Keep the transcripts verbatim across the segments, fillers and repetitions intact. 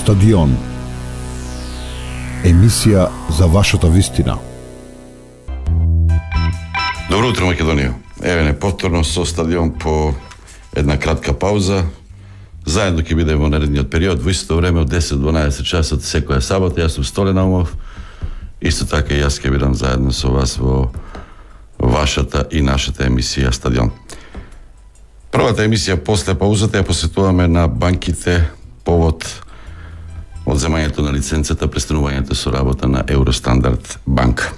Стадион. Емисија за вашата вистина. Добро утро, Македонија. Еве не повторно со Стадион по една кратка пауза. Заедно ќе бидеме во наредниот период, во истото време од десет до дванаесет часот секоја сабота. Јас сум Столе Наумов. Исто така и јас ќе бидам заедно со вас во вашата и нашата емисија Стадион. Првата емисија после паузата ја посветуваме на банките повод одземањето на лиценцата, престанувањето со работа на Евростандард банка.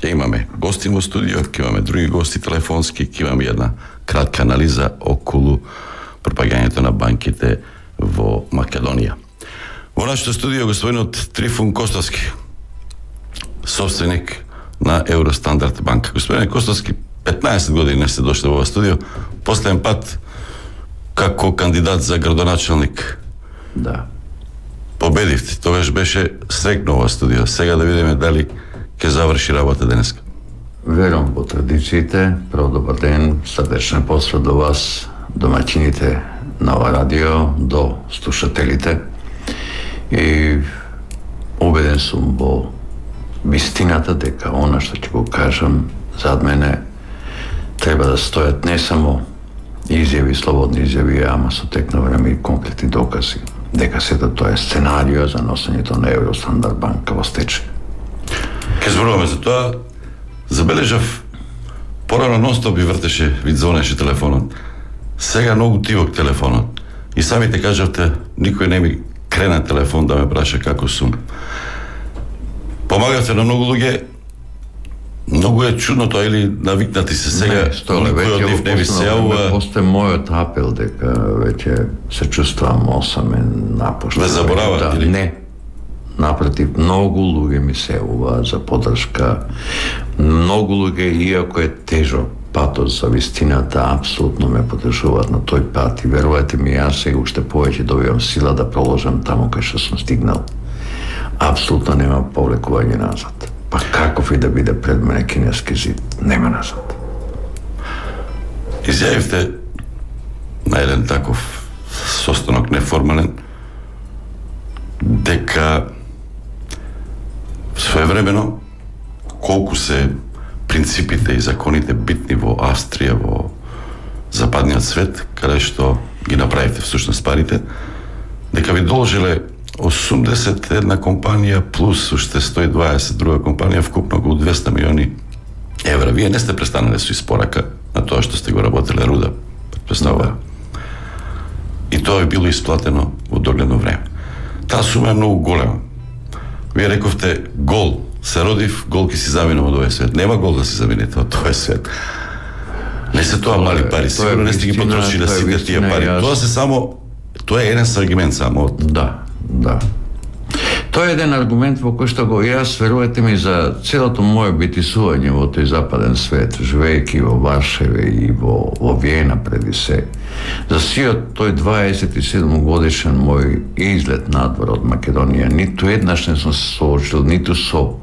Ќе имаме гости во студио, ќе имаме други гости телефонски, ќе имаме една кратка анализа околу пропагањето на банките во Македонија. Во нашето студио господинот Трифун Костовски, собственик на Евростандард банка. Господин Костовски, петнаесет години не сте дошле во ова студио, последен пат како кандидат за градоначалник. Да. Победивте, тогаш беше срекно ова студио. Сега да видиме дали ќе заврши работа денеска. Верувам во традициите. Прво добар ден, срдечен поздрав до вас, домаќините на ова радио, до слушателите. И убеден сум во вистината дека она што ќе го кажам зад мене треба да стојат не само изјави, слободни изјави, ама со тек на време и конкретни докази дека сето тоа е сценарио за носењето на Евростандард банка во стечај. Ке зборуваме за тоа. Забележав, порано нон-стоп би вртеше, ви звонеше телефонот. Сега многу тивок телефонот. И самите кажавте, никој не ми крена телефон да ме праша како сум. Помагавте на многу луѓе. Многу е чудно тоа, или навикнати се сега, никој од нив не ви се јавува. После мојот апел дека веќе се чувствувам осамен, напуштен. Да заборавате или? Не. Напротив, многу луѓе ми се јавуваат за поддршка. Многу луѓе, иако е тежок патот за вистината, апсолутно ме поддржуваат на тој пат. И верувајте ми, јас сега уште повеќе добивам сила да проложам таму кај што сум стигнал. Апсолутно нема повлекување назад. Па каков и да биде пред мене кинески зид, нема назад. Изјавивте на еден таков состанок неформален дека своевремено колку се принципите и законите битни во Австрија, во западниот свет, каде што ги направите всушност парите, дека ви должеле осумдесет и една компанија плюс уште сто и дваесет друга компанија, вкупно околу двесте милиони евра. Вие не сте престанале со испорака на тоа што сте го работеле руда, претпоставува. И тоа е било исплатено во догледно време. Таа сума е многу голема. Вие рековте гол, се родив, гол ќе си заминам од овој свет. Нема гол да си заминете од овој свет. Не се тоа мали пари, сигурно не сте ги потрошили сите тие пари. Тоа се само, тоа е еден аргумент само од... Да, да. Тоа е еден аргумент во кој што го јас, верувате ми, за целото моје битисување во тој западен свет, живејќи во Варшаве и во, во Виена преди се, за сиот тој дваесет и седум годишен мој излет надвор од Македонија, ниту еднаш не сум се соочил ниту со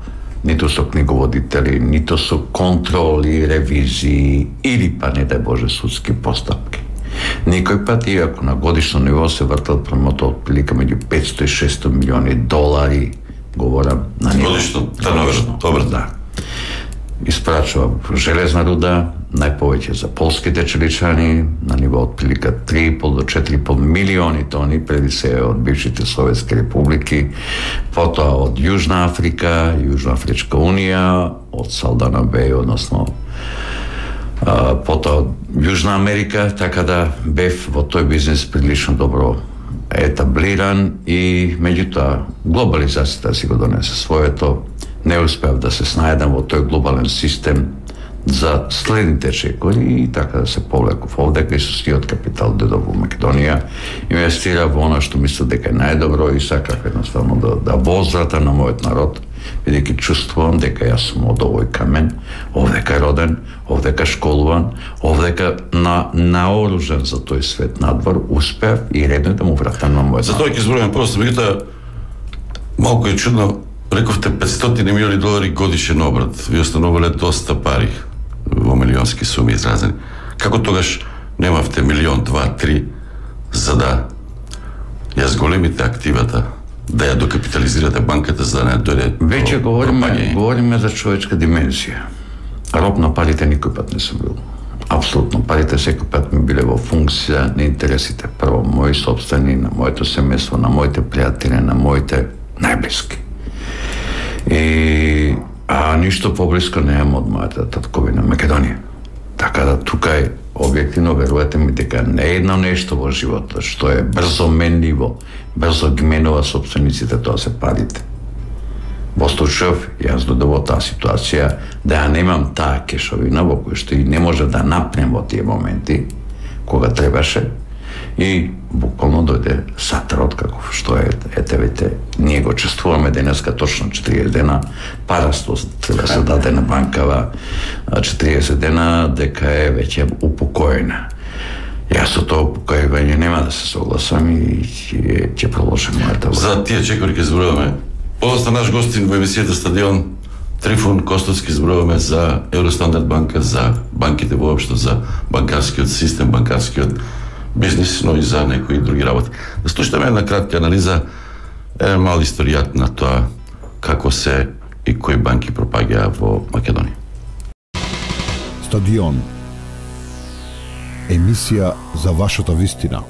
ниту со книговодители, ниту со контроли, ревизии или па не дај Боже судски постапки. Никој пат, иако на годишно ниво се вртал промото од прилика меѓу петсто и шестстотини милиони долари, говорам на ниво. Годишно, годишно, добро, да. Испрачува железна руда, најповеќе за полските челичани, на ниво од прилика три и пол до четири и пол милиони тони, преди се од бившите советски републики, потоа од Јужна Африка, Јужна Афричка унија, од Салдана Беј, односно Uh, потоа од Јужна Америка, така да бев во тој бизнес прилично добро етаблиран и меѓутоа глобализацијата си го донесе своето. Не успеав да се снајдам во тој глобален систем за следните чекори и така да се повлеков овде кај со сиот капитал додов во Македонија, инвестира во она што мисля дека е најдобро и сакав едноставно да, да возвратам на мојот народ, бидејќи чувствувам дека јас сум од овој камен, овдека роден, овдека школуван, овдека на, наоружен за тој свет надвор, успеав и редно да му вратам на мојот народ. За тоа ќе зборуваме просто, меѓутоа малку е чудно, рековте петстотини милиони долари годишен обрат, ви остановиле доста пари во милионски суми изразени. Како тогаш немавте милион, два, три, за да Ја зголемите активата, да ја докапитализирате банката за да не дојде. Веќе говориме, говориме за човечка димензија. Роб на парите никој пат не сум бил. Апсолутно, парите секој пат ми биле во функција на интересите. Прво, мои собствени, на моето семејство, на моите пријатели, на моите најблиски. И, а ништо поблиско неам од мојата татковина Македонија. Така да тука е објективно, верувате ми, дека не е едно нешто во животот што е брзо менливо, брзо ги менува собствениците, тоа се парите. Во случајов, јас додо во таа ситуација да ја немам таа кешовина во која што и не може да напнем во тие моменти кога требаше, и буквално дојде сатарот каков што е, ете вете, ние го чествуваме денеска точно четириесет дена, парасто треба да се даде на банкава четириесет дена дека е веќе упокоена. Јас со тоа упокојување нема да се согласам и ќе, ќе продолжам мојата влада. За тие чекори ќе зборуваме. Подоста наш гостин во емисијата Стадион, Трифун Костовски, зборуваме за Евростандард банка, за банките воопшто, за банкарскиот систем, банкарскиот бизнис, но и за некои други работи. Да слушаме една кратка анализа, еден мал историјат на тоа како се и кои банки пропаѓаа во Македонија. Стадион. Емисија за вашата вистина.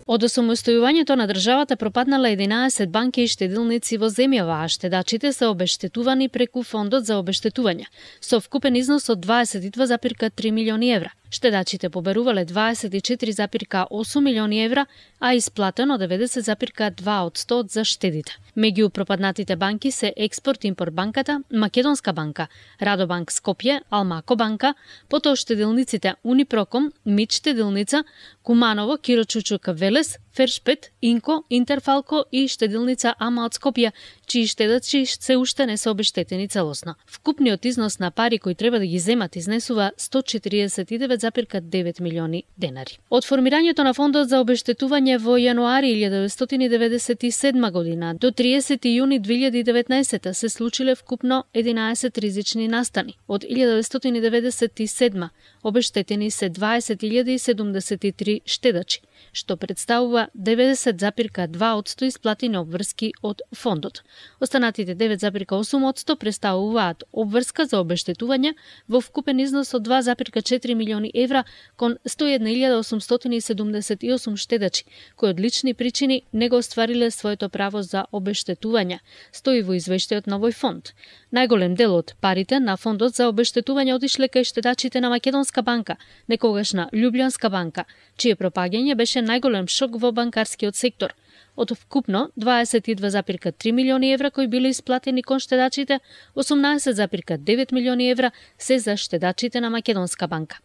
Од осамостојувањето на државата пропаднала единаесет банки и штедилници во земјава, а штедачите се обештетувани преку фондот за обештетување, со вкупен износ од дваесет и два запирка три милиони евра. Штедачите поберувале дваесет и четири запирка осум милиони евра, а исплатено деветдесет запирка два од сто за штедите. Меѓу пропаднатите банки се Експорт-импорт банката, Македонска банка, Радобанк Скопје, Алмако банка, потоа штедилниците Унипроком, Мид штедилница, Куманово, Киро Чучук Велес, Фершпет, Инко, Интерфалко и штедилница Ама од Скопје, чии штедачи се уште не се обештетени целосно. Вкупниот износ на пари кои треба да ги земат изнесува сто четириесет и девет запирка девет милиони денари. Од формирањето на фондот за обештетување во јануари илјадесетстотини деветдесет и седма година до триесети јуни две илјади и деветнаесета се случиле вкупно единаесет ризични настани. Од илјадесетстотини деветдесет и седма обештетени се дваесет илјади седумдесет и три штедачи, што представува деветдесет запирка два од сто исплатени обврски од фондот. Останатите девет запирка осум од сто представуваат обврска за обештетување во вкупен износ од два запирка четири милиони евра кон сто и една илјада осумстотини седумдесет и осум штедачи, кои од лични причини не го оствариле своето право за обештетување, стои во извештајот на овој фонд. Најголем дел од парите на фондот за обештетување отишле кај штедачите на Македонска банка, некогашна Љубљанска банка, чие пропаѓање беше најголем шок во банкарскиот сектор. Од вкупно дваесет и два запирка три милиони евра кои биле исплатени кон штедачите, осумнаесет запирка девет милиони евра се за штедачите на Македонска банка.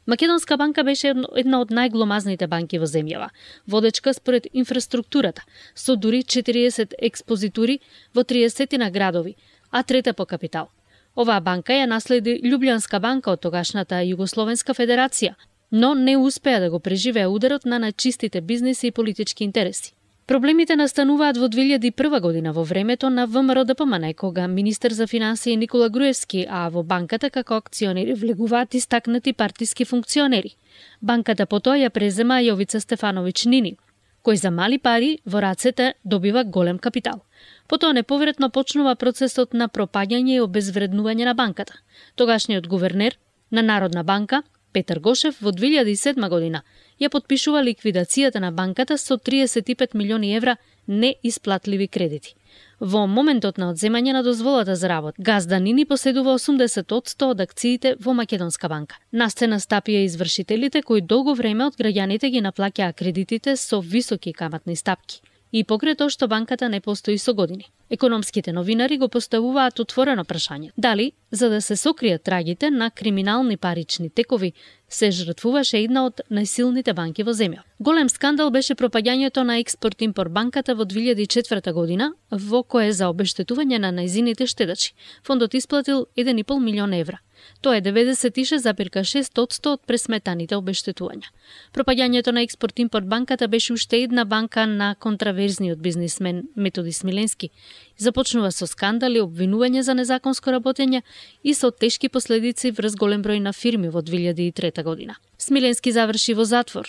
Македонска банка беше една од најгломазните банки во земјава, водечка според инфраструктурата, со дури четириесет експозитури во триесет на градови, а трета по капитал. Оваа банка ја наследи Љубљанска банка од тогашната Југословенска федерација, но не успеа да го преживее ударот на најчистите бизнеси и политички интереси. Проблемите настануваат во две илјади и прва година во времето на ВМРО-ДПМН, кога министер за финансии Никола Груевски, а во банката како акционери влегуваат истакнати партиски функционери. Банката потоа ја презема Јовица Стефановиќ Нини, кој за мали пари во рацете добива голем капитал. Потоа неповретно почнува процесот на пропаѓање и обезвреднување на банката. Тогашниот гувернер на Народна банка, Петар Гошев, во две илјади и седма година ја потпишува ликвидацијата на банката со триесет и пет милиони евра неисплатливи кредити. Во моментот на одземање на дозволата за работа, газда Нини поседува осумдесет од сто од акциите во Македонска банка. На сцена стапија извршителите кои долго време од граѓаните ги наплаќаа кредитите со високи каматни стапки. И покрај тоа што банката не постои со години. Економските новинари го поставуваат отворено прашање. Дали, за да се сокријат трагите на криминални парични текови, се жртвуваше една од најсилните банки во земја. Голем скандал беше пропаѓањето на Експорт-импорт банката во две илјади и четврта година, во кое за обештетување на најзините штедачи фондот исплатил еден и пол милион евра. Тоа е деветдесет и шест запирка шест од сто од пресметаните обештетувања. Пропаѓањето на Експорт-импорт банката беше уште една банка на контраверзниот бизнисмен Методи Смиленски. Започнува со скандали, обвинување за незаконско работење и со тешки последици врз голем број на фирми во две илјади и трета година. Смиленски заврши во затвор.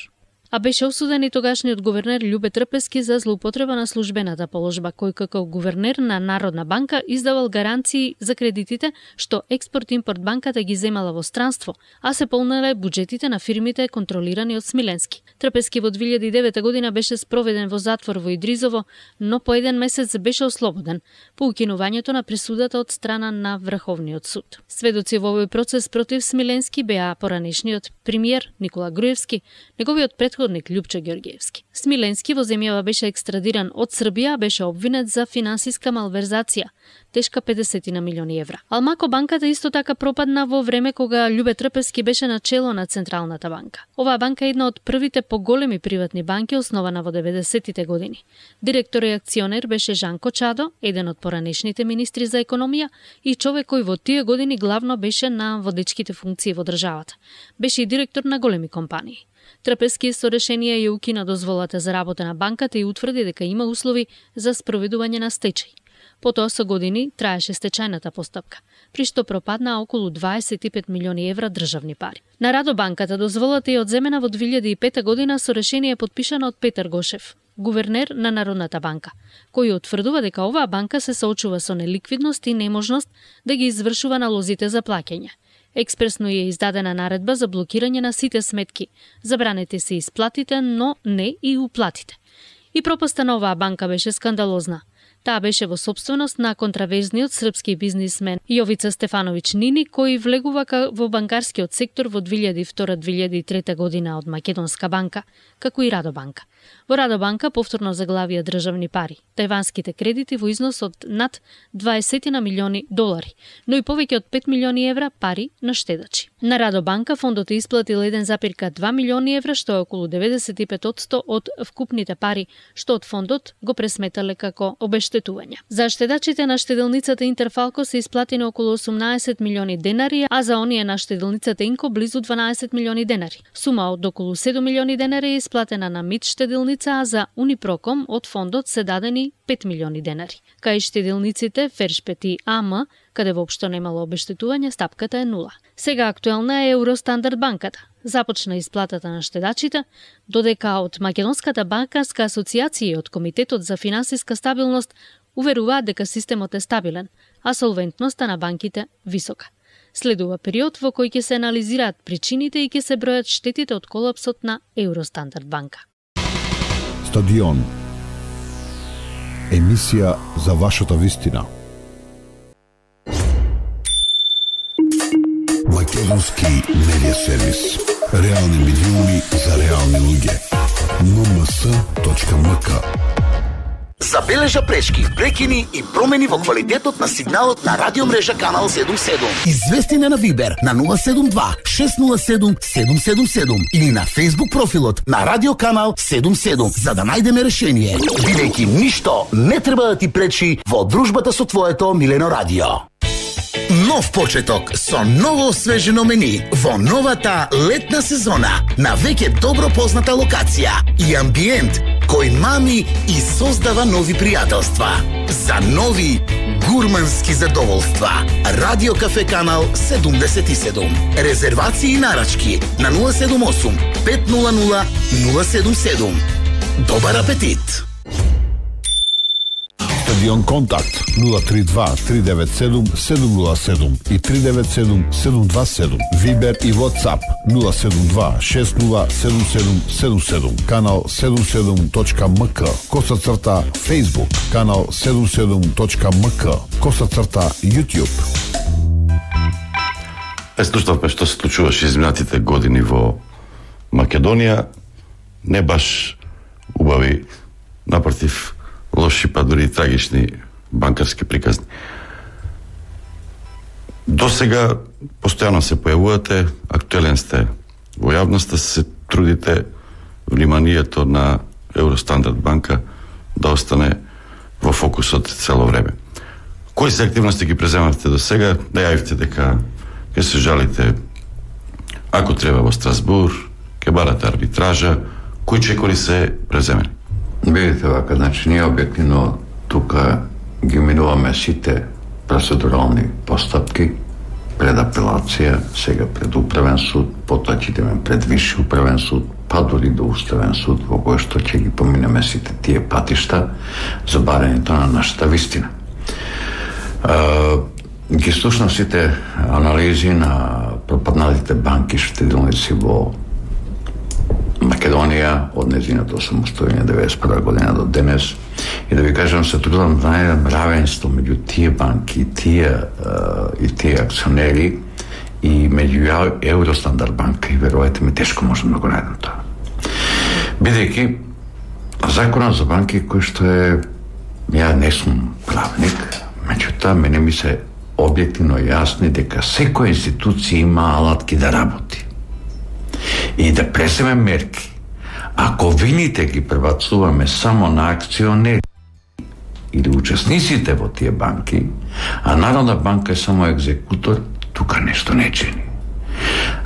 а беше осуден и тогашниот гувернер Љубе Трпески за злоупотреба на службената положба, кој како гувернер на Народна банка издавал гаранции за кредитите што Експорт-импорт банката ги земала во странство, а се полнале буџетите на фирмите контролирани од Смиленски. Трпески во две илјади и девета година беше спроведен во затвор во Идризово, но по еден месец беше ослободен по укинувањето на присудата од страна на Врховниот суд. Сведоци во овој процес против Смиленски беа поранешниот премиер Никола Груевски, неговиот претходник Љупчо Ѓорѓиевски. Смиленски во земјава беше екстрадиран од Србија, беше обвинет за финансиска малверзација, тешка педесет на милиони евра. Алмако банката исто така пропадна во време кога Љубе Трпески беше на чело на Централната банка. Оваа банка е една од првите поголеми приватни банки, основана во деветдесеттите години. Директор и акционер беше Жанко Чадо, еден од поранешните министри за економија и човек кој во тие години главно беше на водечките функции во државата. Беше и директор на големи компании. Трпески со решение ја укина дозволата за работа на банката и утврди дека има услови за спроведување на стечај. Потоа со години траеше стечајната постапка, при што пропадна околу дваесет и пет милиони евра државни пари. На Радобанката дозволата е одземена во две илјади и пета година со решение подпишано од Петар Гошев, гувернер на Народната банка, кој утврдува дека оваа банка се соочува со неликвидност и неможност да ги извршува налозите за плаќање. Експресно е издадена наредба за блокирање на сите сметки. Забранете се исплатите, но не и уплатите. И пропаста на оваа банка беше скандалозна. Таа беше во собственост на контраверзниот српски бизнисмен Јовица Стефановиќ Нини, кој влегува во банкарскиот сектор во две илјади и втора - две илјади и трета година од Македонска банка, како и Радобанка. Во Радобанка повторно заглавија државни пари, тајванските кредити во износ од над дваесет на милиони долари, но и повеќе од пет милиони евра пари на штедачи. На Радобанка фондот е исплатил еден запирка два милиони евра, што е околу деветдесет и пет одсто од вкупните пари, што од фондот го пресметале како обештетување. За штедачите на штеделницата Интерфалко се исплатени околу осумнаесет милиони денари, а за оние на штеделницата Инко близу дванаесет милиони денари. Сума од околу седум милиони денари е исплатена на МИД штеделница, а за Унипроком од фондот се дадени пет милиони денари. Кај штеделниците Фершпет и АМ, каде воопшто немало обештетување, стапката е нула. Сега актуелна е Евростандард банката. Започна исплатата на штедачите, додека од Македонската банкарска асоциација и од Комитетот за финансиска стабилност уверуваат дека системот е стабилен, а солвентноста на банките висока. Следува период во кој ќе се анализираат причините и ќе се бројат штетите од колапсот на Евростандард банка. Стадион. Емисија за вашата вистина. Македонски медиа сервис. Реални медиуми за реални луѓе. ен ем ес точка ем ка. Забележа пречки, прекини и промени во квалитетот на сигналот на радиомрежа Канал седум седум. Извести на Вибер на нула седум два шест нула седум седум седум седум или на Facebook профилот на Радио Канал седум седум за да најдеме решение. Бидејќи ништо не треба да ти пречи во дружбата со твоето милено радио. Нов почеток со ново освежено мени во новата летна сезона на веќе добро позната локација и амбиент кој мами и создава нови пријателства. За нови гурмански задоволства. Радио Кафе Канал седумдесет и седум. Резервации и нарачки на нула седум осум пет нула нула нула седум седум. Добар апетит! Стадион Контакт нула три два три девет седум седум нула седум и три девет седум седум два седум. Вибер и WhatsApp нула седум два шест нула седум седум седум седум. Канал седум седум точка ем ка. Коса црта Facebook. Канал седум седум точка ем ка. Коса црта YouTube. Е, слушавме што се случуваше изминатите години во Македонија. Не баш убави, напротив, лоши, па дури трагични банкарски приказни. До сега постојано се појавувате, актуелен сте во јавноста, се трудите вниманието на Евростандард банка да остане во фокусот цело време. Кои се активности ги преземавте до сега? Да јавите дека ќе се жалите ако треба во Страсбур, ќе барате арбитража, кои чекори се преземени? Видите вака, значи ние објективно тука ги минуваме сите процедурални постапки, пред апелација, сега пред управен суд, потоа ќе идеме пред висши управен суд, па дури до Уставен суд, во кој што ќе ги поминеме сите тие патишта за барањето на нашата вистина. Ги слушнав сите анализи на пропадналите банки штедилници во Македонија од незиното самостојање деветдесет и прва година до денес, и да ви кажам, се трудам да најдам равенство меѓу тие банки и тие, и тие акционери и меѓу Евростандард банка, и верувајте ми, тешко можам да го најдам тоа. Бидејќи законот за банки кој што е, ја не сум правник, меѓутоа мене ми се објективно јасни дека секоја институција има алатки да работи и да преземе мерки. Ако вините ги пребацуваме само на акционери или учесниците во тие банки, а Народна банка е само екзекутор, тука нешто не чини.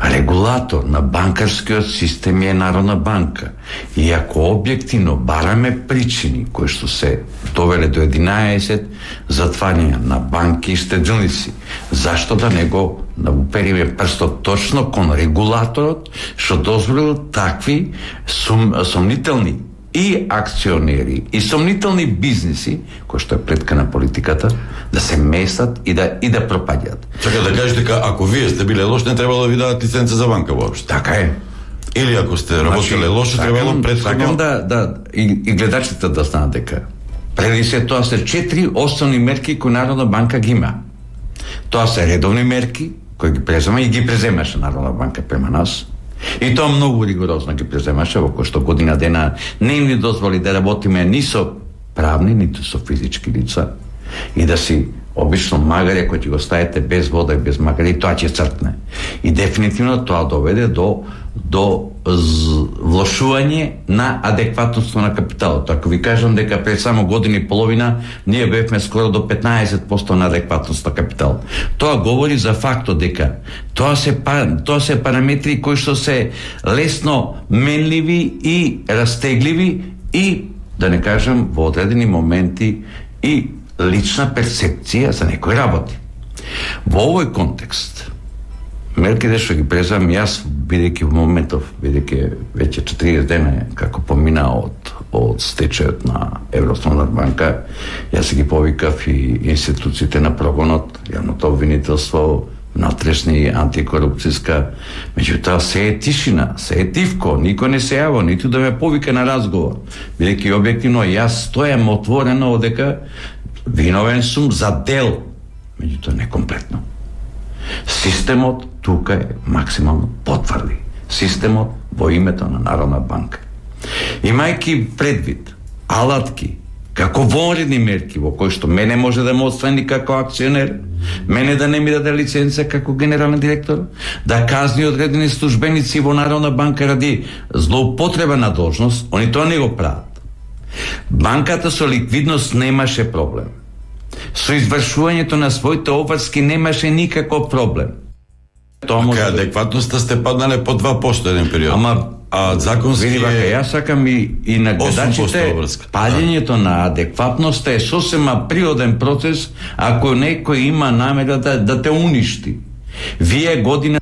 Регулатор на банкарскиот систем е Народна банка. И ако објективно бараме причини кои што се довеле до единаесет затварања на банки и штедилници, зашто да не го упериме прстот точно кон регулаторот што дозволил такви сум, сомнителни и акционери и сомнителни бизниси, кои што е плетка на политиката, да се местат и да и да пропаѓаат. Чака да кажеш дека ако вие сте биле лош, не требало да ви дадат лиценца за банка воопшто. Така е. Или ако сте работеле лошо, требало претходно. Сакам да да и, и гледачите да знаат дека преди се тоа се четири основни мерки кои Народна банка ги има. Тоа се редовни мерки кои ги презема и ги преземаше Народна банка према нас. И тоа многу ригорозно ги преземаше, во кој што година дена не им ни дозволи да работиме ни со правни, ниту со физички лица, и да си обично магаре кој ќе го ставите без вода и без магаре, и тоа ќе цртне. И дефинитивно тоа доведе до до влошување на адекватноста на капиталот. Ако ви кажам дека пред само година и половина ние бевме скоро до петнаесет проценти на адекватност на капитал. Тоа говори за фактот дека тоа се тоа се параметри кои што се лесно менливи и растегливи и, да не кажам, во одредени моменти и лична перцепција за некои работи. Во овој контекст мерките што ги презам јас, бидејќи во моментов, бидејќи веќе четириесет дена како помина од од стечајот на Евростандард банка, јас ги повикав и институциите на прогонот, јавното обвинителство, внатрешни антикорупцијска, меѓутоа се е тишина, се е тивко, никој не се јава, ниту да ме повика на разговор, бидејќи објективно јас стојам отворено дека виновен сум за дел, меѓутоа не комплетно. Системот тука е максимално потврди. Системот во името на Народна банка. Имајќи предвид алатки, како вонредни мерки во кои што мене може да ме отстрани како акционер, мене да не ми даде лиценца како генерален директор, да казни одредени службеници во Народна банка ради злоупотреба на должност, они тоа не го прават. Банката со ликвидност немаше проблем. Со извршувањето на своите обврски немаше никаков проблем. Тоа може да... адекватноста сте паднале по два проценти еден период. Ама а законски види бака, јас сакам и, и на гледачите, падењето на адекватноста е сосема природен процес ако некој има намера да, да те уништи. Вие година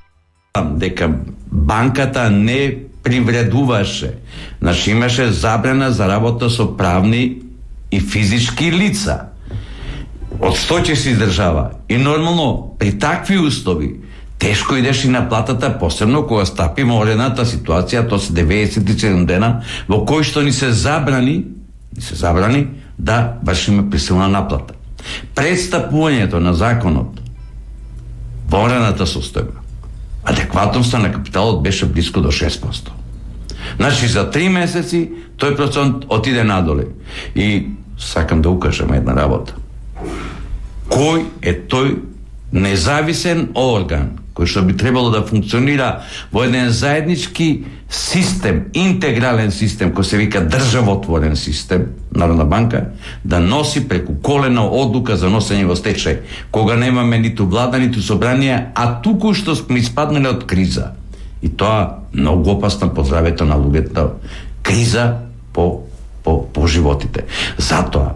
дека банката не привредуваше, значи имаше забрана за работа со правни и физички лица. Од сто ќе се издржава. И нормално, при такви услови, тешко идеш и на платата, посебно кога стапи морената ситуација, тоа се деветдесет и седум дена, во кој што ни се забрани, ни се забрани да вршиме присилна наплата. Предстапувањето на законот, морената состојба, адекватноста на капиталот беше близко до шест проценти. Значи, за три месеци тој процент отиде надоле. И сакам да укажам една работа. Кој е тој независен орган кој што би требало да функционира во еден заеднички систем, интегрален систем кој се вика државотворен систем, Народна банка, да носи преку колено одлука за носење во стечај, кога немаме ниту влада, ниту собрание, а туку што сме испаднале од криза. И тоа многу опасно по здравето на луѓето, криза по, по, по животите. Затоа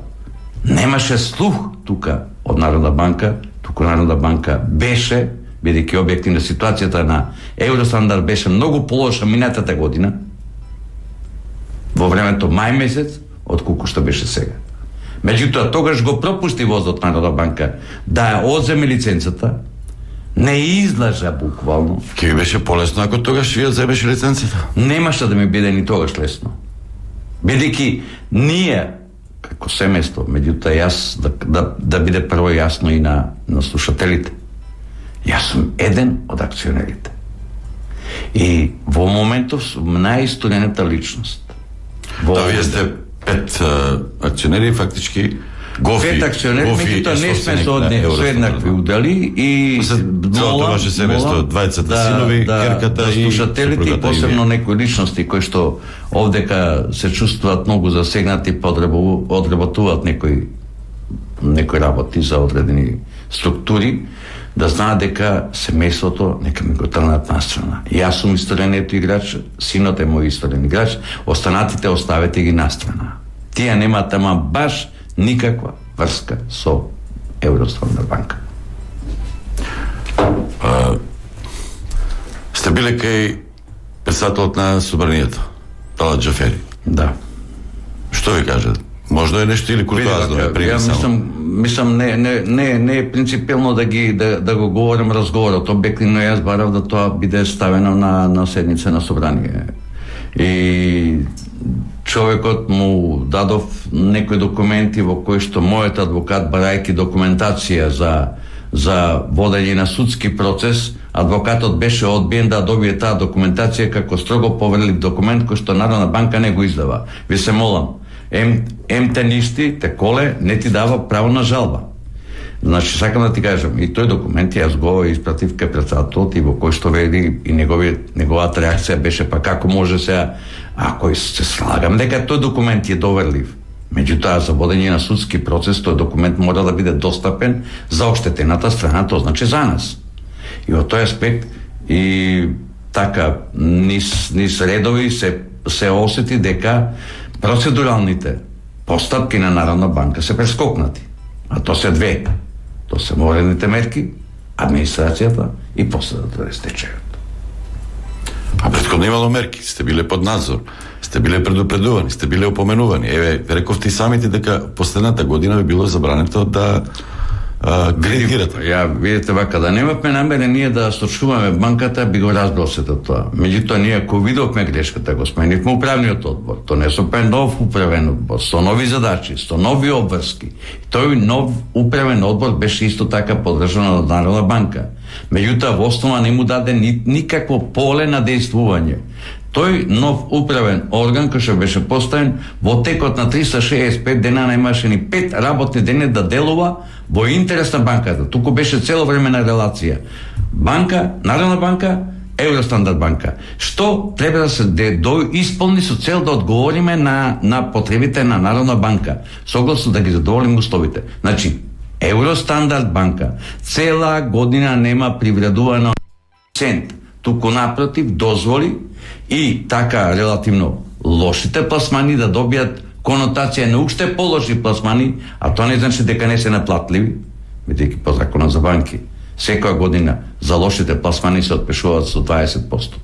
немаше слух тука од Народна банка, туку Народна банка беше, бидејќи објективна ситуацијата на Евростандард беше многу полоша минатата година, во времето мај месец отколку што беше сега. Меѓутоа тогаш го пропусти возот Народна банка да ја одземе лиценцата, не излажа буквално. Ке ви беше полесно ако тогаш вие земеше лиценцата? Немаше да ми биде ни тогаш лесно. Бидејќи ние како семејство, меѓутоа јас да, да, да биде прво јасно и на, на слушателите. Јас сум еден од акционерите. И во моментов сум најисторијаната личност. Во... Да, вие сте пет а, акционери, фактички Гофи, пет акционери, меѓутоа не сме со еднакви удели и целото ваше семејство, двајцата да, синови, да, керката да, и слушателите и посебно некои личности кои што овдека се чувствуваат многу засегнати, одработуваат некои некои работи за одредени структури, да знаат дека семејството нека ми го трнат настрана. Јас сум исторениот играч, синот е мој исторен играч, останатите оставете ги настрана. Тие немаат ама баш никаква врска со Евростандард банка. А, сте биле кај председателот на собранието, Талат Џафери. Да. Што ви кажа? Можда е нешто или куртоазно е приме само? Мислам, мислам не, не, не, не е принципиелно да, ги, да, да го говорим разговорот. Обективно јас барав да тоа биде ставено на, на седница на собрание. И човекот му дадов некои документи во кои што мојот адвокат, барајќи документација за, за водење на судски процес, адвокатот беше одбиен да добие таа документација како строго поверлив документ кој што Народна банка не го издава. Ви се молам, ем, ем те ништи, те коле, не ти дава право на жалба. Значи, сакам да ти кажам, и тој документ јас го испратив кај председателот и во кој што веди и негови, неговата реакција беше па како може сега, ако се слагам дека тој документ е доверлив. Меѓутоа, за водење на судски процес, тој документ мора да биде достапен за оштетената страна, тоа значи за нас. И во тој аспект и така низ, низ редови се, се осети дека процедуралните постапки на Народна банка се прескокнати. А то се две. То се морените мерки, администрацијата и последата е стечајот. А претходно имало мерки, сте биле под надзор, сте биле предупредувани, сте биле опоменувани. Еве, рековте и самите дека последната година би било забрането да кредитирате. Ја, видите вака, да немавме намере ние да сочуваме банката, би го разбрал сето тоа. Меѓутоа, ние ако видовме грешката, го сменивме управниот одбор. Донесовме нов управен одбор, со нови задачи, со нови обврски. Тој нов управен одбор беше исто така поддржан од Народна банка. Меѓутоа, во основа не му даде ни, никакво поле на действување. Тој нов управен орган кој што беше поставен во текот на триста шеесет и пет дена немаше ни пет работни дени да делува во интерес на банката. Туку беше цело време на релација. Банка, Народна банка, Евростандард банка. Што треба да се до исполни со цел да одговориме на на потребите на Народна банка, согласно да ги задоволиме условите. Значи, Евростандард банка цела година нема привредувано цент, туку напротив дозволи и така релативно лошите пласмани да добијат конотација на уште полоши пласмани, а тоа не значи дека не се наплатливи, бидејќи по законот за банки секоја година за лошите пласмани се отпишуваат со дваесет проценти.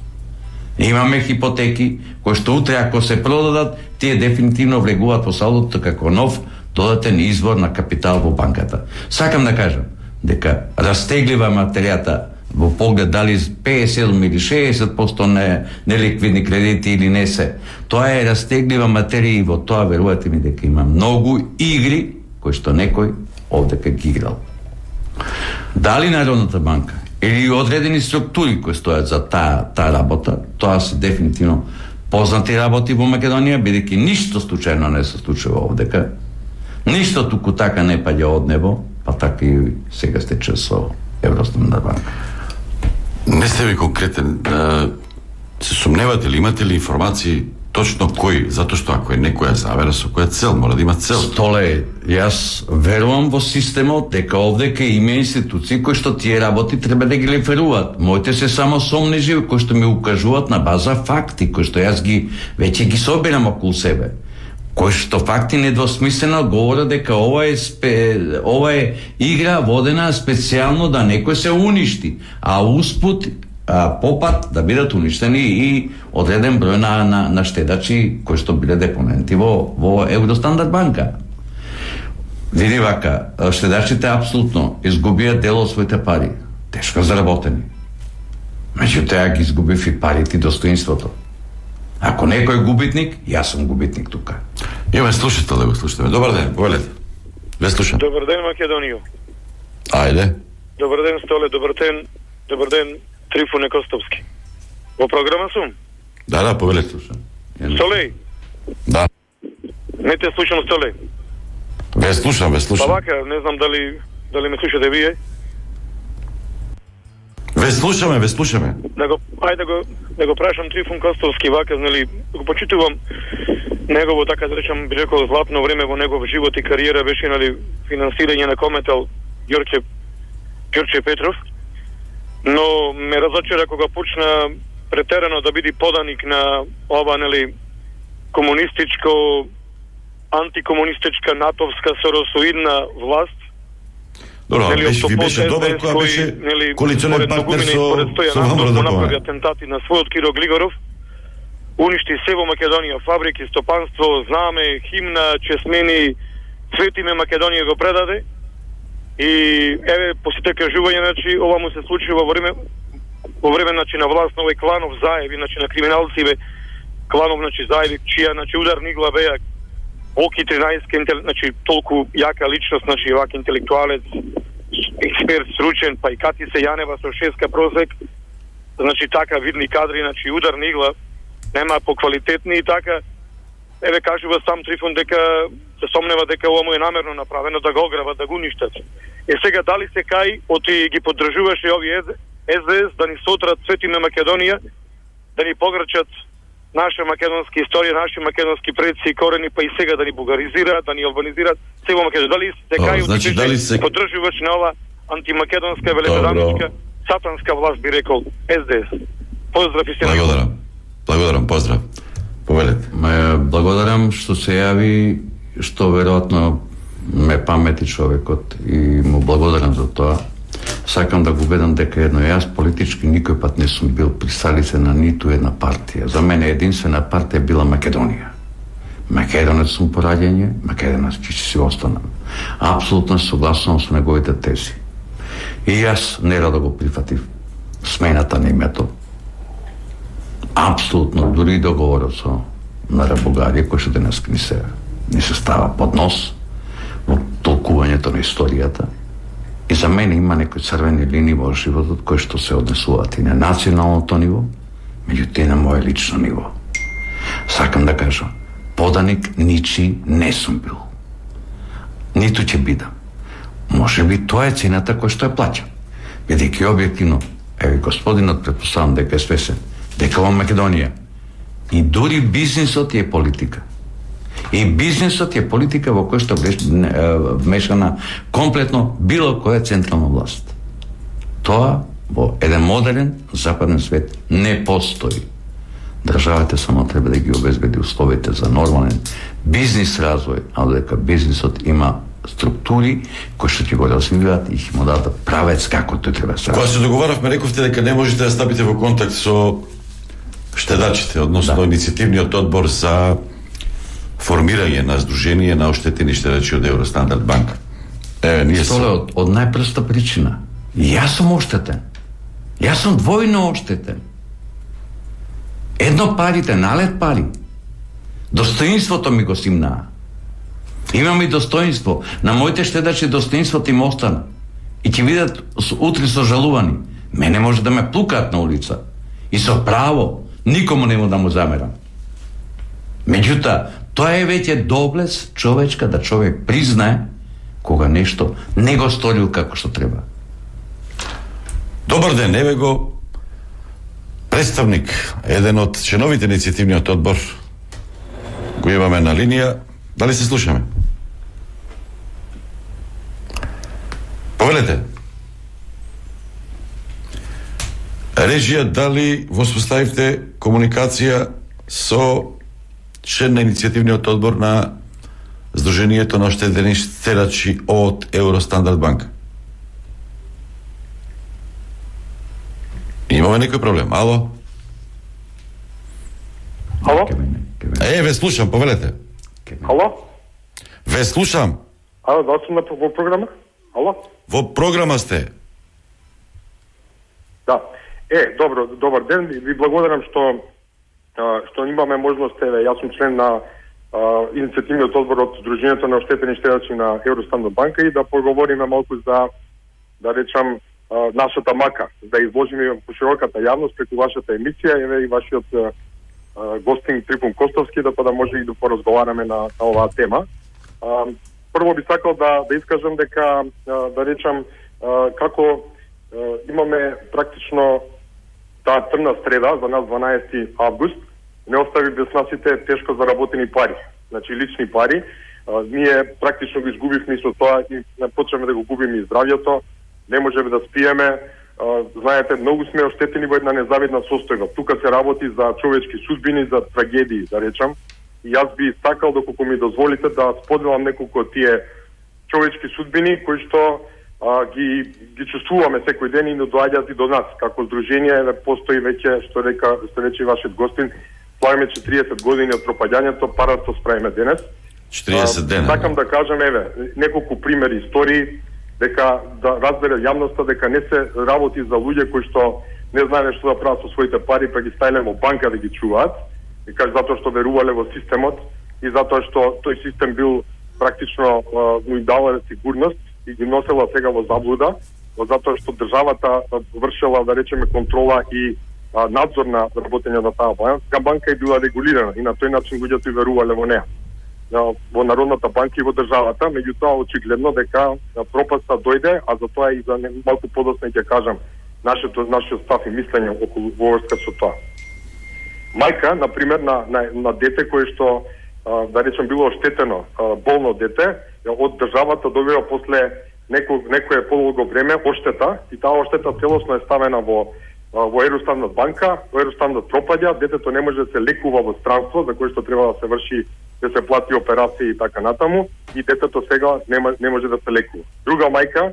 Имаме хипотеки кои што утре ако се продадат, тие дефинитивно влегуваат во салдото како нов додатен извор на капитал во банката. Сакам да кажам дека растеглива материјата во поглед дали песет или шеесет проценти не неликвидни кредити или не се. Тоа е растеглива материја и во тоа верувате ми дека има многу игри кои што некој овдека ги играл. Дали Народната банка или одредени структури кои стојат за таа таа работа, тоа се дефинитивно познати работи во Македонија, бидејќи ништо случајно не се случува овдека. Ништо туку така не паѓа од небо, па така и сега стече со Евростандард банка. Не сте ви конкретен. Се сумневате ли, имате ли информации точно кој? Затоа што ако е некоја завера, со која цел, мора да има цел. Столе, јас верувам во системот, дека овдека има институции кои што тие работи треба да ги леферуваат. Моите се само сомнежи кои што ми укажуваат на база факти, кои што јас ги веќе ги собирам околу себе. Кои што факти недвосмислено говорат дека ова е спе, ова е игра водена специјално да некој се уништи, а успут а, попат да бидат уништени и одреден број на, на, на штедачи кои што биле депоненти во, во Евростандард банка. Види вака, штедачите апсолутно изгубија дел од своите пари, тешко заработени. Меѓутоа ги изгубив и парите и достоинството. Ако некој е губитник, јас сум губитник тука. Имаме слушател, да го слушаме. Добар ден, повелете. Ве слушам. Добар ден, Македонијо. Ајде. Добар ден, Столе, добар ден, добар ден, Трифоне Костовски. Во програма сум? Да, да, повелете. Столе? Да. Не те слушам, Столе. Ве слушам, ве слушам. Па вака, не знам дали, дали ме слушате вие. Ве слушаме, ве слушаме. Да го, ајде го, да го прашам Трифон Костовски, вака, нели, го почитувам негово, така да речам, би рекол, златно време во негов живот и кариера беше, нели, финансирање на Кометел Ѓорче, Ѓорче Петров, но ме разочара кога почна претерано да биде поданик на ова, нели, комунистичко, антикомунистичка, натовска, соросоидна власт. Добро, нели, беше, ви беше добар кога беше коалиционен партнер со, со ВМРО да направи атентати на својот Киро Глигоров, уништи се во Македонија, фабрики, стопанство, знаме, химна, чесмени, цветиме Македонија го предаде. И еве, по сите кажување, значи, ова му се случи во време во време, значи, на власт на овој кланов заеви, значи, на криминалци, бе, кланов, значи, заеви, чија, значи, ударни игла беа Оки тринаесет, значи, толку јака личност, значи, вак интелектуалец, експерт, сручен, па и Кати се Јанева со шеска просек, значи, така видни кадри, значи, ударна игла, нема поквалитетни и така, еве, кажува сам Трифон дека се сомнева дека ова му е намерно направено да го ограбат, да го уништат. Е сега дали се кај, оти ги поддржуваше ови Ес Де Ес да ни сотрат цветиме Македонија, да ни погрчат наша македонска историја, наши македонски предци и корени, па и сега да ни бугаризираат, да ни албанизираат, се во Македонија. Дали се кај, значи, дали се поддржуваш на ова антимакедонска, великоданичка, сатанска власт, би рекол, Ес Де Ес. Поздрав и се. Благодарам. Благодарам, поздрав. Повелете. Ме благодарам што се јави, што веројатно ме памети човекот и му благодарам за тоа. Сакам да го убедам дека едно јас политички никој пат не сум бил присталица на ниту една партија. За мене единствена партија била Македонија. Македонец сум по раѓање, македонец ќе си останам. Апсолутно согласувам со неговите тези. И јас нерадо го прифатив смената на името. Апсолутно, дури и договорот со Нара Бугарија, кој што денес ни се, ни се става под нос во толкувањето на историјата. И за мене има некои црвени линии во животот кои што се однесуваат и на националното ниво, меѓутоа и на моје лично ниво. Сакам да кажам, поданик ничи не сум бил. Ниту ќе бидам. Може би тоа е цената која што ја плаќам. Бидејќи објективно, еве господинот претпоставам дека е свесен, дека во Македонија и дури бизнисот е политика. И бизнисот е политика во која што вмешана комплетно било која централна власт. Тоа во еден модерен западен свет не постои. Државата само треба да ги обезбеди условите за нормален бизнис развој, а дека бизнисот има структури кои што ќе го развиваат и ќе му дадат правец како тој треба се. Кога се договаравме, рековте дека не можете да стапите во контакт со штедачите, односно да. Иницијативниот одбор за формирање на здружение на оштетени штедачи од Евростандард банка. Еве, ние се... од, од најпроста причина. Јас сум оштетен. Јас сум двојно оштетен. Едно парите, налет пари. Достоинството ми го симнаа. Имам и достоинство. На моите штедачи достоинството им остана. И ќе видат утре сожалувани. Мене може да ме плукаат на улица. И со право. Никому нема да му замерам. Меѓутоа, тоа е веќе доблес човечка да човек признае кога нешто не го сторил како што треба. Добар ден, еве го представник, еден од членовите на иницијативниот одбор. Го имаме на линија. Дали се слушаме? Повелете. Режија, дали воспоставивте комуникација со член на иницијативниот одбор на Сдруженијето на оштетени штедачи од Евростандард банка? Има Имаме некој проблем. Ало? Ало? Е, ве слушам, повелете. Ало? Ве слушам. Ало, да сум на во програма? Ало? Во програма сте. Да. Е, добро, добар ден. Ви благодарам што што имаме можност, еве, јас сум член на а, иницијативниот одбор од Сдруженијето на оштетени штедачи на Евростандard банка и да поговориме малку за, да речам, а, нашата мака, да изложиме по широката јавност преку вашата емисија, еве и вашиот а, гостинг Трифун Костовски, да па да може и да поразговараме на, на оваа тема. А, прво би сакал да да искажам дека, а, да речам, а, како а, имаме практично таа црна среда за нас дванаесети август, не остави без насите тешко заработени пари, значи лични пари. А, ние практично го изгубивме и со тоа и почнеме да го губиме и здравјето, не можеме да спиеме. А, знаете, многу сме оштетени во една незавидна состојба. Тука се работи за човечки судбини, за трагедии, да речам. И јас би сакал, доколку ми дозволите, да споделам неколку од тие човечки судбини кои што а, ги ги чувствуваме секој ден и не доаѓаат и до нас. Како здружение постои веќе, што река, што рече вашиот гостин, славиме четириесет години од пропаѓањето, парато справиме денес. четириесет дена. Сакам да кажам, еве, неколку примери, истории, дека да разбере јавноста дека не се работи за луѓе кои што не знаеле што да прават со своите пари, па ги ставиле во банка да ги чуваат, и каже затоа што верувале во системот и затоа што тој систем бил практично му давале сигурност и ги носела сега во заблуда, затоа што државата вршела, да речеме, контрола и а, надзор на работење на таа банка, банка е била регулирана и на тој начин луѓето и верувале во неа, во Народната банка и во државата. Меѓутоа очигледно дека пропаста дојде, а за тоа и за малку подоцна ќе кажам нашето нашиот став и мислење околу во врска со тоа. Мајка, на пример, на, на, на дете кое што, а, да речем, било оштетено, а, болно дете, од државата добива после неко, некое подолго време оштета и таа оштета целосно е ставена во во Евростандard банка, во Евростандard пропаѓа, детето не може да се лекува во странство, за кое што треба да се врши, да се плати операција и така натаму, и детето сега не, не може да се лекува. Друга мајка,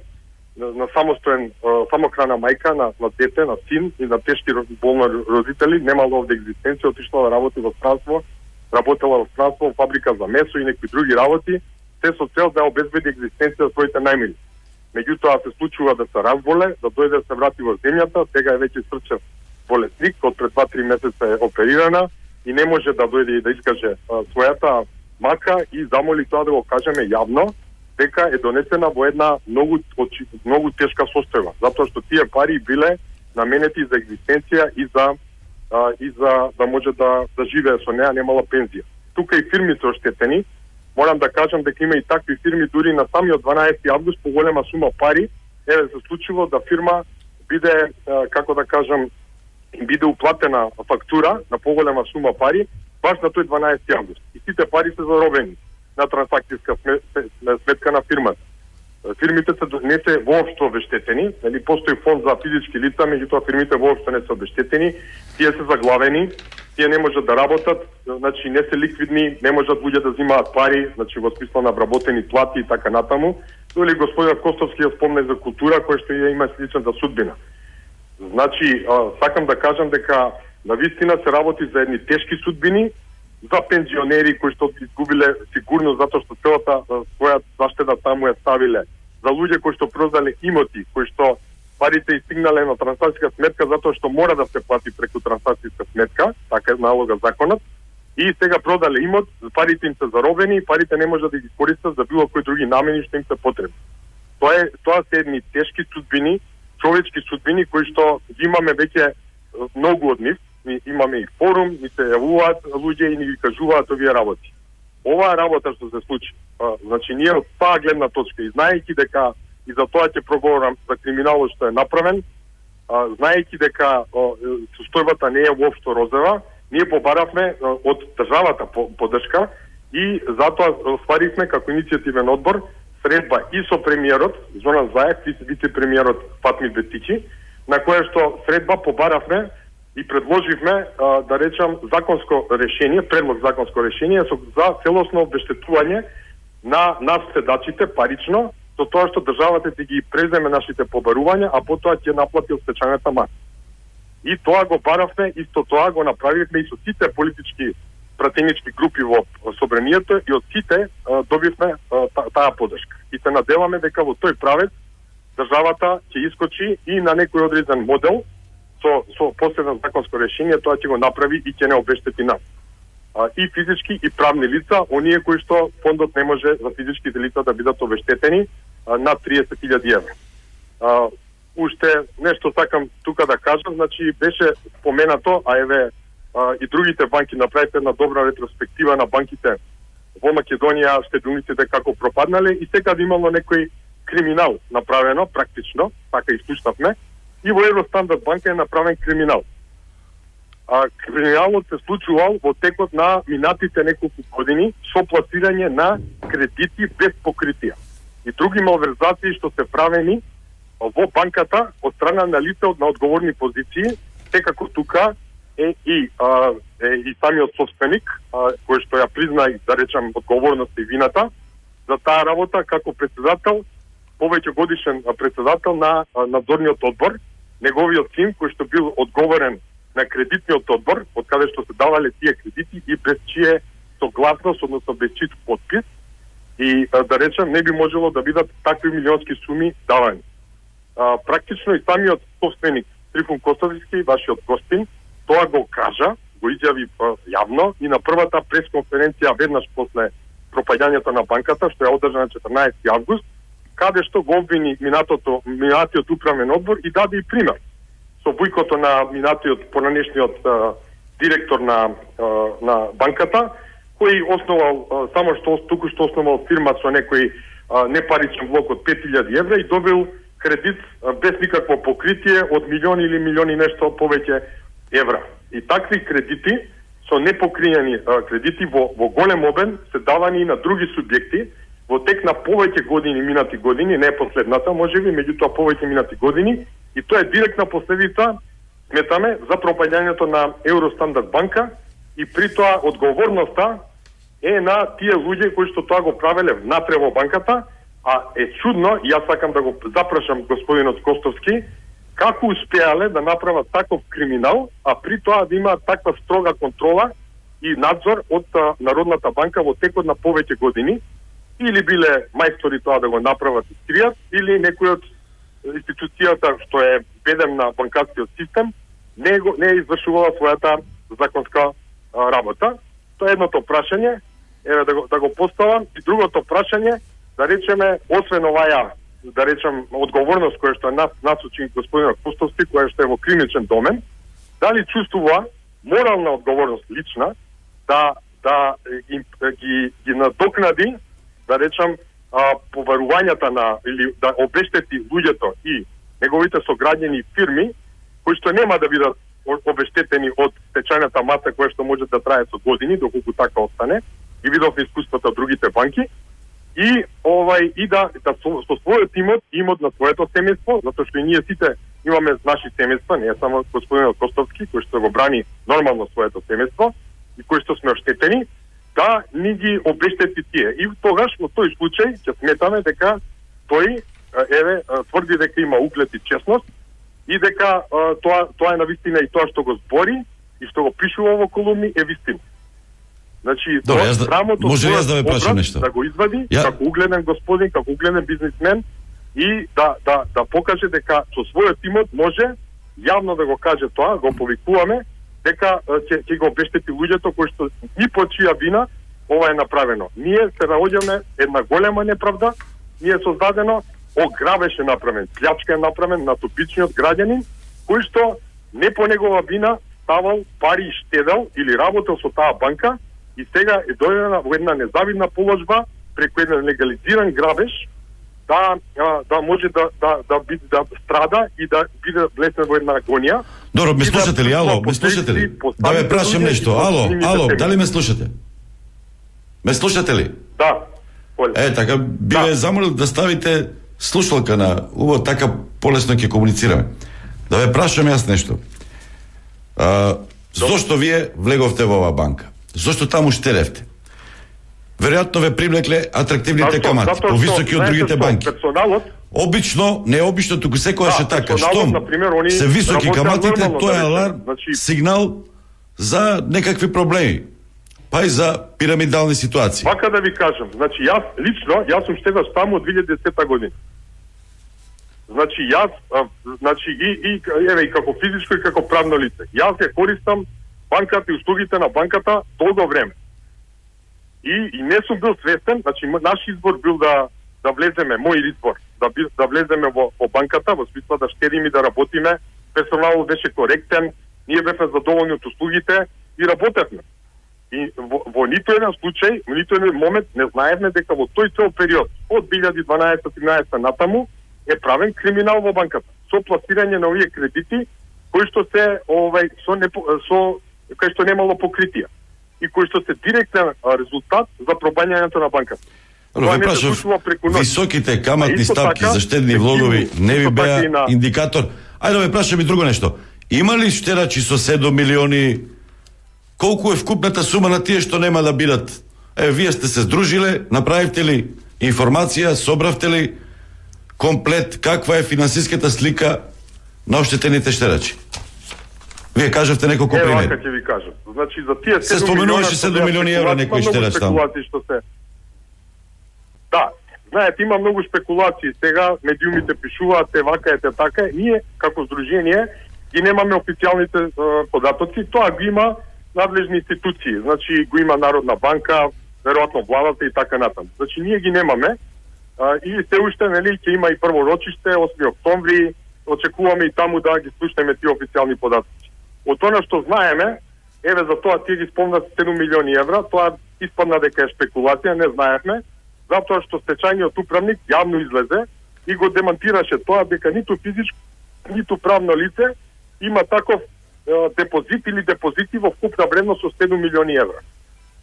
на, на самостоен, самохрана мајка, на, на дете, на син и на тешки болни родители, немала овде екзистенција, отишла да работи во странство, работела во странство, во фабрика за месо и некои други работи, се со цел да обезбеди екзистенција за своите најмили. Меѓутоа се случува да се разболе, да дојде да се врати во земјата, сега е веќе срчев болесник, од пред два-три месеца е оперирана и не може да дојде и да искаже а, својата мака и замоли тоа да го кажеме јавно, дека е донесена во една многу, многу тешка состојба, затоа што тие пари биле наменети за екзистенција и за а, и за да може да да живее со неа, немала пензија. Тука и фирми се оштетени. Морам да кажам дека има и такви фирми, дури на самиот дванаесети август по голема сума пари, еве се случило да фирма биде, како да кажам, биде уплатена фактура на поголема сума пари баш на тој дванаесети август. И сите пари се заробени на трансакцијска сметка на фирмата. Фирмите се не се воопшто обештетени, нели постои фонд за физички лица, меѓутоа фирмите воопшто не се обештетени, тие се заглавени, тие не можат да работат, значи не се ликвидни, не можат луѓе да взимаат пари, значи во смисла на вработени плати и така натаму. Доли господин Костовски ја спомне за култура која што ја има сличната судбина. Значи, а, сакам да кажам дека навистина се работи за едни тешки судбини, за пензионери кои што изгубиле сигурност затоа што целата своја заштеда таму ја ставиле, за луѓе кои што продале имоти, кои што парите истигнале на трансакцијска сметка затоа што мора да се плати преку трансакцијска сметка, така е налога законот, и сега продале имот, парите им се заробени и парите не можат да ги користат за било кои други намени што им се потребни. Тоа е тоа се едни тешки судбини, човечки судбини кои што ги имаме веќе многу од нив. Ми имаме и форум, ни се јавуваат луѓе и ни ги кажуваат овие работи. Оваа работа што се случи, а, значи ние од таа гледна точка и знаејќи дека и за тоа ќе проговорам за криминалот што е направен, а, знаејќи дека состојбата не е воопшто розова, ние побаравме а, од државата поддршка и затоа стваривме како иницијативен одбор средба и со премиерот Зоран Заев и вице-премиерот Фатми Бетичи, на која што средба побаравме и предложивме, а, да речам, законско решение, предлог законско решение со, за целосно обештетување на нас седачите парично, со тоа што државата ќе ги преземе нашите побарувања, а потоа ќе наплати од стечајната маса. И тоа го баравме, исто тоа го направивме и со сите политички пратенички групи во собранието и од сите а, добивме а, та, таа поддршка. И се надеваме дека во тој правец државата ќе искочи и на некој одреден модел со, со последно законско решение, тоа ќе го направи и ќе не обештети нас. А, и физички и правни лица, оние кои што фондот не може за физичките лица да бидат обештетени а, над триесет илјади евра. А, уште нешто сакам тука да кажам, значи беше споменато, а еве а, и другите банки направите една добра ретроспектива на банките во Македонија, штедилниците како пропаднале и секаде имало некој криминал направено, практично, така искуштавме, и во Евростандард банка е направен криминал. А криминалот се случувал во текот на минатите неколку години со пласирање на кредити без покритија и други малверзации што се правени во банката од страна на лица на одговорни позиции, секако тука е и, а, е и самиот собственик, а, кој што ја призна и да речам одговорноста и вината за таа работа како председател, повеќе годишен председател на а, надзорниот одбор, неговиот син кој што бил одговорен на кредитниот одбор, од каде што се давале тие кредити и без чие согласност, односно без чиј подпис, и а, да речем не би можело да бидат такви милионски суми давани. А, практично и самиот собственик Трифун Костовски, вашиот гостин, тоа го кажа, го изјави а, јавно и на првата пресконференција веднаш после пропаѓањето на банката, што ја одржа на четрнаесети август, каде што го обвини минатото, минатиот управен одбор и даде и пример со бујкото на минатиот понанешниот а, директор на, а, на банката, кој основал, а, само што туку што основал фирма со некој а, непаричен влог од пет илјади евра и добил кредит а, без никакво покритие од милиони или милиони нешто повеќе евра. И такви кредити со непокриени а, кредити во, во голем обем се давани и на други субјекти во тек на повеќе години, минати години, не последната, можеби, меѓутоа повеќе минати години, и тоа е директна последица, сметаме, за пропаѓањето на Евростандард банка и при тоа одговорноста е на тие луѓе кои што тоа го правеле внатре во банката, а е чудно, и јас сакам да го запрашам господинот Костовски, како успеале да направат таков криминал, а при тоа да има таква строга контрола и надзор од а, Народната банка во текот на повеќе години, или биле мајстори тоа да го направат и скријат, или некој од институцијата што е бедем на банкарскиот систем не, го, не е извршувала својата законска а, работа. Тоа е едното прашање, еве да го, да го поставам, и другото прашање, да речеме, освен оваја, да речем, одговорност која што е нас, насочи господинот Костовски, која што е во клиничен домен, дали чувствува морална одговорност лична да, да ги, ги, ги надокнади, да речем, а, поварувањата на, или да обештети луѓето и неговите сограѓани фирми, кои што нема да бидат обештетени од течајната маса која што може да трае со години, доколку така остане, и видовме искуството од другите банки, и овај и да, да со, со својот имот, имот на своето семејство, затоа што и ние сите имаме наши семејства, не е само господинот Костовски, кој што го брани нормално своето семејство и кој што сме оштетени, да ни ги обештети тие. И тогаш во тој случај ќе сметаме дека тој еве тврди дека има углед и честност и дека а, тоа тоа е навистина и тоа што го збори и што го пишува во колумни е вистина. Значи, Добре, јас да, може јас да ве прашам нешто. Да го извади ја... како угледен господин, како угледен бизнисмен и да да да покаже дека со својот имот може јавно да го каже тоа, го повикуваме дека ќе ќе го обештети луѓето кои што ни по чија вина ова е направено. Ние се наоѓаме една голема неправда, ние создадено ограбеш е направен, плячка е направен на типичниот граѓанин кој што не по негова вина ставал пари и штедел или работел со таа банка и сега е дојдена во една незавидна положба преку еден легализиран грабеж да да може да да да биде да страда и да биде влезен во една агонија. Добро, ме слушате ли? Ало, ме слушате ли? Да ве прашам нешто. Ало, ало, дали ме слушате? Ме слушате ли? Да. Е, така би ве замолил да ставите слушалка на уво, така полесно ќе комуницираме. Да ве прашам јас нешто. А, зошто вие влеговте во оваа банка? Зошто таму штедевте? Веројатно ве привлекле атрактивните камати, повисоки од другите банки. обично, не обично, туку секогаш е така. Штом се високи каматите, тоа е аларм, сигнал за некакви проблеми. Па и за пирамидални ситуации. Вака да ви кажам, значи јас лично, јас сум штедаш таму од две илјади и десета година. Значи јас, а, значи и, и, еве, и како физичко и како правно лице. Јас ја користам банката и услугите на банката долго време. И, и не сум бил свестен, значи наш избор бил да да влеземе, мој избор, да, да влеземе во, во банката, во смисла да штедиме и да работиме, персоналот беше коректен, ние бевме задоволни од услугите и работевме. И во, во нито еден случај, во нито еден момент не знаевме дека во тој цел период, од две илјади и дванаесета тринаесета натаму, е правен криминал во банката. Со пласирање на овие кредити, кои што се, овај, со, не, со кои што немало покритија. И кои што се директен резултат за пробањањето на банката. Но ве прашав, високите каматни ставки така, за штедни влогови не ви беа така на... индикатор? Ајде ве прашам и друго нешто. Има ли штедачи со седум милиони? Колку е вкупната сума на тие што нема да бидат? Е, вие сте се здружиле, направивте ли информација, собравте ли комплет каква е финансиската слика на оштетените штедачи? Вие кажавте неколку примери. Е, вака ќе ви кажам. Значи за тие се споменуваше седум милиони евра некој штедач таму. Се... Да, знаете, има многу спекулации. Сега медиумите пишуваат, те вака е, те така е. Ние, како здружение, ги немаме официјалните е, податоци. Тоа го има надлежни институции. Значи, го има Народна банка, веројатно владата и така натаму. Значи, ние ги немаме. А, и се уште, нели, ќе има и прво рочиште, осми октомври, очекуваме и таму да ги слушнеме тие официјални податоци. Од тоа што знаеме, еве за тоа тие ги спомнат седум милиони евра, тоа испадна дека е спекулација, не знаевме, затоа што стечајниот управник јавно излезе и го демантираше тоа дека ниту физичко, ниту правно лице има таков е, депозит или депозити во вкупна вредност од седум милиони евра.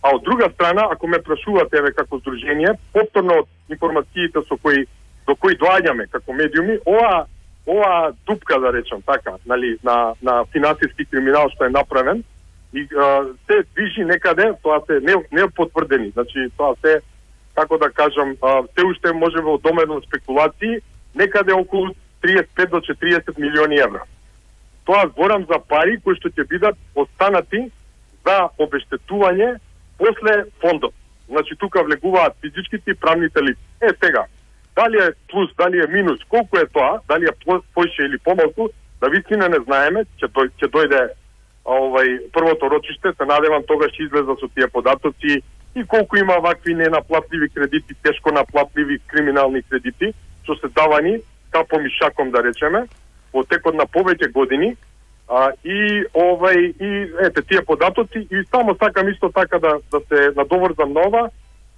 А од друга страна, ако ме прашувате еве како здружение, повторно од информациите со кои до кои доаѓаме како медиуми, ова ова дупка, да речам така, нали, на на финансиски криминал што е направен и а, се движи некаде, тоа се не не потврдени. Значи тоа се, како да кажам, а, се уште може во домено спекулации, некаде околу триесет и пет до четириесет милиони евра. Тоа зборам за пари кои што ќе бидат останати за обештетување после фондот. Значи тука влегуваат физичките и правните лица. Е сега, дали е плюс, дали е минус, колку е тоа, дали е поише или помалку, да вистина не знаеме, ќе дој, ќе дојде овај првото рочиште, се надевам тогаш ќе излеза со тие податоци и колку има вакви ненаплатливи кредити, тешко наплатливи криминални кредити, што се давани капом и шаком, да речеме, во текот на повеќе години, а, и овај и ете тие податоци и само сакам исто така да да се надоврзам на ова.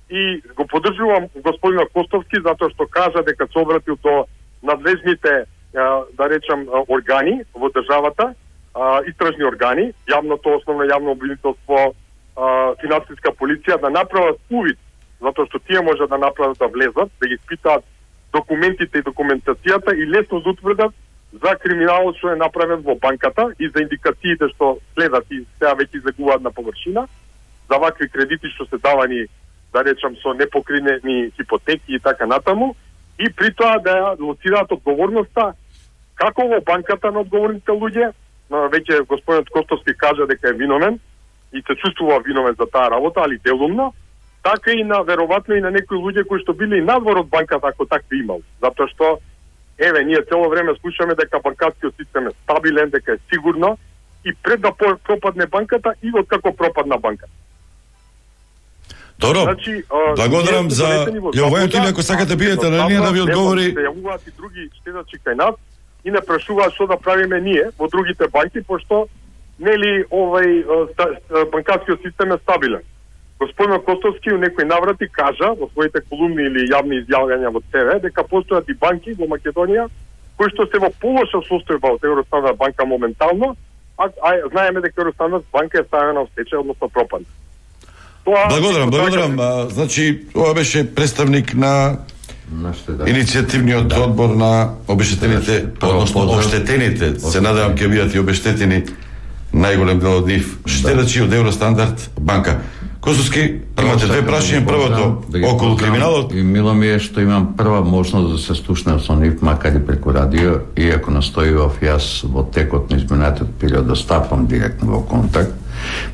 И го поддржувам господинот Костовски затоа што кажа дека се обратил до надлежните, да речам, органи во државата, истражни органи, јавното, основно јавно обвинителство, финансиска полиција, да направат увид, затоа што тие може да направат да влезат, да ги испитаат документите и документацијата и лесно да утврдат за криминалот што е направен во банката и за индикациите што следат и сега веќе излегуваат на површина, за вакви кредити што се давани, да речам, со непокринени хипотеки и така натаму, и при тоа да ја лоцираат одговорноста како во банката на одговорните луѓе, веќе господинот Костовски кажа дека е виновен и се чувствува виновен за таа работа, али делумно, така и на веројатно и на некои луѓе кои што биле и надвор од банката ако такви имал. Затоа што еве ние цело време слушаме дека банкарскиот систем е стабилен, дека е сигурно и пред да пропадне банката и откако пропадна банката. Добро, значи, благодарам за јавувањето или ако сакате биете на линија да ви одговори. Се јавуваат и други штедачи кај нас и не прашуваат што да правиме ние во другите банки, пошто нели овај банкарскиот систем е стабилен. Господин Костовски у некои наврати кажа во своите колумни или јавни изјавувања во ТВ дека постојат и банки во Македонија кои што се во полоша состојба од Евростандард банка моментално, а, а знаеме дека Евростандард банка е ставена во стечај, односно пропадна. Тоа, благодарам, благодарам. А, значи, ова беше представник на да. иницијативниот да. одбор на обештетените, односно оштетените, се надевам ќе бидат и обештетени најголем дел од нив, штедачи од Евростандард банка. Косовски, имате две прашања, првото да околу криминалот. И мило ми е што имам прва можност да се слушнам со нив, макар и преку радио, иако настојував јас во текот на изминатиот период да стапам директно во контакт,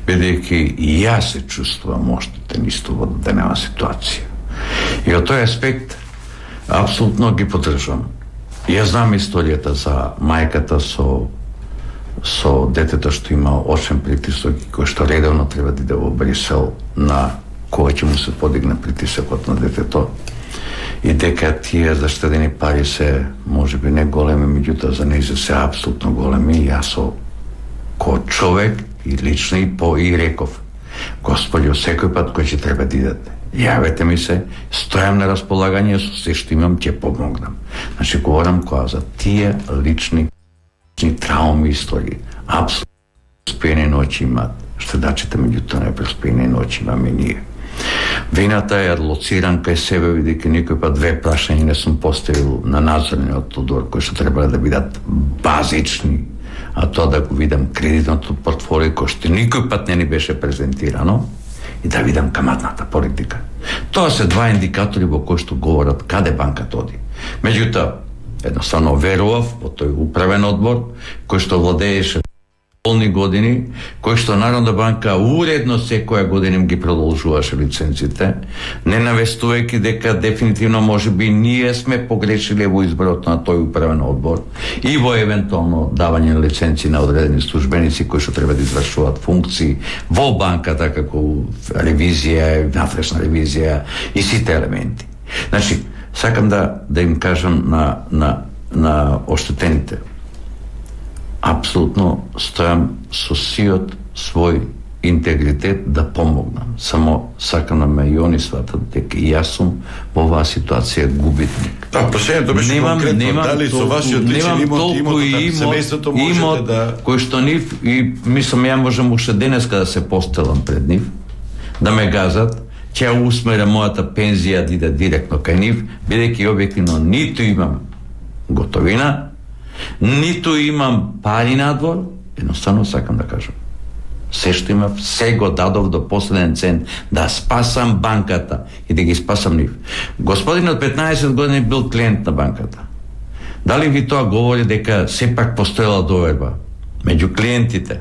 бидејќи и јас се чувствувам оштетен исто во денева ситуација. И од тој аспект апсолутно ги поддржувам. Јас знам историјата за мајката со со детето што има очен притисок и кој што редовно треба да иде во Брисел на кога ќе му се подигне притисокот на детето и дека тие заштедени пари се можеби не големи, меѓутоа за нејзе се апсолутно големи. Јас со ко човек и лично и по и реков: Господи, секој пат кој ќе треба да идете, јавете ми се, стојам на располагање, со се што имам ќе помогнам. Значи, говорам која за тие лични трауми истории. Апсолутно преспиени ноќи имаат штедачите, меѓутоа не преспиени ноќи имаме ние. Вината е лоциран кај себе, бидејќи никој пат две прашања не сум поставил на надзорниот одбор, кои што требале да бидат базични, а тоа да го видам кредитното портфолио кој што никој пат не ни беше презентирано и да видам каматната политика. Тоа се два индикатори во кои што говорат каде банката оди. Меѓутоа, едноставно верував во тој управен одбор кој што владееше полни години, кој што Народна банка уредно секоја година им ги продолжуваше лиценците, не навестувајќи дека дефинитивно можеби ние сме погрешиле во изборот на тој управен одбор и во евентуално давање на лиценци на одредени службеници кои што треба да извршуваат функции во банката, како ревизија, внатрешна ревизија и сите елементи. Значи, сакам да да им кажам на на на оштетените. Апсолутно стојам со сиот свој интегритет да помогнам. Само сакам да ме и они сватат дека и јас сум во оваа ситуација губитник. Да, прашањето беше немам, конкретно, немам дали со толку, вашиот личен имот, имот на семејството можете имот, да... кој што нив, и мислам ја можам уште денеска да се постелам пред нив, да ме газат, ќе ја усмера мојата пензија да иде директно кај нив, бидејќи објективно ниту имам готовина, ниту имам пари надвор, едноставно сакам да кажам. Се што имав, се го дадов до последен цент да спасам банката и да ги спасам нив. Господинот петнаесет години бил клиент на банката. Дали ви тоа говори дека сепак постоела доверба меѓу клиентите?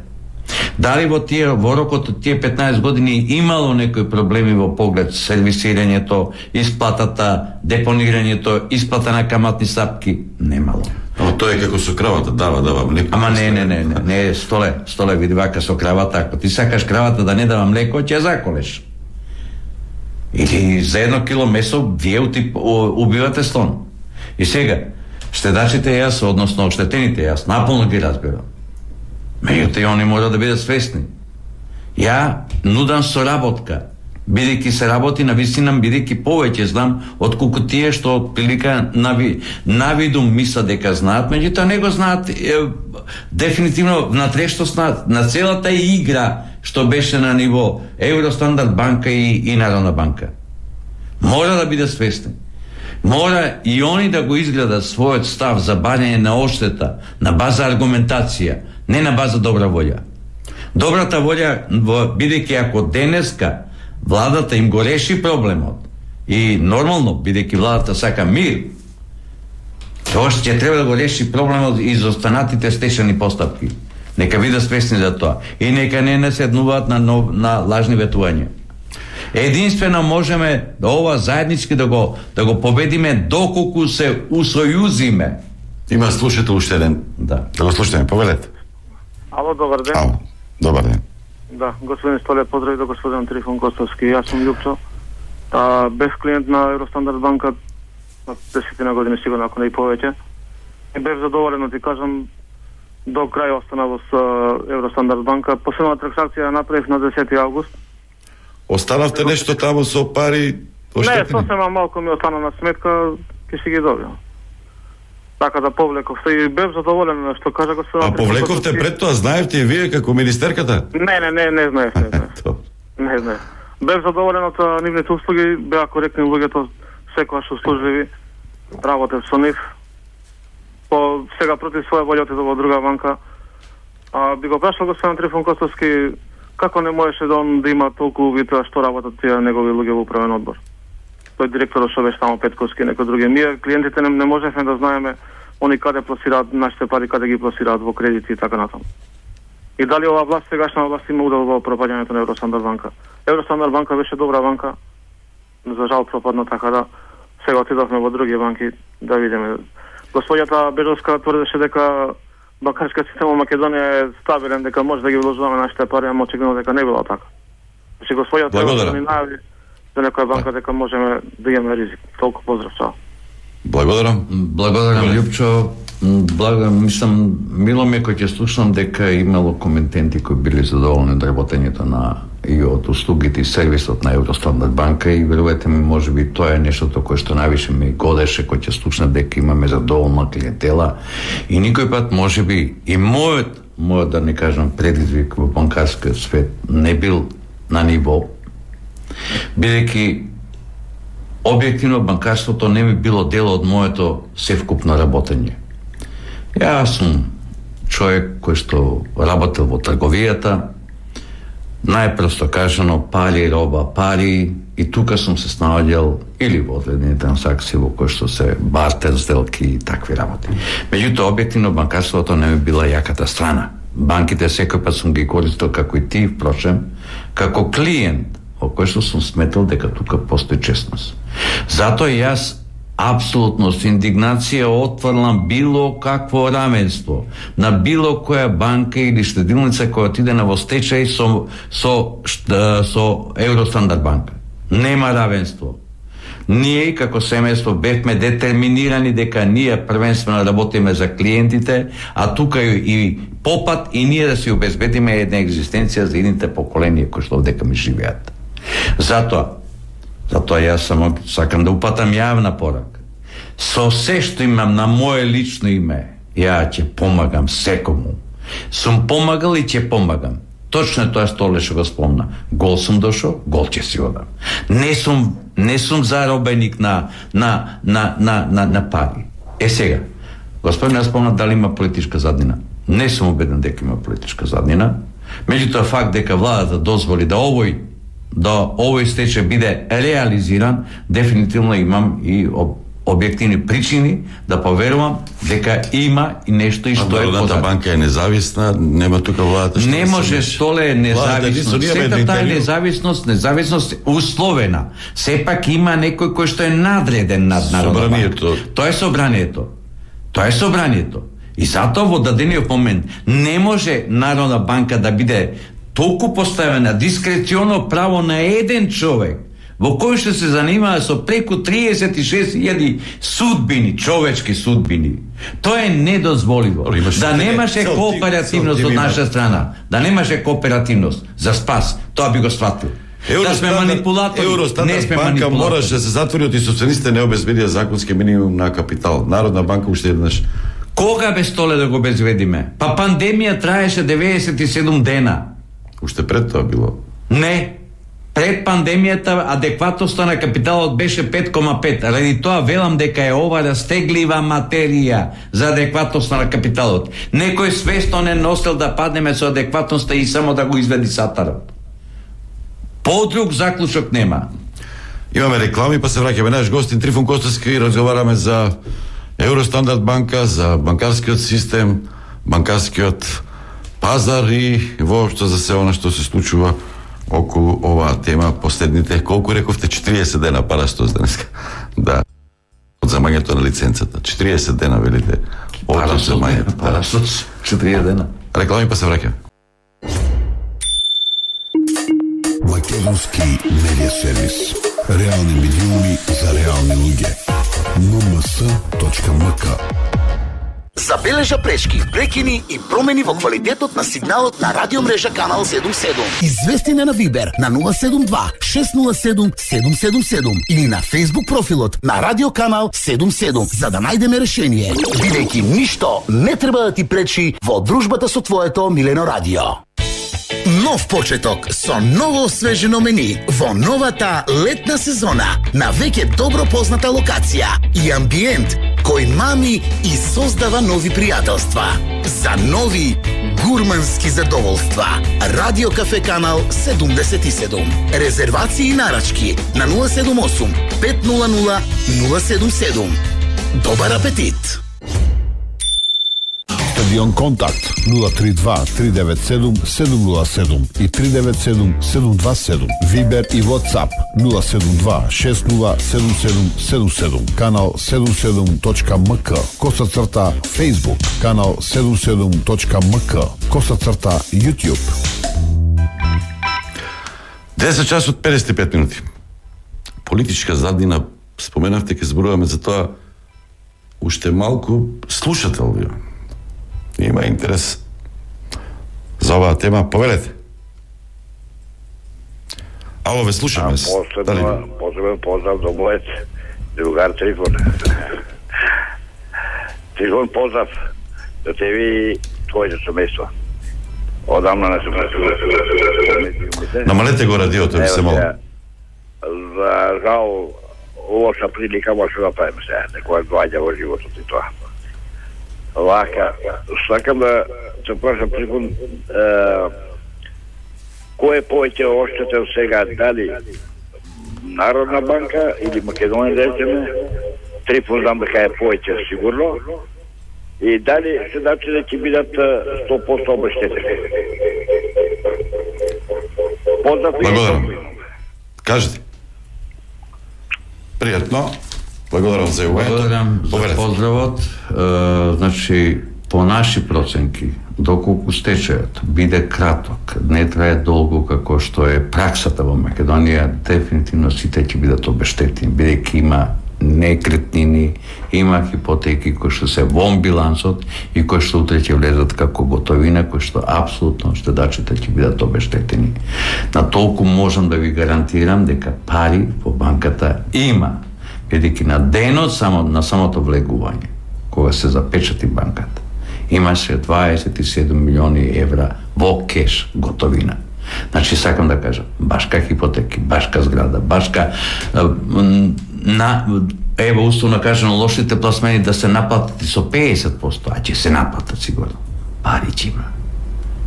Дали во тие во рокот од тие петнаесет години имало некои проблеми во поглед сервисирањето, исплатата, депонирањето, исплата на каматни стапки? Немало. Ама тоа е како со кравата, дава, дава млеко. Ама не, не, не, не, не, столе, столе, види вака со кравата, ако ти сакаш кравата да не дава млеко, ќе заколеш. Или за едно кило месо вие убивате слон. И сега, штедачите јас, односно оштетените јас, наполно ги разбирам. Меѓутоа, они мора да бидат свесни. Ја нудам соработка, бидејќи се работи на вистина, бидејќи повеќе знам отколку тие што прилика нави, навидум мисла дека знаат, меѓутоа не го знаат е, дефинитивно внатрешност на, на целата игра што беше на ниво Евростандард банка и, и Народна банка. Мора да бидат свесни. Мора и они да го изгледат својот став за барање на оштета на база аргументација, не на база добра волја. Добрата волја, бидејќи ако денеска владата им го реши проблемот и нормално, бидејќи владата сака мир, тоа ќе треба да го реши проблемот и за останатите стечени постапки. Нека бидат свесни за тоа и нека не наседнуваат на, нов, на лажни ветувања. Единствено можеме да ова заеднички да го да го победиме доколку се усојузиме. Има слушател уште еден. Да. Да го слушаме, повелете. Ало, добар ден. Ало, добар ден. Да, господин Столе, поздрави до господин Трифон Костовски. Јас сум Љупчо. А, бев клиент на Евростандард банка на десетина години сигурно, ако не и повеќе. И бев задоволен, ти кажам, до крај остана во Евростандард банка. Последна трансакција направив на десети август. Останавте нешто таму со пари? Не, сосема малку ми остана на сметка, ќе си ги добиам. Така да повлеков се и бев задоволен што кажа господин. А повлековте пред тоа, знаевте и вие како министерката? Не, не, не, не знаев, не знаев. Не знаев. Бев задоволен од нивните услуги, беа коректни луѓето, секоја што служливи, работев со нив. По сега против своја волја отидов во друга банка. А би го прашал господин Трифон Костовски, Како не можеше да он да има толку вида што работат тие негови луѓе во управен одбор? Тој директор што беше таму Петковски и некои други. Ние клиентите не, не можевме да знаеме они каде пласираат нашите пари, каде ги пласираат во кредити и така натаму. И дали ова власт, сегашна власт има удел во пропаѓањето на Евростандард банка? Евростандард банка беше добра банка, за жал пропадна, така да сега отидовме во други банки да видиме. Господјата Бежовска тврдеше дека банкарскиот систем во Македонија е стабилен, дека може да ги вложуваме нашите пари, ама очигледно дека не било така. Значи господјата ни најави за некоја банка дека можеме да имаме ризик. Толку поздрав, чао. Благодарам. Благодарам, Љупчо. Благодарам, мислам, мило ми кој ќе слушам дека имало коментенти кои били задоволни од работењето на и од услугите и сервисот на Евростандард банка и верувате ми, може би тоа е нештото кое што највише ми годеше кој ќе слушна дека имаме задоволна клиентела и никој пат може би и мојот, мојот да не кажам предизвик во банкарскиот свет не бил на ниво, бидејќи објективно банкарството не би било дел од моето севкупно работење. Јас сум човек кој што работел во трговијата, најпросто кажано пари, роба, пари, и тука сум се снаоѓал или во одредени трансакции во кои што се бартер сделки и такви работи. Меѓутоа, објективно банкарството не би била јаката страна. Банките секој пат сум ги користил како и ти, впрочем, како клиент, во кој што сум сметал дека тука постои честност. Затоа јас апсолутно со индигнација отврлам било какво равенство на било која банка или штедилница која отиде на во стечај со, со, со Евростандард банка. Нема равенство. Ние како семејство бевме детерминирани дека ние првенствено работиме за клиентите, а тука и попат и ние да си обезбедиме една екзистенција за едните поколенија кои што овдека ми живеат. Затоа Затоа јас само сакам да упатам јавна порака. Со се што имам на моје лично име, ја ќе помагам секому. Сум помагал и ќе помагам. Точно тоа што Олеша го спомна. Гол сум дошол, гол ќе си одам. Не сум не сум заробеник на на на на на, на пари. Е сега, господин ја спомна дали има политичка заднина. Не сум убеден дека има политичка заднина. Меѓутоа факт дека владата дозволи да овој да овој стечај биде реализиран, дефинитивно имам и об, објективни причини да поверувам дека има и нешто и што е позадина. Народната банка е независна, нема тука владата што не може, столе е независност. Сета таа независност, независност условена. Сепак има некој кој што е надреден над Народната банка. Тоа е собранието. Тоа е собранието. И затоа во дадениот момент не може Народна банка да биде толку поставена дискреционо право на еден човек во кој што се занимава со преку триесет и шест илјади судбини, човечки судбини. Тоа е недозволиво. Да немаше кооперативност од наша страна, да немаше кооперативност за спас, тоа би го сватил. Да сме манипулатори, не сме банка манипулатори. Мораше да се затвори од и собствениците не обезбедија законски минимум на капитал. Народна банка уште еднаш. Кога бе столе да го обезбедиме? Па пандемија траеше деветдесет и седум дена. Уште пред тоа било? Не. Пред пандемијата адекватноста на капиталот беше пет кома пет. Ради тоа велам дека е ова растеглива материја за адекватноста на капиталот. Некој свесно не носел да паднеме со адекватноста и само да го изведи сатарот. Подруг заклучок нема. Имаме реклами, па се враќаме наш гостин Трифун Костовски и разговараме за Евростандард банка, за банкарскиот систем, банкарскиот пазар и воопшто за се она што се случува околу оваа тема последните, колку рековте, четириесет дена парастос денеска. Да. Од замањето на лиценцата. четириесет дена, велите. Од замањето. Парастос, четириесет дена. Реклами, па се враќаме. Македонски медиа сервис. Реални медиуми за реални луѓе. ен ем ес точка ем ка. Забележа пречки, прекини и промени во квалитетот на сигналот на радиомрежа Канал седум седум. Извести на Вибер на нула седум два шест нула седум седум седум седум или на Facebook профилот на Радио Канал седум седум за да најдеме решение. Бидејќи ништо не треба да ти пречи во дружбата со твоето милено радио. Нов почеток со ново освежено мени во новата летна сезона на веќе добро позната локација и амбиент кој мами и создава нови пријателства. За нови гурмански задоволства. Радио Кафе канал седумдесет и седум. Резервации и нарачки на нула седум осум пет нула нула нула седум седум. Добар апетит! Стадион Контакт нула три два три девет седум седум нула седум и три девет седум седум два седум. Вибер и WhatsApp нула седум два шест нула седум седум седум седум. Канал седум седум точка ем ка. Коса црта Facebook. Канал седум седум точка ем ка. Коса црта YouTube. десет часот педесет и пет минути. Политичка заднина, споменавте, ке зборуваме за тоа уште малку слушател ви. Има интерес за оваа тема, повелете. Ало, ве слушаме. Последно, посебен поздрав до мојот другар Трифон. Трифон, поздрав до тебе и твоето семејство. Одамна не сум Намалете го радиото, ви се молам. За жал, лоша прилика може да правим сега, некоја доаѓа во животот и тоа. Вака, сакам да се прашам Трифон, кој е повеќе оштетен сега, дали Народна банка или Македонија, речеме? Трифон знам дека е повеќе сигурно. И дали се значи да ќе бидат сто проценти обештетени? Поздрав. Благодарам. Кажете. Пријатно. Благодарам за јавувањето. Благодарам за поздравот. Е, значи, по наши проценки, доколку стечајот биде краток, не трае долго како што е праксата во Македонија, дефинитивно сите ќе бидат обештетени, бидејќи има некретнини, има хипотеки кои што се во билансот и кои што утре ќе влезат како готовина, кои што апсолутно штедачите ќе бидат обештетени. На толку можам да ви гарантирам дека пари во банката има, бидејќи на денот само на самото влегување, кога се запечати банката, имаше дваесет и седум милиони евра во кеш готовина. Значи, сакам да кажам, башка хипотеки, башка зграда, башка на, ево, условно кажано, лошите пласмени да се наплатат и со педесет проценти, а ќе се наплатат сигурно. Пари ќе има.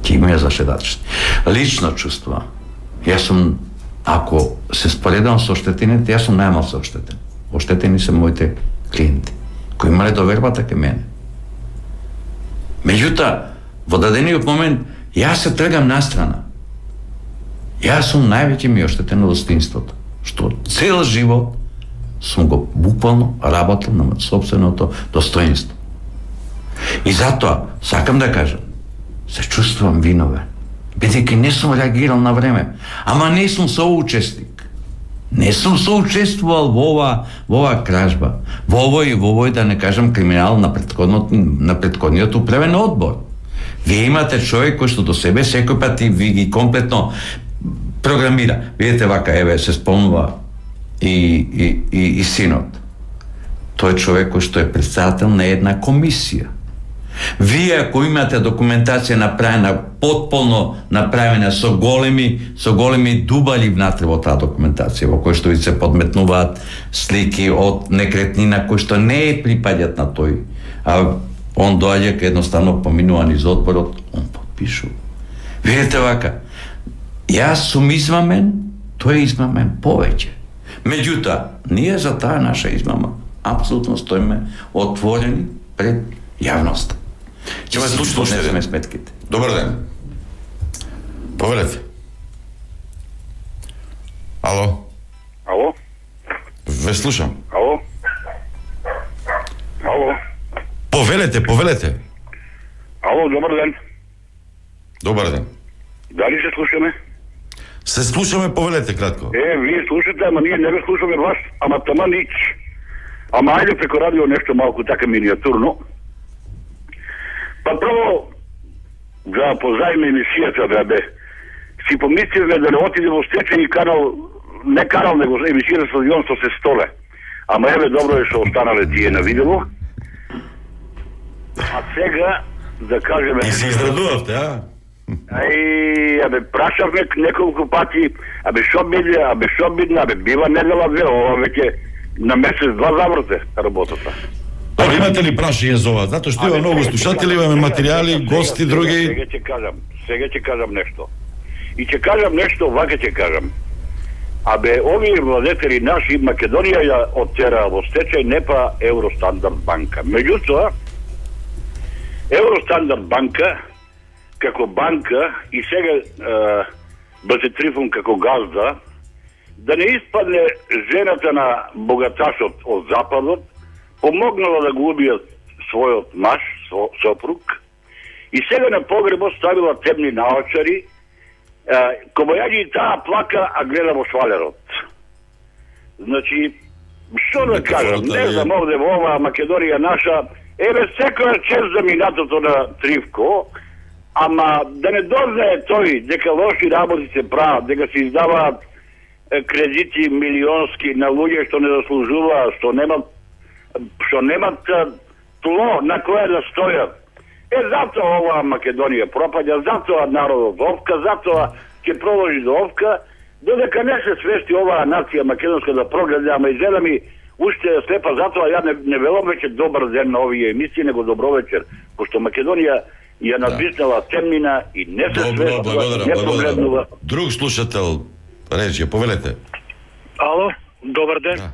Ќе има за шедачите. Лично чувствувам. Јас сум, ако се споредам со оштетените, јас сум најмал се оштетен. Оштетени се моите клиенти, кои имале довербата ке мене. Меѓутоа, во дадениот момент, јас се тргам настрана. Јас сум највеќе ми оштетено достинството, што цел живот сум го буквално работил на собственото достоинство. И затоа, сакам да кажам, се чувствувам виновен, бидејќи не сум реагирал на време, ама не сум соучесник. Не сум соучествувал во ова, во ова кражба, во овој, во овој, да не кажам, криминал на претходниот, на претходниот управен одбор. Вие имате човек кој што до себе секој пат и ви ги комплетно програмира. Видете вака, еве, се спомнува и, и, и, и синот. Тој човек кој што е председател на една комисија. Вие, ако имате документација направена, потполно направена со големи, со големи дубали внатре во таа документација, во кој што ви се подметнуваат слики од некретнина кои што не е припаѓат на тој, а он доаѓа ка едноставно поминува низ одборот, он подпишува. Видете вака, јас сум измамен, тој е измамен повеќе. Меѓутоа, ние за таа наша измама апсолутно стоиме отворени пред јавноста. Ќе ме слушате сметките. Добар ден. Повелете. Ало. Ало? Ве слушам. Ало? Ало? Повелете, повелете. Ало, добар ден. Добар ден. Дали се слушаме? Се слушаме, повелете кратко. Е, вие слушате, ама ние не ве слушаме вас, ама тама нич. Ама ајде преко радио нешто малку така миниатурно. Па прво, да поздравиме емисијата, бе, си помислиме да не отиде во стечени канал, не канал, него емисија стадион со се столе. Ама еве, добро е што останале тие на видео. А сега, да кажеме... И се израдувавте, а? Ај, абе, прашавме неколку пати, абе, шо биде, абе, шо биде, абе, бива недела две, ова веќе на месец два заврте работата. Добро, имате ли прашање за ова? Затоа што има многу слушатели, имаме материјали, гости, други. Сега ќе кажам, сега ќе кажам нешто. И ќе кажам нешто, вака ќе кажам. Абе, овие владетели наши, Македонија ја оттера во стечај, не па Евростандард банка. Меѓутоа, Евростандард банка, како банка, и сега е, Бате Трифун како газда, да не испадне жената на богаташот од Западот, помогнала да го убијат својот маж, сопруг, и сега на погребот ставила темни наочари, кобајаги и таа плака, а гледа во швалерот. Значи, што да кажам, не знам овде во ова Македонија наша, еве секоја чест за минатото на Тривко, ама да не дознае тој дека лоши работи се прават, дека се издаваат кредити милионски на луѓе што не заслужуваат, што немат што немат тло на кое да стојат. Е, затоа ова Македонија пропаѓа, затоа народот овка, затоа ќе продолжи до овка, додека не се свести оваа нација македонска да прогледа, ама изгледа ми уште слепа, затоа ја не, не велам веќе добар ден на овие емисии, него добро вечер, пошто Македонија ја надвиснала темнина и не се свестува, не прогледнува. Друг слушател, рече, повелете. Ало, добар ден. Да.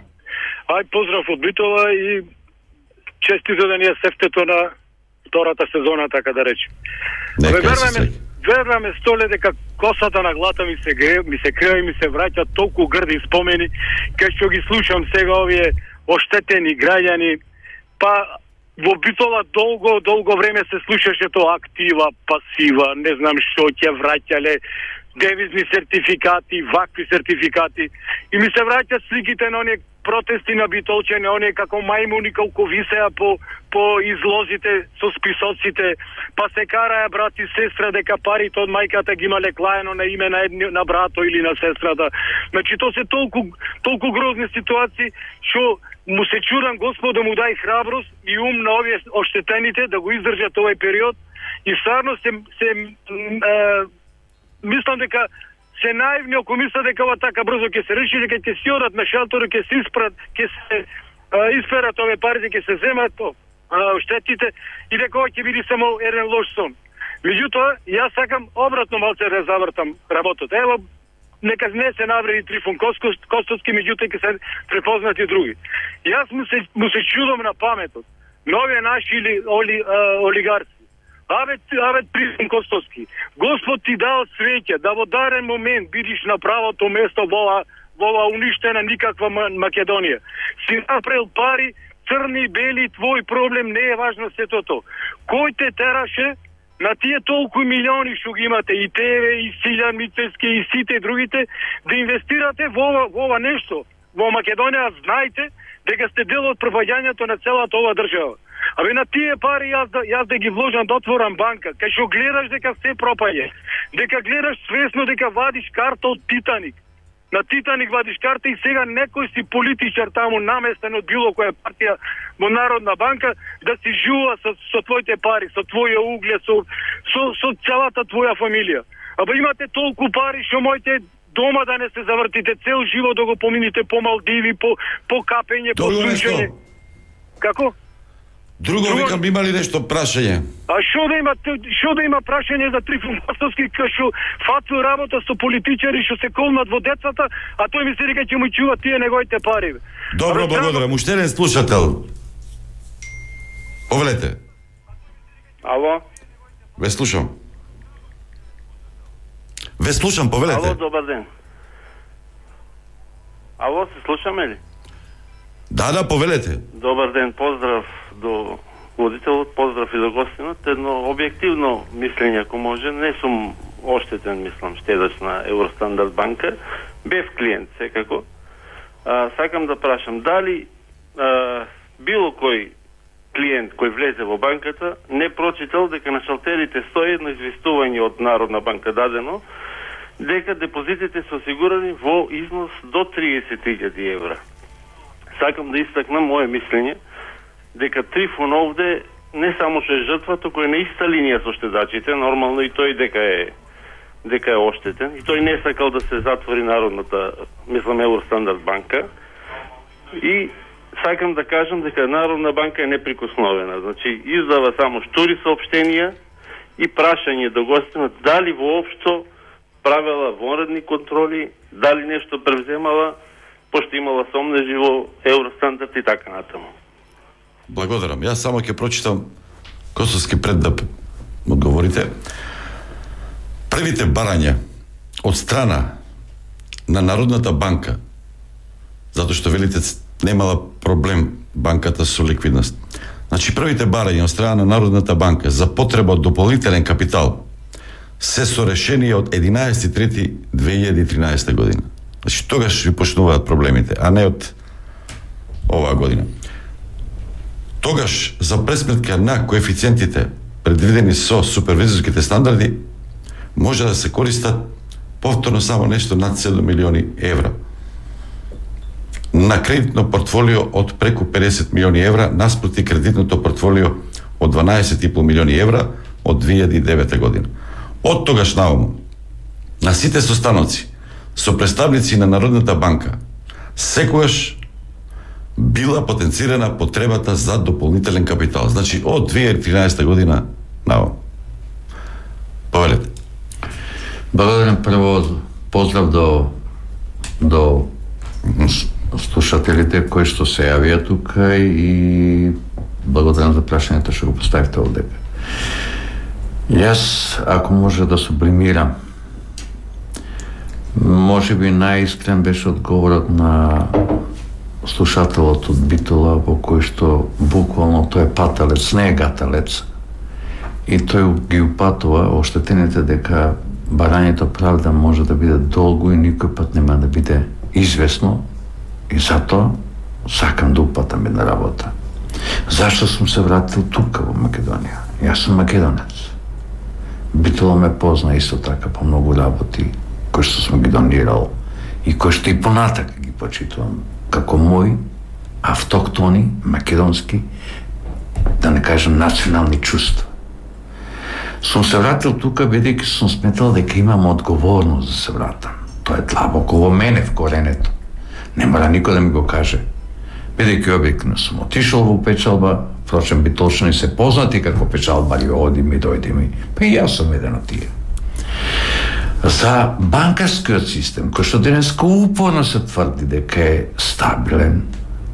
Ај, поздрав од Битола и честито да ни е сефтето на втората сезона, така да речем. Веруваме, веруваме столе дека косата на глата ми се гре, ми се крева и ми се враќа толку грди спомени, кај што ги слушам сега овие оштетени граѓани, па во Битола долго, долго време се слушаше тоа актива, пасива, не знам што ќе враќале, девизни сертификати, вакви сертификати, и ми се враќаат сликите на оние протести на битолчени, оние како мајмуни колку висеа по, по излозите со списоците, па се караа брат и сестра дека парите од мајката ги имале клаено на име на, едни, на брато или на сестрата. Значи, то се толку, толку грозни ситуации, што му се чудам Господ да му дај храброст и ум на овие оштетените да го издржат овој период, и стварно се, се е, мислам дека се наивни ако мислат дека ова така брзо ќе се реши, дека ќе си одат на шелтор, ќе се испрат, ќе се а, исперат овие парите, ќе се земат штетите и дека ова ќе биде само еден лош сон. Меѓутоа, јас сакам обратно малце да завртам работата. Ево, нека не се навреди Трифун Костоски, меѓутоа ќе се препознати други. Јас му се, му се чудам на паметот на овие наши оли, оли, а, олигарци. Абе, абе, Трифун Костоски, Господ ти дал среќа да во дарен момент бидиш на правото место во ова, во ова уништена никаква Македонија. Си направил пари, црни, бели, твој проблем, не е важно сето тоа. Кој те тераше на тие толку милиони што ги имате, и тебе, и Силјан Мицевски, и сите другите, да инвестирате во ова, во ова нешто? Во Македонија знаете дека сте дел од пропаѓањето на целата ова држава. Абе, на тие пари јас да, јас да ги вложам да отворам банка, кај што гледаш дека се пропаѓа, дека гледаш свесно дека вадиш карта од Титаник. На Титаник вадиш карта и сега некој си политичар таму наместен од било која партија во Народна банка да си жува со, со твоите пари, со твоја углед, со, со, со целата твоја фамилија. Абе, имате толку пари што моите дома да не се завртите, цел живот да го помините по Малдиви, по, по капење, по сушење. Како? Друго, Друго викам, има ли нешто прашање? А што да има, што да има прашање за Трифун Костоски, кај што фату работа со политичари што се колнат во децата, а тој ми се дека ќе му чува тие неговите пари. Добро, а, благодарам. Уште еден слушател. Повелете. Ало? Ве слушам. Ве слушам, повелете. Ало, добар ден. Ало, се слушаме ли? Да, да, повелете. Добар ден, поздрав до водителот, поздрав и до гостинот. Едно објективно мислење, ако може, не сум оштетен, мислам, штедач на Евростандард банка, бев клиент, секако. А, сакам да прашам, дали а, било кој клиент кој влезе во банката не прочитал дека на шалтерите стои едно известување од Народна банка дадено, дека депозитите се осигурани во износ до триесет илјади евра. Сакам да истакнам моје мислење дека Трифун овде не само што е жртва, току е на иста линија со штедачите, нормално и тој дека е дека е оштетен, и тој не сакал да се затвори Народната, мислам, Евростандард банка, и сакам да кажам дека Народна банка е неприкосновена. Значи, издава само штури сообщенија и прашање до гостинот дали воопшто правела вонредни контроли, дали нешто превземала, пошто имала сомнежи во Евростандард и така натаму. Благодарам. Јас само ќе прочитам косовски пред да одговорите. Првите барања од страна на Народната банка, затоа што велите немала проблем банката со ликвидност. Значи, првите барања од страна на Народната банка за потреба од дополнителен капитал се со решение од единаесети трети две илјади и тринаесета година. Значи, тогаш ви почнуваат проблемите, а не од оваа година. Тогаш, за пресметка на коефициентите предвидени со супервизорските стандарди, може да се користат повторно само нешто над седум милиони евра. На кредитно портфолио од преку педесет милиони евра, наспроти кредитното портфолио од дванаесет и пол милиони евра од две илјади и девета година. Од тогаш наомо, на сите состаноци со представници на Народната банка, секогаш била потенцирана потребата за дополнителен капитал. Значи, од две илјади и тринаесета година наомо. Повелете. Благодарам. Прво поздрав до до слушателите кои што се јавија тука и благодарам за прашањето што го поставивте овде. Јас, ако може да сублимирам, може би најискрен беше одговорот на слушателот од Битола, во кој што буквално тој е паталец, не е гаталец, и тој ги упатува оштетените дека барањето правда може да биде долго и никој пат нема да биде известно, и затоа сакам да упатам една работа. Зашто сум се вратил тука во Македонија? Јас сум македонец. Битола ме позна исто така по многу работи кои што сум ги донирал и кои што и понатака ги почитувам како мои автоктони, македонски, да не кажам национални чувства. Сум се вратил тука бидејќи сум сметал дека имам одговорност да се вратам. Тоа е длабоко во мене, в коренето. Не мора никој да ми го каже. Бидејќи објективно сум отишол во печалба, впрочем битолчани се познати како печалбари, одим и дојдем и па и јас сум еден од тие. За банкарскиот систем, кој што денеска упорно се тврди дека е стабилен,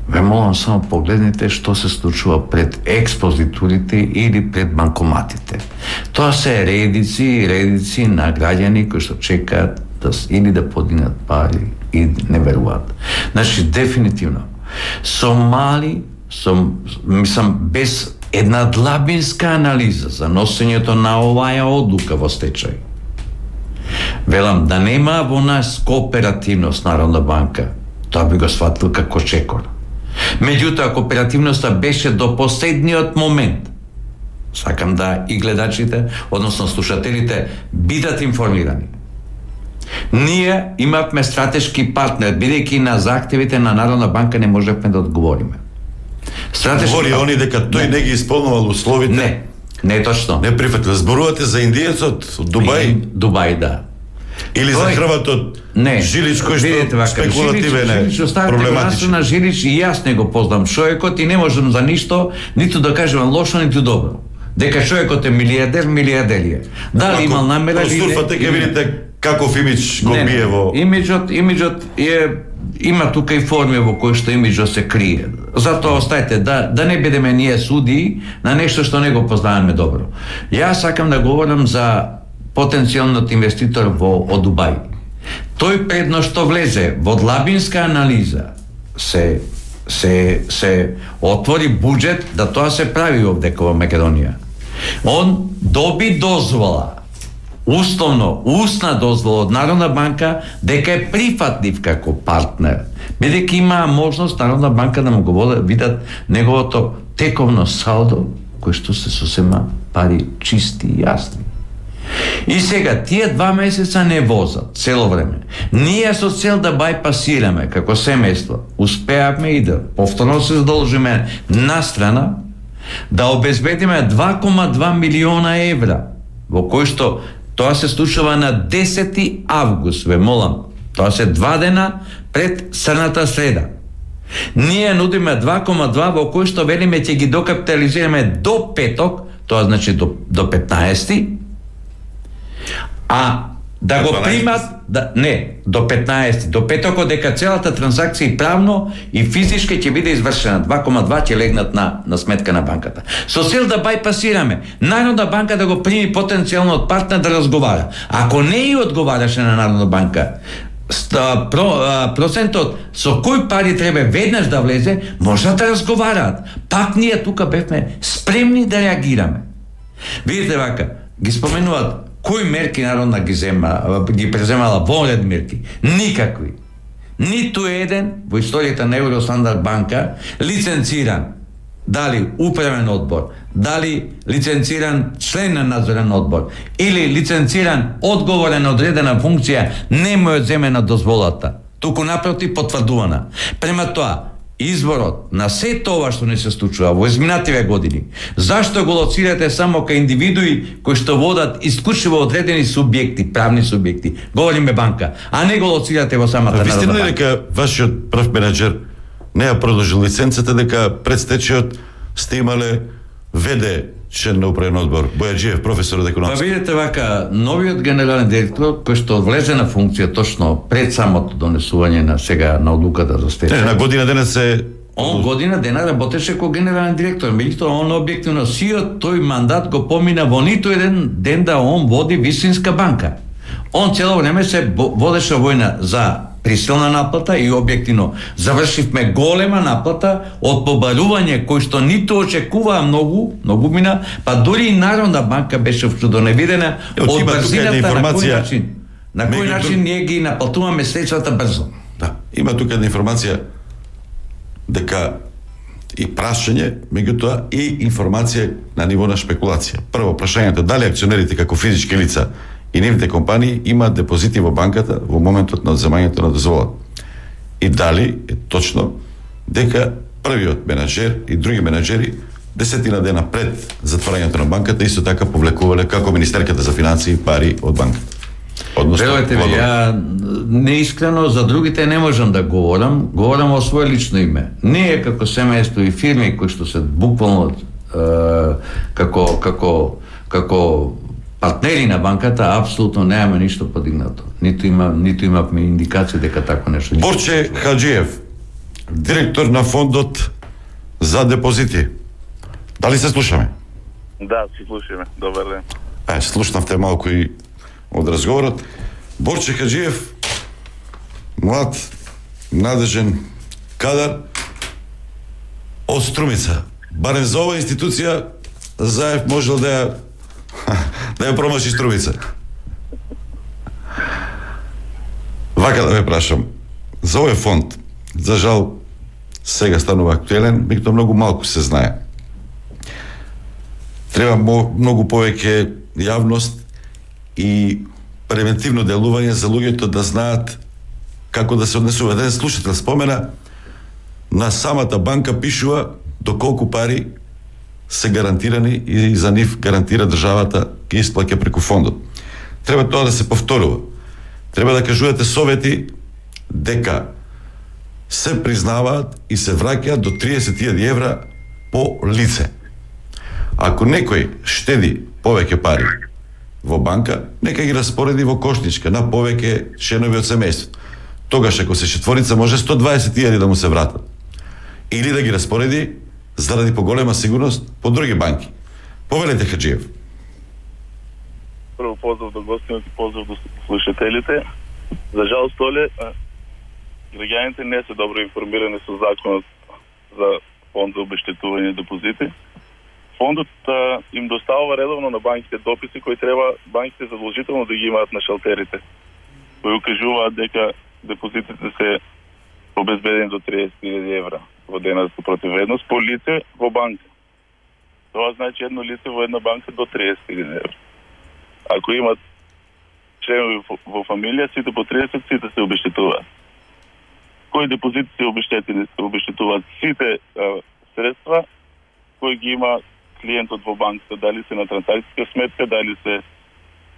ве молам само погледнете што се случува пред експозитурите или пред банкоматите. Тоа се редици и редици на граѓани кои што чекаат да или да подигнат пари и не веруваат. Значи, дефинитивно, со мали, со, мислам, без една длабинска анализа за носењето на оваа одлука во стечај, велам да нема во нас кооперативност Народна банка, тоа би го сватил како чекор. Меѓутоа, кооперативноста беше до последниот момент. Сакам да и гледачите, односно слушателите, бидат информирани. Ние имавме стратешки партнер, бидејќи на захтевите на Народна банка не можевме да одговориме. Стратешки Говори партнер... они дека тој не, не ги исполнувал условите. Не, не е точно. Не прифатил. Зборувате за индиецот од Дубај? Дубај, да. Или тој... за хрватот не, Жилич, кој што вака, спекулативен е, проблематичен. На Жилич и јас не го познам човекот и не можам за ништо, ниту да кажам лошо, ниту добро. Дека човекот е милиардер, милиардер е. Дали имал намера или не? Простурфате ке видите каков имидж го не, бие во... Имиджот, имиджот е, има тука и форми во кои што имиджот се крие. Затоа остајте, да, да не бидеме ние судии на нешто што не го познаваме добро. Јас сакам да говорам за потенцијалниот инвеститор во од Дубај. Тој предно што влезе во длабинска анализа се се се отвори буџет да тоа се прави овде во Македонија. Он доби дозвола, условно, устна дозвола од Народна банка дека е прифатлив како партнер, бидејќи има можност Народна банка да му го видат неговото тековно салдо, кој што се сосема пари чисти и јасни. И сега, тие два месеца не возат цело време. Ние со цел да бајпасираме како семејство, успеавме и да повторно се задолжиме на страна да обезбедиме два кома два милиона евра, во кој што тоа се случува на десети август, ве молам. Тоа се два дена пред црната среда. Ние нудиме два кома два во кој што велиме ќе ги докапитализираме до петок, тоа значи до, до петнаесети, а да го примат, да, не, до петнаесети, до петокот, дека целата транзакција и правно и физички ќе биде извршена. два кома два ќе легнат на, на сметка на банката. Со цел да бајпасираме, Народна банка да го прими потенцијалниот партнер да разговара. Ако не и одговараше на Народна банка, Ста, про, а, процентот со кој пари треба веднаш да влезе, може да разговараат. Пак ние тука бевме спремни да реагираме. Видите вака, ги споменуваат кои мерки Народна ги зема, ги преземала вонред мерки. Никакви. Ниту еден во историјата на Евростандард банка лиценциран, дали управен одбор, дали лиценциран член на надзорен одбор или лиценциран одговорен одредена функција не му е земена дозволата, туку напротив потврдувана. Према тоа, изборот на се тоа што не се случува во изминативе години, зашто го лоцирате само кај индивидуи кои што водат исклучиво одредени субјекти, правни субјекти, говориме банка, а не го лоцирате во самата Народна банка? Вистина ли дека вашиот прв менеджер не ја продолжил лиценцата, дека пред стечајот сте имале веде член на управен одбор, Бојаджиев, професор од економија? Па видите вака, новиот генерален директор, кој што влезе на функција точно пред самото донесување на сега на одлуката за стечај. На година дена се... Он година дена работеше како генерален директор, меѓутоа он објективно сиот тој мандат го помина во ниту еден ден да он води вистинска банка. Он цело време се водеше војна за присилна наплата и објективно завршивме голема наплата од побарување кој што ниту очекуваа многу, многу мина, па дури и Народна банка беше чудоневидена од брзината на кој начин. На кој начин ние ги наплатуваме средствата брзо. Да, има тука една информација дека и прашање, меѓутоа и информација на ниво на шпекулација. Прво прашањето дали акционерите како физички лица и нивните компании имаат депозити во банката во моментот на одземањето на дозволата. И дали е точно дека првиот менеджер и други менеджери десетина дена пред затворањето на банката исто така повлекувале како Министерката за финансии пари од банката. Верувате ми, ја неискрено за другите не можам да говорам, говорам о свое лично име. Ние како семејство и фирми кои што се буквално е, како како како партнери на банката апсолутно немаме ништо подигнато. Ниту има ниту имавме индикација дека тако нешто. Борче Хаджиев, директор на фондот за депозити. Дали се слушаме? Да, се слушаме. Добар ден. Е, слушнавте малку и од разговорот. Борче Хаджиев, млад, надежен кадар од Струмица. Барем за оваа институција Заев можел да ја да ја промаши Струмица. Вака да ме прашам, за овој фонд, за жал, сега станува актуелен, меѓутоа многу малку се знае. Треба многу повеќе јавност и превентивно делување за луѓето да знаат како да се однесува. Еден слушател спомена, на самата банка пишува доколку пари се гарантирани и за нив гарантира државата ги исплаќа преку фондот. Треба тоа да се повторува. Треба да кажувате совети дека се признаваат и се враќаат до триесет илјади евра по лице. Ако некој штеди повеќе пари во банка, нека ги распореди во кошничка на повеќе членови од семејството. Тогаш ако се четворица може сто дваесет илјади да му се вратат. Или да ги распореди заради поголема сигурност по други банки. Повелете, Хаджиев. Прво поздрав до гостините, поздрав до слушателите. За жал, Столе, граѓаните не се добро информирани со законот за фонд за обештетување депозити. Фондот а, им доставува редовно на банките дописи кои треба банките задолжително да ги имаат на шалтерите, кои укажуваат дека депозитите се обезбедени до триесет илјади евра во денарска противвредност по лице во банка. Тоа значи едно лице во една банка до триесет илјади евра. Ако имат членови во фамилија, сите по триесет, сите се обештетуваат. Кои депозити се обештетени, се обештетуваат сите а, средства кои ги има клиентот во банката, дали се на трансакцијска сметка, дали се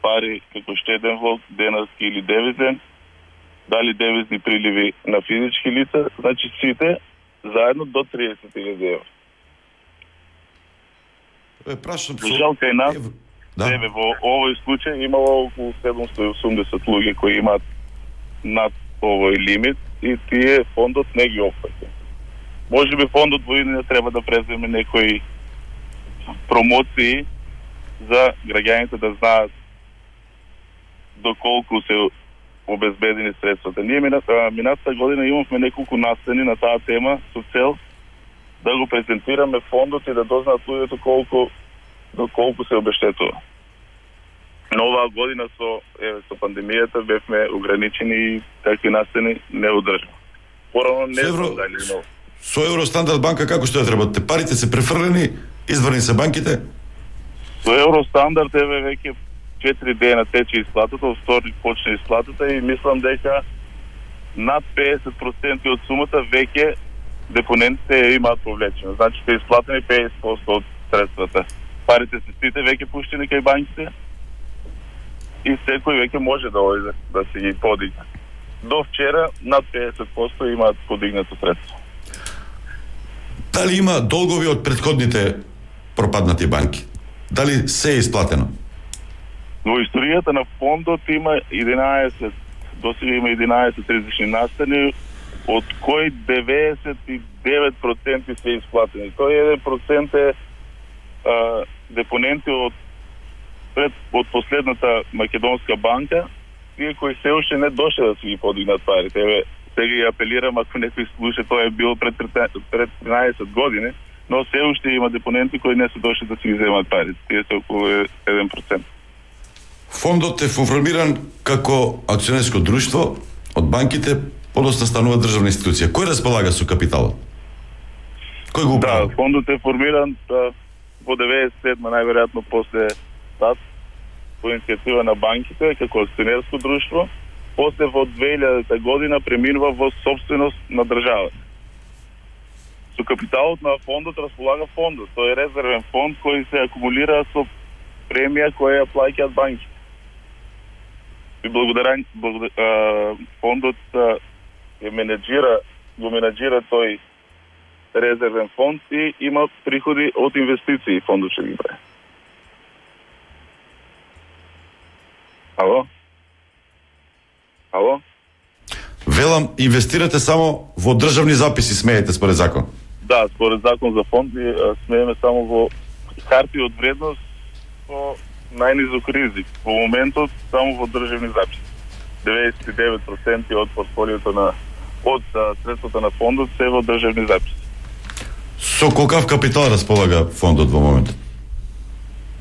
пари како штеден влог, денарски или девизен, дали девизни приливи на физички лица, значи сите заедно до триесет илјади евра. Е, прашам со... Жал кај нас, да. Тебе, во овој случај имало околу седумстотини и осумдесет луѓе кои имаат над овој лимит и тие фондот не ги опфаќа. Може би фондот во иднина треба да преземе некои промоции за граѓаните да знаат доколку се обезбедени средствата. Ние минатата, минатата година имавме неколку настани на таа тема со цел да го презентираме фондот и да дознаат луѓето колку доколку се обештетува. Но оваа година со еве со пандемијата бевме ограничени и такви настани не одржа. Порано не знам дали но со Евростандард банка како што ја треба? Парите се префрлени, изврни се банките? Со Евростандард еве веќе четири дена тече исплатата, од вторник почне исплатата и мислам дека над педесет проценти од сумата веќе депонентите имаат повлечено. Значи се исплатени педесет проценти од средствата. Парите се сите веќе пуштени кај банките и секој веќе може да ојде да се ги подигне. До вчера над педесет проценти имаат подигнато средство. Дали има долгови од претходните пропаднати банки? Дали се е исплатено? Во историјата на фондот има единаесет, досега има единаесет различни настани, од кои деветдесет и девет проценти се исплатени. Тој еден процент е а, депоненти од пред од последната македонска банка, тие кои се уште не дошле да се ги подигнат парите. Еве, сега ја апелирам, ако некој слуша, тоа е било пред пред тринаесет години, но се уште има депоненти кои не се дошли да се ги земат парите. Тие се околу еден процент. Фондот е формиран како акционерско друштво од банките, подоцна станува државна институција. Кој располага со капиталот? Кој го управува? Да, фондот е формиран да, во деветдесет и седма најверојатно после ТАС, по иницијатива на банките како акционерско друштво. После во две илјадета година преминува во собственост на државата. Со капиталот на фондот располага фондот. Тој е резервен фонд кој се акумулира со премија која ја плаќаат банките. И благодарен, благодарен фондот е менеджира, го менеджира тој резервен фонд и има приходи од инвестиции фондот ќе ги прави. Ало? Ало? Велам, инвестирате само во државни записи, смеете според закон? Да, според закон за фонди смееме само во харти од вредност со најнизок ризик. Во моментот само во државни записи. деветдесет и девет проценти од портфолиото на од средствата на фондот се во државни записи. Со колкав капитал располага фондот во моментот?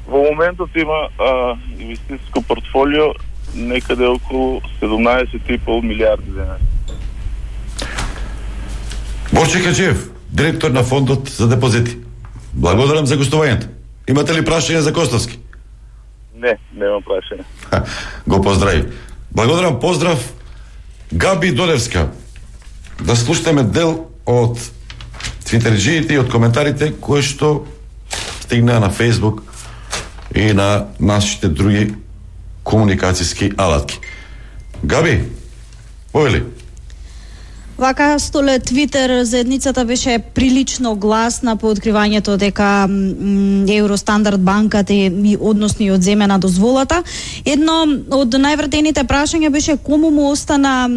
Во моментот има а, инвестицијско портфолио некаде околу седумнаесет и пол милијарди денари. Борче Каджиев, директор на фондот за депозити. Благодарам за гостувањето. Имате ли прашање за Костовски? Не, немам прашање. Го поздрави. Благодарам, поздрав. Габи Додевска. Да слушаме дел од твитерџиите и од коментарите кои што стигнаа на Фейсбук и на нашите други комуникацијски алатки. Габи, повели. Вака, Столе, Твитер заедницата беше прилично гласна по откривањето дека Евростандард банката и односно и одземена дозволата. Едно од највртените прашања беше кому му остана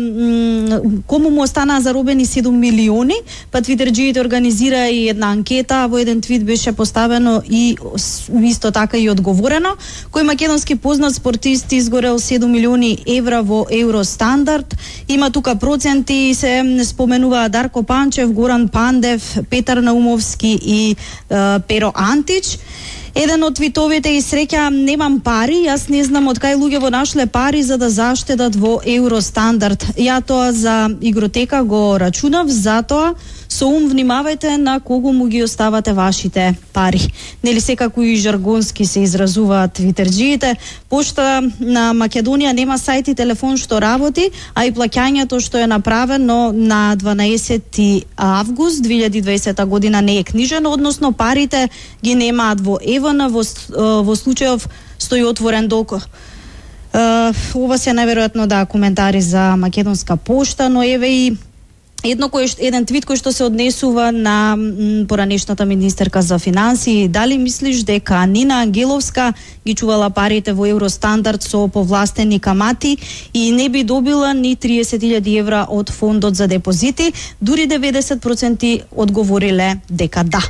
кому му остана заробени седум милиони, па твитерџиите организира и една анкета, во еден твит беше поставено и исто така и одговорено, кој македонски познат спортист изгорел седум милиони евра во Евростандард. Има тука проценти, се споменува Дарко Панчев, Горан Пандев, Петар Наумовски и е, Перо Антич. Еден од твитовите и среќа немам пари, јас не знам од кај луѓе нашле пари за да заштедат во Евростандард. Ја тоа за игротека го рачунав, затоа со ум внимавајте на кого му ги оставате вашите пари. Нели секако и жаргонски се изразуваат твитерџиите. Пошта на Македонија нема сајт и телефон што работи, а и плаќањето што е направено на дванаесети август две илјади и дваесета година не е книжено, односно парите ги немаат во ЕВН, во, во случајов стои отворен долг. Ова се најверојатно да коментари за Македонска пошта, но еве и едно кој еден твит кој што се однесува на м, поранешната министерка за финансии. Дали мислиш дека Нина Ангеловска ги чувала парите во Евростандард со повластени камати и не би добила ни триесет илјади евра од фондот за депозити? Дури деветдесет проценти одговориле дека да.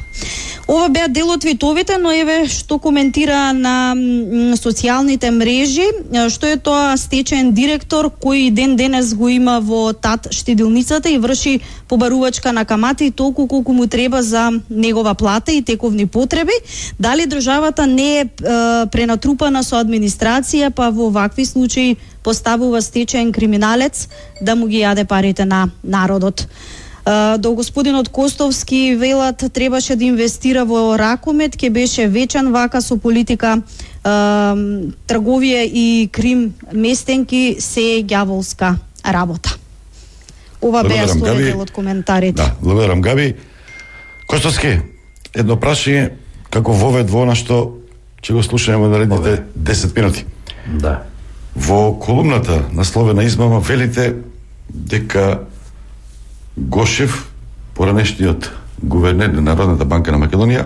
Ова беа дел од твитовите, но еве што коментира на м, социјалните мрежи, што е тоа стечаен директор кој ден денес го има во ТАТ штедилницата и врши побарувачка на камати толку колку му треба за негова плата и тековни потреби. Дали државата не е, е пренатрупана со администрација, па во вакви случаи поставува стечаен криминалец да му ги јаде парите на народот? До господинот Костовски велат требаше да инвестира во Ракомет, ке беше вечен вака со политика, трговија и крим местенки се ѓаволска работа. Ова беа стои дел од коментарите. Да, благодарам, Габи. Костовски, едно прашање, како вовед во она што ќе го слушаме во наредните десет минути. Да. Во колумната насловена измама велите дека Гошев, поранешниот гувернер на Народната банка на Македонија,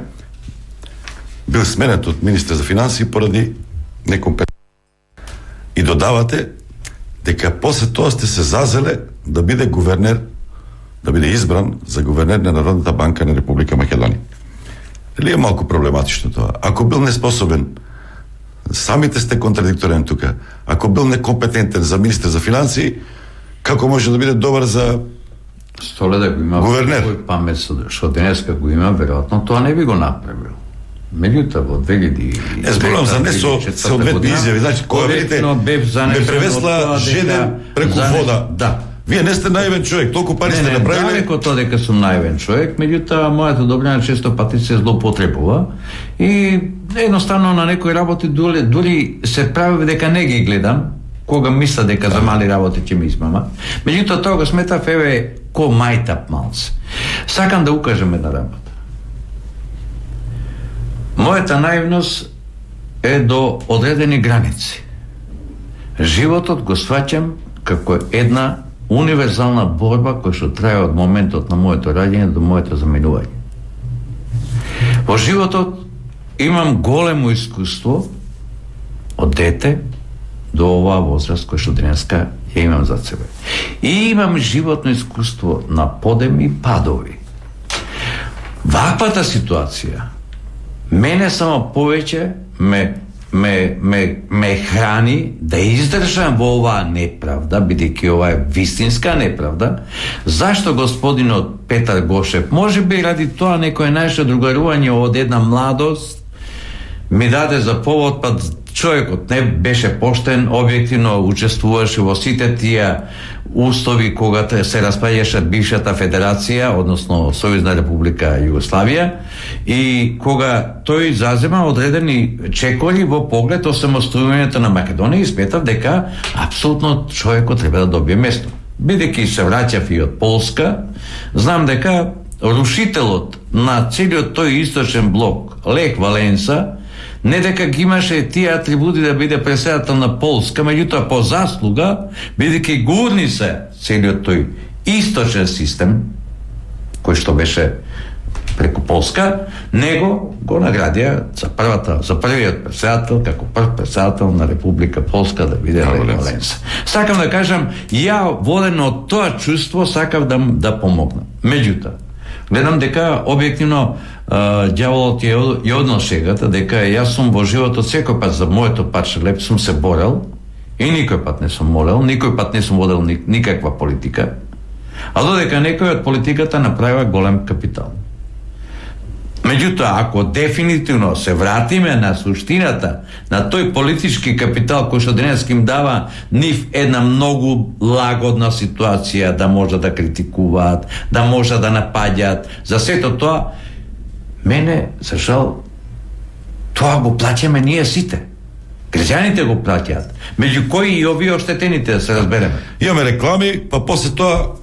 бил сменет од министер за финансии поради некомпетентност. И додавате дека после тоа сте се зазеле да биде гувернер, да биде избран за гувернер на Народната банка на Република Македонија. Дали е малку проблематично тоа? Ако бил неспособен, самите сте контрадикторен тука. Ако бил некомпетентен за министер за финансии, како може да биде добар за Столе да го има гувернер? Кој памет што денеска го има, веројатно тоа не би го направил. Меѓутоа во две илјади и две илјади Не зборувам за не со соодветни изјави, значи кога видите ме превесла жеден преку вода. Да. Вие не сте наивен човек, толку пари не, сте не, направиле. Не, далеко тоа дека сум наивен човек, меѓутоа мојата добрина често пати се злоупотребува и едноставно на некои работи дури, дури се прави дека не ги гледам, кога мисля дека за мали работи ќе ми измама. Меѓутоа тоа го сметав еве ко мајтап малце. Сакам да укажем една работа. Мојата наивност е до одредени граници. Животот го сваќам како една универзална борба која што трае од моментот на моето раѓање до моето заминување. Во животот имам големо искуство од дете до оваа возраст која што денеска ја имам за себе. И имам животно искуство на подеми и падови. Ваквата ситуација мене само повеќе ме ме ме ме храни да издржам во оваа неправда, бидејќи ова е вистинска неправда. Зашто господинот Петар Гошев, може би ради тоа некој наше другарување од една младост ми даде за повод, па човекот не беше поштен, објективно учествуваше во сите тие устови кога се распаѓаше бившата федерација, односно Сојузна република Југославија, и кога тој зазема одредени чекори во поглед осамостојувањето на Македонија и сметав дека апсолутно човекот треба да добие место. Бидејќи се враќав и од Полска, знам дека рушителот на целиот тој источен блок, Лех Валенса, не дека ги имаше тие атрибути да биде председател на Полска, меѓутоа по заслуга, бидејќи гурни се целиот тој источен систем, кој што беше преку Полска, него го наградија за првата, за првиот председател, како прв председател на Република Полска да биде Лех Валенса. Сакам да кажам, ја воден од тоа чувство сакав да да помогнам. Меѓутоа, гледам дека објективно ѓаволот ја, ја однел шегата, дека јас сум во животот секој пат за моето парче леп сум се борел и никој пат не сум молел, никој пат не сум водел ни, никаква политика, а додека некој од политиката направива голем капитал. Меѓутоа, ако дефинитивно се вратиме на суштината на тој политички капитал кој што денес им дава нив една многу лагодна ситуација да може да критикуваат, да може да напаѓаат, за сето тоа, мене, за жал, тоа го плаќаме ние сите. Граѓаните го плаќаат. Меѓу кои и овие оштетените, да се разбереме. Имаме реклами, па после тоа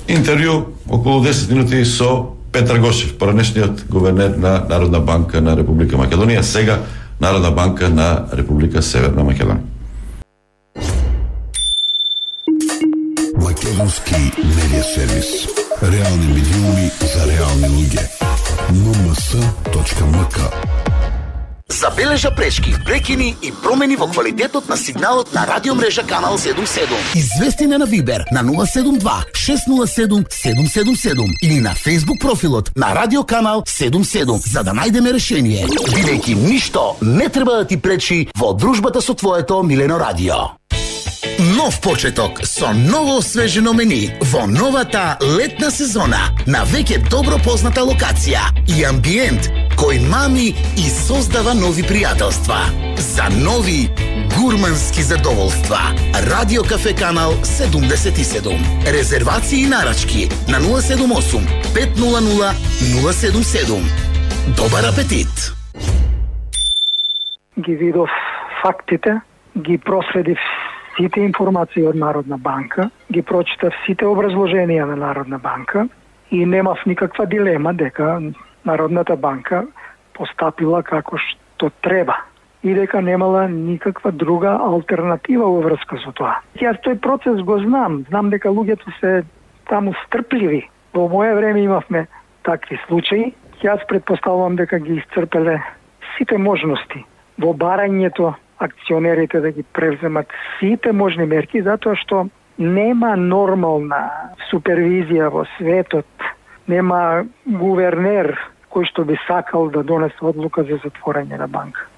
интервју околу десет минути со Петар Гошев, поранешниот гувернер на Народна банка на Република Македонија, сега Народна банка на Република Северна Македонија. Програмски медија сервис. Реални медиуми за реални луѓе. ен ем ес точка ем ка. Забележа пречки, прекини и промени во квалитетот на сигналот на радиомрежа Канал седум седум. Извести на Вибер на нула седум два шест нула седум седум седум седум или на Facebook профилот на Радио Канал седум седум за да најдеме решение, бидејќи ништо не треба да ти пречи во дружбата со твоето милено радио. Нов почеток со ново освежено мени во новата летна сезона на веќе добро позната локација и амбиент кој мами и создава нови пријателства. За нови гурмански задоволства. Радио Кафе Канал седумдесет и седум. Резервации и нарачки на нула седум осум пет нула нула нула седум седум. Добар апетит! Ги видов фактите, ги проследив сите информации од Народна банка, ги прочитав сите образложенија на Народна банка и немав никаква дилема дека Народната банка постапила како што треба и дека немала никаква друга алтернатива во врска со тоа. Јас тој процес го знам, знам дека луѓето се таму стрпливи. Во моје време имавме такви случаи. Јас предпоставувам дека ги исцрпеле сите можности во барањето акционерите да ги превземат сите можни мерки, затоа што нема нормална супервизија во светот, нема гувернер кој што би сакал да донесе одлука за затворање на банка.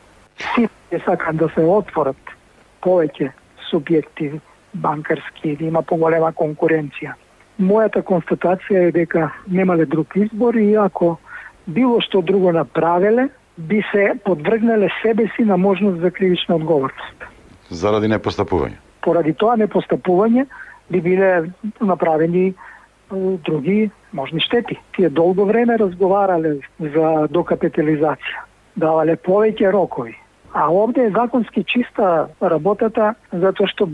Сите сакаат да се отворат повеќе субјекти банкарски, да има поголема конкуренција. Мојата констатација е дека немале друг избор и ако било што друго направеле, би се подвргнале себе си на можност за кривична одговорност. Заради непостапување? Поради тоа непостапување би биле направени е, други можни штети. Тие долго време разговарале за докапитализација, давале повеќе рокови. А овде е законски чиста работата, затоа што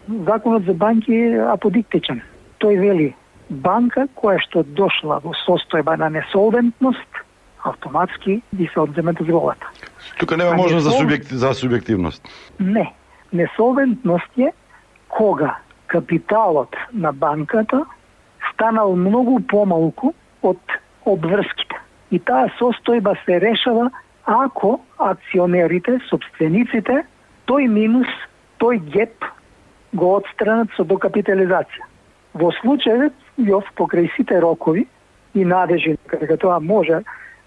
законот за банки е аподиктичен. Тој вели, банка која што дошла во состојба на несолвентност, автоматски би се одземе дозволата. Тука нема можност за, субјект, за субјективност. Не. Несолвентност е кога капиталот на банката станал многу помалку од обврските. И таа состојба се решава ако акционерите, собствениците, тој минус, тој геп го отстранат со докапитализација. Во случајот, јов покрај сите рокови и надежи дека тоа може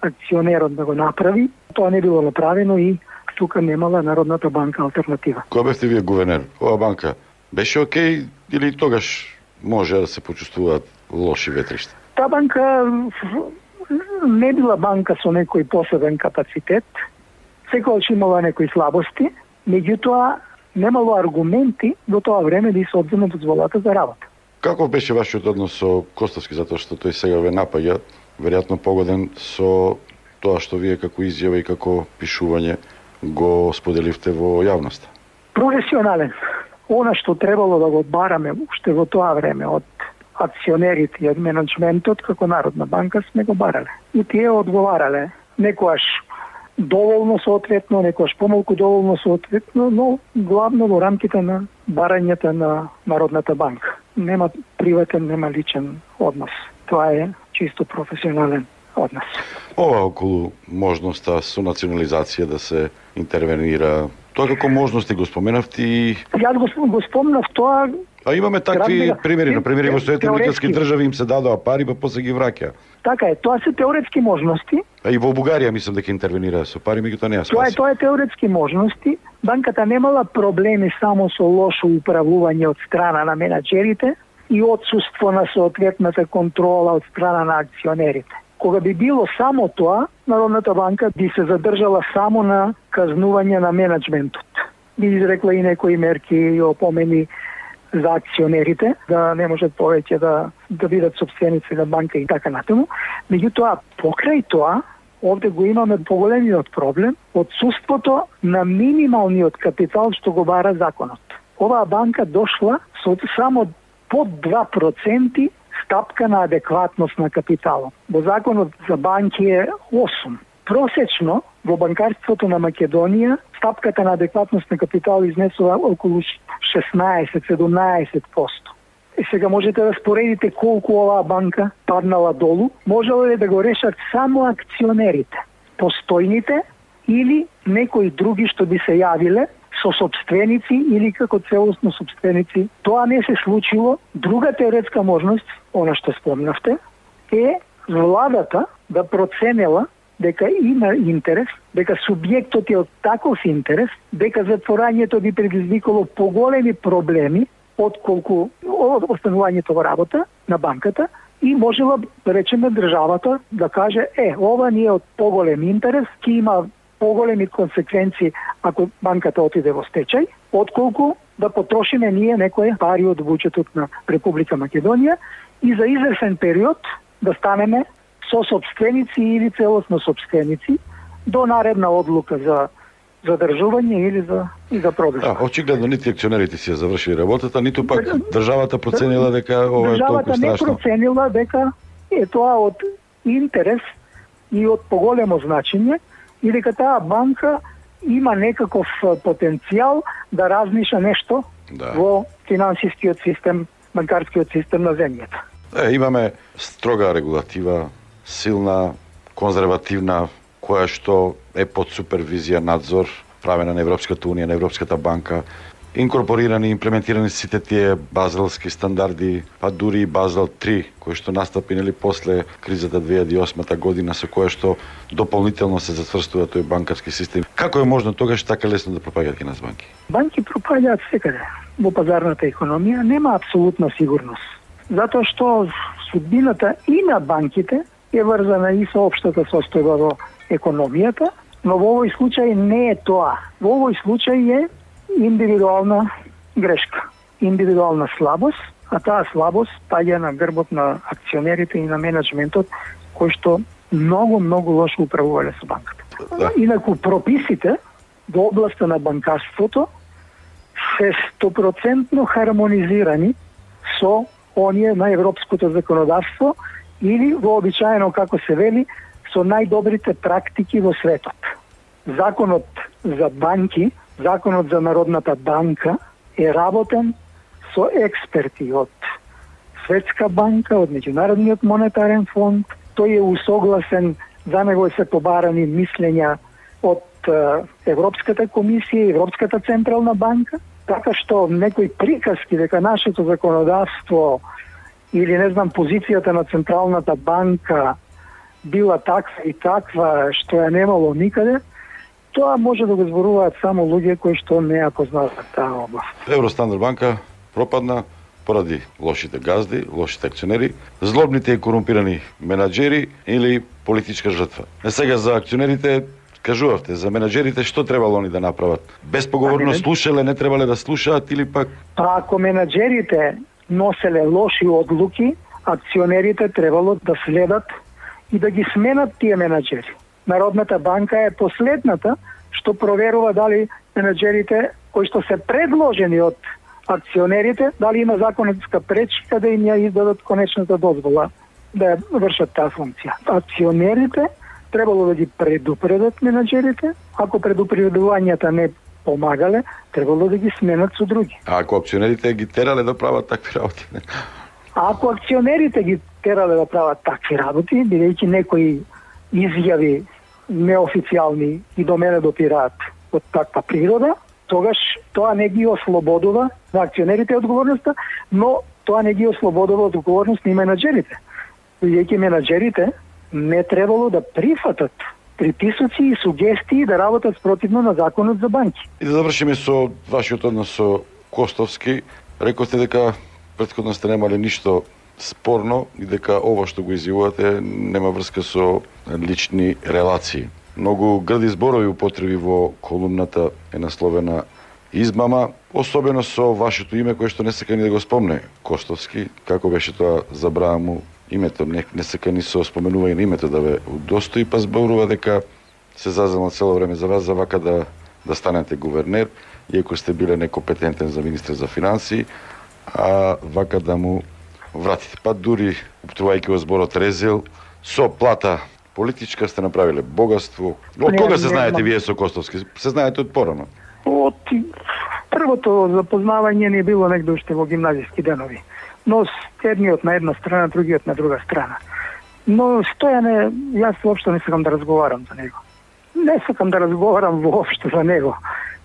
акционерот да го направи, тоа не било направено и тука немала Народната банка алтернатива. Кој бевте вие гувернер? Ова банка беше окей или тогаш може да се почувствуваат лоши ветришта? Таа банка не била банка со некој посебен капацитет, секогаш имала некои слабости, меѓутоа немало аргументи до тоа време да се одземе дозволата за работа. Каков беше вашиот однос со Костовски, затоа што тој сега ве напаѓа, веројатно погоден со тоа што вие како изјава и како пишување го споделивте во јавноста? Професионален. Она што требало да го одбараме уште во тоа време од акционерите и од менеджментот како Народна банка сме го барале. И тие одговарале. Некојаш доволно соодветно, некојаш помалку доволно соодветно, но главно во рамките на барањата на Народната банка. Нема приватен, нема личен однос. Тоа е чисто професионален однос. Ова околу можноста со национализација да се интервенира, тоа како можности го споменавте и... Јас го, го спомнав тоа... А имаме такви примери, на примери во Соединените американски држави им се дадоа пари, па после ги враќа. Така е, тоа се теоретски можности. А и во Бугарија мислам дека интервенира со пари, меѓутоа не ја спаси. Тоа е, тоа е теоретски можности. Банката немала проблеми само со лошо управување од страна на менаџерите и отсуство на соодветната контрола од страна на акционерите. Кога би било само тоа, Народната банка би се задржала само на казнување на менеджментот. Би изрекла и некои мерки и опомени за акционерите, да не можат повеќе да, да бидат собственици на банка и така натаму. Меѓутоа, покрај тоа, овде го имаме поголемиот проблем, отсуството на минималниот капитал што го бара законот. Оваа банка дошла со само под два проценти стапка на адекватност на капиталот. Во законот за банки е осум. Просечно во банкарството на Македонија стапката на адекватност на капитал изнесува околу шеснаесет до седумнаесет проценти. И сега можете да споредите колку оваа банка паднала долу, можело ли да го решат само акционерите, постојните или некои други што би се јавиле со собственици или како целосно собственици. Тоа не се случило. Друга теоретска можност, она што спомнавте, е владата да проценела дека има интерес, дека субјектот е од таков интерес, дека затворањето би предизвикало поголеми проблеми отколку останувањето во работа на банката и можела, да речеме, државата да каже, е, ова ни е од поголем интерес, ќе има поголеми консеквенции ако банката отиде во стечај, отколку да потрошиме ние некои пари од буџетот на Република Македонија и за извесен период да станеме со собственици или целосно собственици до наредна одлука за задржување или за и за продажба. Да, очигледно нити акционерите си ја завршили работата, ниту пак државата проценила дека ова е толку страшно. Државата не проценила дека е тоа од интерес и од поголемо значење и дека таа банка има некаков потенцијал да размиша нешто да. Во финансискиот систем, банкарскиот систем на земјата. Е, имаме строга регулатива, силна, конзервативна, која што е под супервизија, надзор, правена на Европската унија, на Европската банка, инкорпорирани, имплементирани сите тие базелски стандарди, па дури и Базел три, кој што настапи нели после кризата две илјади и осма година, со која што дополнително се зацврстува тој банкарски систем. Како е можно тогаш така лесно да пропаѓаат кај нас банки? Банки пропаѓаат секаде. Во пазарната економија нема апсолутна сигурност. Затоа што судбината и на банките е врзана и со општата состојба во економијата, но во овој случај не е тоа. Во овој случај е индивидуална грешка, индивидуална слабост, а таа слабост паѓа на грбот на акционерите и на менеджментот кој што многу, многу лошо управувале со банката. Да. Инаку прописите во областа на банкарството се сто процентно хармонизирани со оние на европското законодавство или вообичаено, како се вели, со најдобрите практики во светот. Законот за банки, законот за Народната банка е работен со експерти од Светска банка, од Меѓународниот монетарен фонд. Тој е усогласен, за него се побарани мислења од Европската комисија, Европската централна банка, така што некои приказки дека нашето законодавство или не знам позицијата на Централната банка била таква и таква што ја немало никаде, тоа може да го зборуваат само луѓе кои што не ја познаваат таа област. Евростандард банка пропадна поради лошите газди, лошите акционери, злобните и корумпирани менаџери или политичка жртва. А сега за акционерите кажувавте, за менаџерите што требало они да направат? Безпоговорно слушале, не требале да слушаат или пак? А ако менаџерите носеле лоши одлуки, акционерите требало да следат и да ги сменат тие менаџери. Народната банка е последната што проверува дали менаџерите кои што се предложени од акционерите, дали има законска пречка да им ја издадат конечната дозвола да ја вршат таа функција. Акционерите требало да ги предупредат менаџерите, ако предупредувањата не помагале, требало да ги сменат со други. А ако акционерите ги терале да прават такви работи? А ако акционерите ги терале да прават такви работи, бидејќи некои изјави неофицијални и до мене допираат од таква природа, тогаш тоа не ги ослободува на акционерите одговорноста, но тоа не ги ослободува од одговорност на менаџерите. Бидејќи менаџерите не требало да прифатат приписоци и сугестии да работат спротивно на законот за банки. И да завршиме со вашиот однос со Костовски. Рековте дека претходно сте немале ништо спорно и дека ова што го изјавувате нема врска со лични релации. Многу грди зборови употреби во колумната е насловена измама, особено со вашето име кое што не сака ни да го спомне Костовски. Како беше тоа, забрава му името, не, не сака ни со споменување на името да ве удостои, па зборува дека се зазема цело време за вас за вака да, да станете гувернер, иако сте биле некомпетентен за министр за финансии, а вака да му вратите. Па дури, уптувајќи во зборот резил, со плата политичка сте направиле богатство. Од кога се знаете вие со Костовски? Се знаете од порано? Од првото запознавање не било негде уште во гимназиски денови. но едниот на една страна, другиот на друга страна. Но Стојане, јас воопшто не сакам да разговарам за него. Не сакам да разговарам воопшто за него.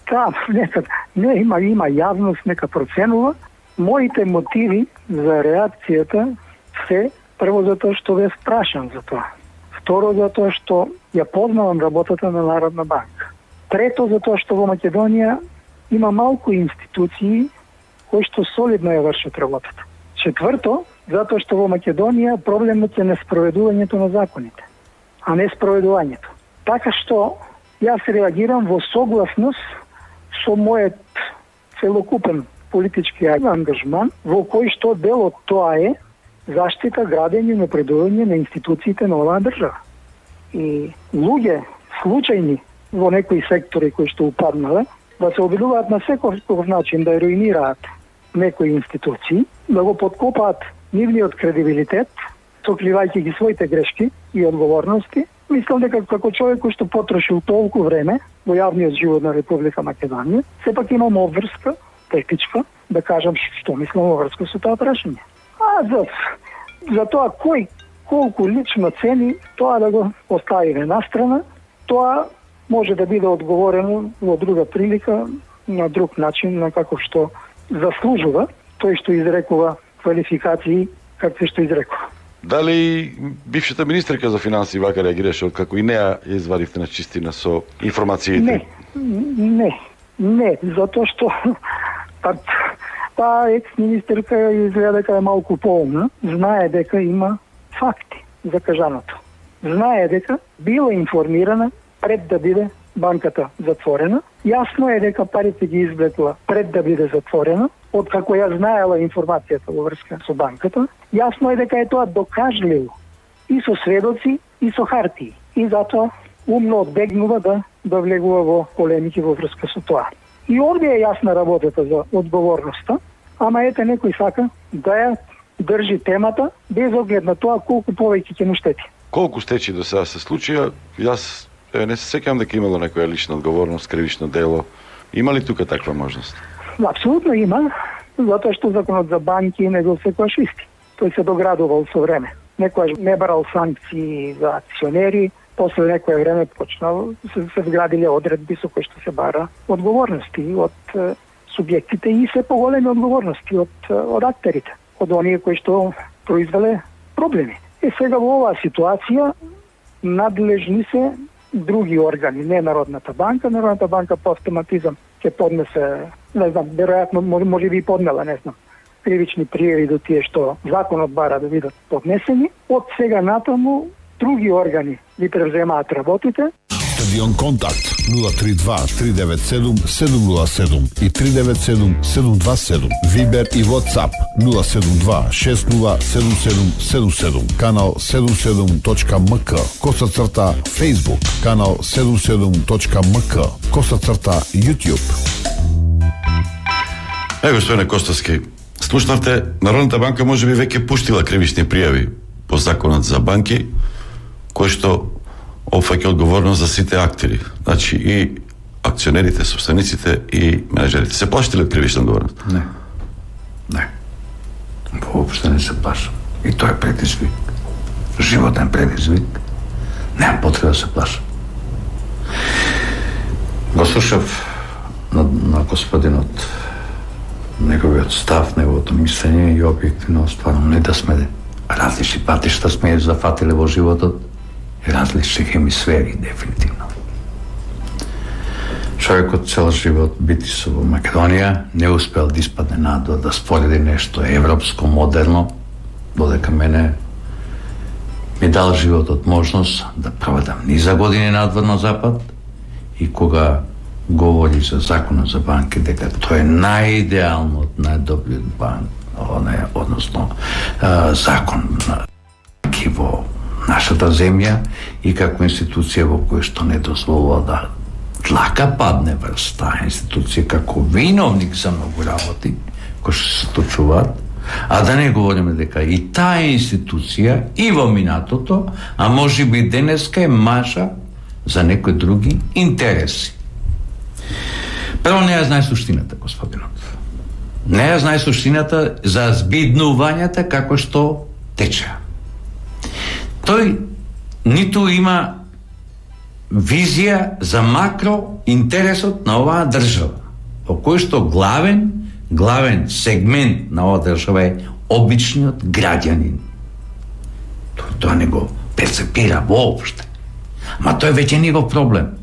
Там, нека, не има, има јавност, нека проценува. Моите мотиви за реакцијата се, прво затоа што ве спрашам за тоа. Второ, затоа што ја познавам работата на Народна банка. Трето, затоа што во Македонија има малку институции кои што солидно ја вршат работата. Четврто, затоа што во Македонија проблемот е неспроведувањето на законите, а не спроведувањето. Така што јас реагирам во согласност со мојот целокупен политички ангажман, во кој што дел од тоа е заштита, градење, напредување на институциите на оваа држава. И луѓе случајни во некои сектори кои што упаднале, да се обидуваат на секој начин да руинираат некои институции, да го подкопаат нивниот кредибилитет, сокривајќи ги своите грешки и одговорности. Мислам дека како човек кој што потрошил толку време во јавниот живот на Република Македонија, сепак имам обврска, техничка, да кажам што мислам во врска со тоа прашање. А за, за тоа кој колку лично цени, тоа да го оставиме настрана, тоа може да биде одговорено во друга прилика, на друг начин, на како што заслужува тој што изрекува квалификации какви што изрекува. Дали бившата министерка за финансии вака реагираше, како и неа ја извадивте на чистина со информациите? Не, не, не, затоа што па, таа екс-министерка изгледа дека е малку поумна, знае дека има факти за кажаното. Знае дека била информирана пред да биде банката затворена. Јасно е дека парите ги извлекла пред да биде затворена, откако ја знаела информацијата во врска со банката. Јасно е дека е тоа докажливо и со сведоци, и со хартии. И затоа умно одбегнува да, да влегува во полемики во врска со тоа. И овде е јасна работата за одговорноста, ама ете некој сака да ја држи темата без оглед на тоа колку повеќе ќе му штети. Колку стечи до сега се случија? Јас е, не се сеќавам дека имало некоја лична одговорност, кривично дело. Има ли тука таква можност? Апсолутно има, затоа што законот за банки не бил секојаш исти. Тој се доградувал со време. Некојаш не барал санкции за акционери, после некое време почнал се, се вградиле одредби со кои што се бара одговорности од е, субјектите и се поголеми одговорности од, од актерите, од оние кои што произвеле проблеми. И сега во оваа ситуација надлежни се други органи, не Народната банка. Народната банка по автоматизам ќе поднесе, не знам, веројатно може би поднела, не знам, кривични пријави до тие што законот бара да бидат поднесени. Од сега натаму други органи ги превземаат работите. Стадион Контакт нула три два три девет седум седум нула седум и три девет седум седум два седум. Вибер и WhatsApp нула седум два шест нула седум седум седум седум. Канал седум седум точка ем ка. Коса црта Facebook. Канал седум седум точка ем ка. Коса црта YouTube. Е, господине Костовски, слушнавте, Народната банка може би веќе пуштила кривични пријави по законот за банки, кој што опфаќа одговорност за сите актери. Значи и акционерите, собствениците и менеджерите. Се плашите ли од кривична одговорност? Не. Не. Воопшто не се плашам. И тоа е предизвик. Животен предизвик. Немам потреба да се плашам. Го слушав на, на господинот неговиот став, неговото мислење и објективно стварно не да сме различни патишта сме зафатиле во животот и различни хемисфери, дефинитивно. Човекот цел живот бити со во Македонија, не успел да испадне надо да спореди нешто европско, модерно, додека мене ми дал животот можност да проведам низа години надвор на Запад и кога говори за законот за банки, дека тоа е најидеалниот, најдобриот банк, односно закон на банки во нашата земја и како институција во која што не дозволува да длака падне врз таа институција како виновник за многу работи кои што се случуваат, а да не говориме дека и таа институција и во минатото, а може би денеска е маша за некои други интереси. Прво не ја знае суштината, господинот. Не ја знае суштината за збиднувањата како што тече. Тој ниту има визија за макро интересот на оваа држава, во кој што главен, главен сегмент на оваа држава е обичниот граѓанин. Тој тоа не го перцепира воопште. Ма тој веќе негов проблем.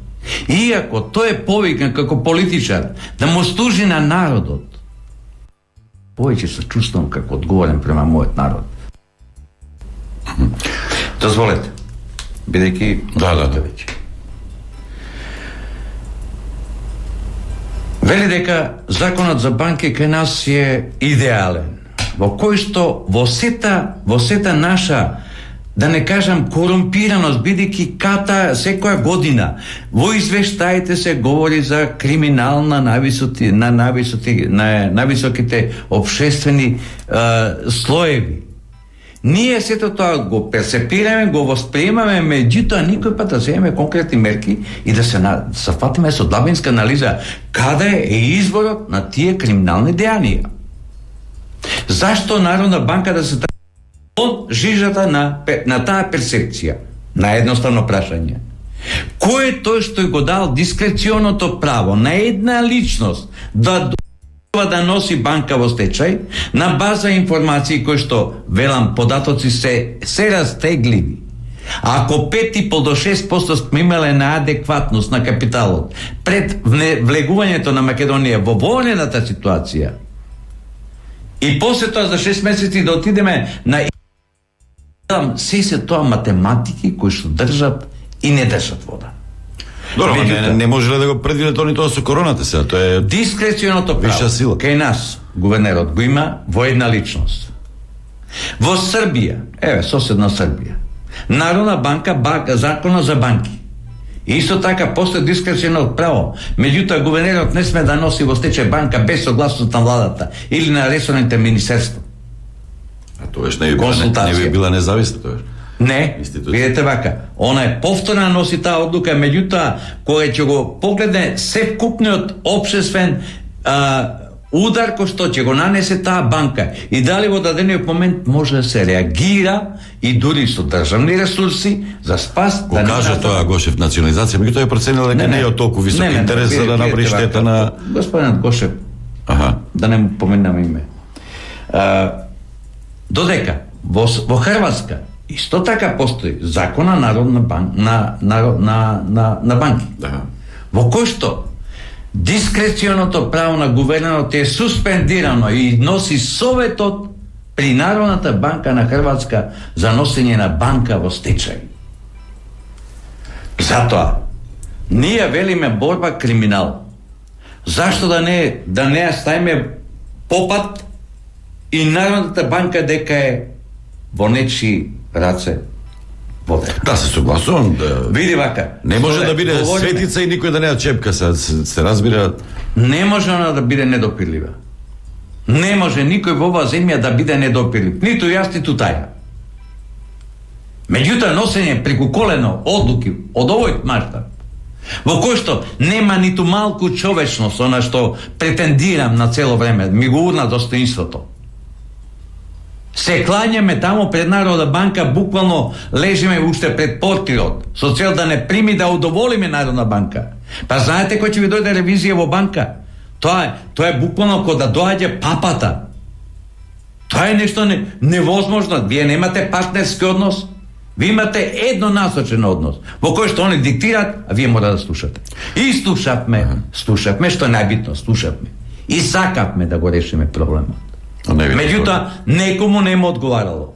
Иако тој е повикан како политичар да му служи на народот, повеќе се чувствувам како одговорен према мојот народ. Дозволете, бидејќи да, да, да. веќе. Вели дека законот за банки кај нас е идеален, во кој што во сета, во сета наша, да не кажам корумпираност, бидејќи ката секоја година во извештаите се говори за криминал на највисоки на највисоки на највисоките општествени е, слоеви. Ние сето тоа го перцепираме, го восприемаме, меѓутоа никој пат да земеме конкретни мерки и да се на, се фатиме со длабинска анализа каде е изворот на тие криминални дејанија. Зашто Народна банка да се од жижата на, на таа перцепција? На едноставно прашање. Кој е тој што го дал дискреционото право на една личност да да носи банка во стечај на база информации кои што, велам, податоци се, се растегливи. А ако пет и пол до шест проценти сме имале на адекватност на капиталот пред влегувањето на Македонија во военната ситуација и после тоа за шест месеци да отидеме на се се тоа математики кои што држат и не држат вода. Добро, не, не може да го предвиде тоа ни тоа со короната сега, тоа е дискреционото право. Кај нас гувернерот го има во една личност. Во Србија, еве соседна Србија, Народна банка, банка закона за банки. Исто така после дискреционото право, меѓутоа гувернерот не сме да носи во стечај банка без согласност на владата или на ресорните министерства. А тоа не би била, не би била независна тоа. Не, видете вака, она е повторна носи таа одлука, меѓутоа кога ќе го погледне севкупниот општествен а, удар кој што ќе го нанесе таа банка и дали во дадениот момент може да се реагира и дури со државни ресурси за спас. Го да кажа не тоа Гошев национализација, меѓутоа е проценил дека не, не е од толку висок не, не, интерес за да направи штета на господинот Гошев. Аха. Да не му поменаме име. А, додека во, во Хрватска исто така постои закона Народна банк на на на на, на банки. Да. Во кој што дискреционото право на гувернерот е суспендирано и носи советот при Народната банка на Хрватска за носење на банка во стечај. Затоа ние велиме борба криминал. Зашто да не да не ставиме попат и Народната банка дека е во нечи раце воде. Да, се согласувам. Да... Види вака. Не може да биде говориме... светица и никој да не ја чепка, се, се, се разбира. Не може она да биде недопирлива. Не може никој во оваа земја да биде недопирлив. Ниту јас, ниту таја. Меѓутоа, носење преку колено одлуки од овој мащаб, во кој што нема ниту малку човечност, она што претендирам на цело време, ми го урна достоинството. Се клањаме таму пред Народна банка, буквално лежиме уште пред портирот, со цел да не прими да удоволиме Народна банка. Па знаете кој ќе ви дојде ревизија во банка? Тоа е, тоа е буквално кога да доаѓа папата. Тоа е нешто не, невозможно. Вие немате партнерски однос, ви имате еднонасочен однос, во кој што они диктираат, а вие мора да слушате. И слушавме, слушавме, што е најбитно, слушавме. И сакавме да го решиме проблемот. Меѓутоа, некому не му одговарало.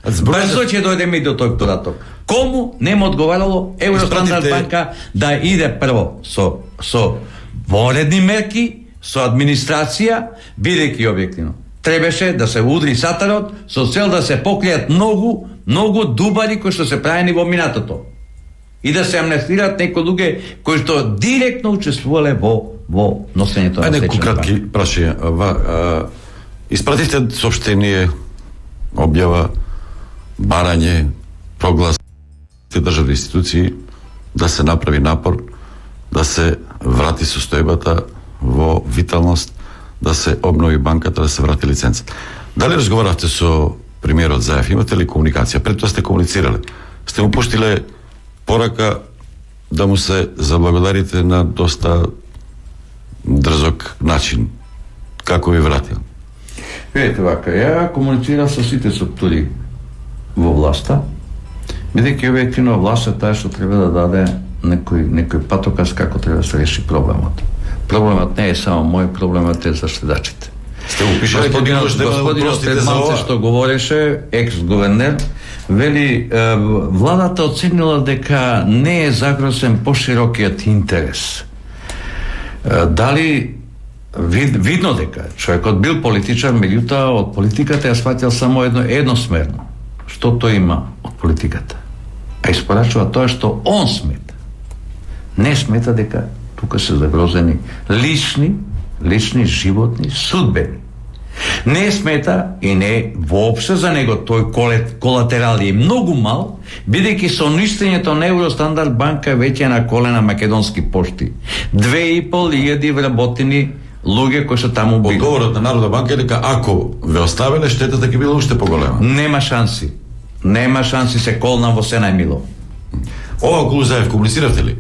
Брзо ќе дојдеме и до тој податок. Кому не му одговарало Евростандард Испратите... банка да иде прво со, со воредни мерки, со администрација, бидејќи објективно. Требаше да се удри сатарот со цел да се покријат многу, многу дубари кои што се правени во минатото. И да се амнестираат некои луѓе кои што директно учествувале во, во носењето на стечајна банка. Ајде, кратки прашања. Испративте сообщение, објава, барање, проглас државни институции да се направи напор да се врати состојбата во виталност, да се обнови банката, да се врати лицензата. Дали разговаравте со премиерот Заев? Имате ли комуникација? Пред тоа сте комуницирале. Сте му пуштиле порака да му се заблагодарите на доста дрзок начин. Како ви вратил? Видете вака, ја комуницирав со сите структури во власта, бидејќи објективно власта таа што треба да даде некој, некој патоказ како треба да се реши проблемот. Проблемот не е само мој, проблемот е за штедачите. Сте го пишали господинот, господинот пред малце што говореше, екс-гувернер, вели, е, владата оценила дека не е загрозен поширокиот интерес. Е, дали вид, видно дека човекот бил политичар, меѓутоа од политиката ја сватил само едно едносмерно. Што тој има од политиката? А испорачува тоа што он смета. Не смета дека тука се загрозени лични, лични, животни, судбени. Не смета и не воопште за него тој колатерал е многу мал, бидејќи со уништењето на Евростандард банка веќе на колена македонски пошти. Две и пол илјади вработени луѓе кои што таму били. Одговорот на Народна банка е дека ако ве оставиле, штетата ќе била уште поголема. Нема шанси. Нема шанси, се колнам во се најмило. Ова околу Заев комунициравте ли?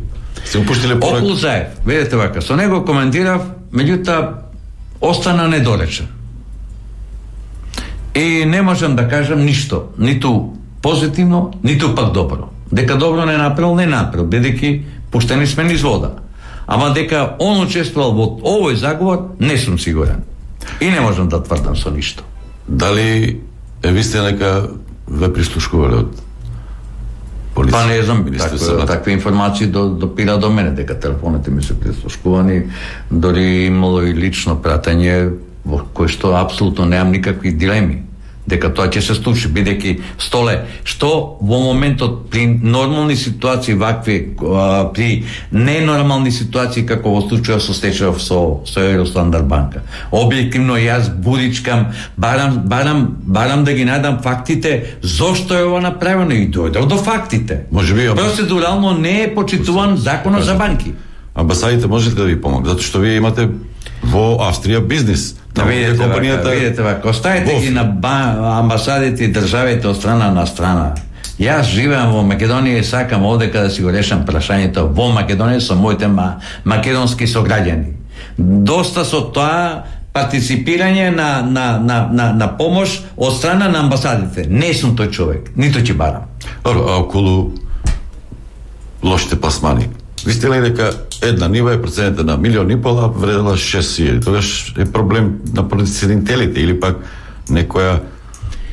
Се упуштиле порак? Околу Заев, видете вака, со него коментирав, меѓутоа остана недоречен. И не можам да кажам ништо, ниту позитивно, ниту пак добро. Дека добро не направил, не направил, бидејќи пуштени сме низ вода. Ама дека он учествувал во овој заговор, не сум сигурен. И не можам да тврдам со ништо. Дали е вистина дека ве прислушкувале од полиција? Па не знам, такви, такви информации до, допира до мене, дека телефоните ми се прислушкувани, дори имало и лично пратење во кој што апсолутно немам никакви дилеми дека тоа ќе се случи, бидејќи Столе, што во моментот при нормални ситуации вакви, а, при ненормални ситуации како во случајот со стечајов со со Евростандард банка. Објективно јас будичкам, барам барам барам да ги најдам фактите зошто е ова направено и дојдов до фактите. Можеби процедурално не е почитуван законот за банки. Амбасадите можете да ви помогнат, затоа што вие имате во Австрија бизнис. Да видите, компанијата... вака, видите вака, оставете Боф. ги на ба... амбасадите и државите од страна на страна. Јас живеам во Македонија и сакам овдека да си го решам прашањето во Македонија со моите ма... македонски сограѓани. Доста со тоа партиципирање на, на, на, на, на помош од страна на амбасадите. Не сум тој човек, нито ќе барам. Добро, а околу лошите пласмани? Ви сте ли дека една нива е проценета на милион и пола вредела шест илјади? Тогаш е проблем на проценителите или пак некоја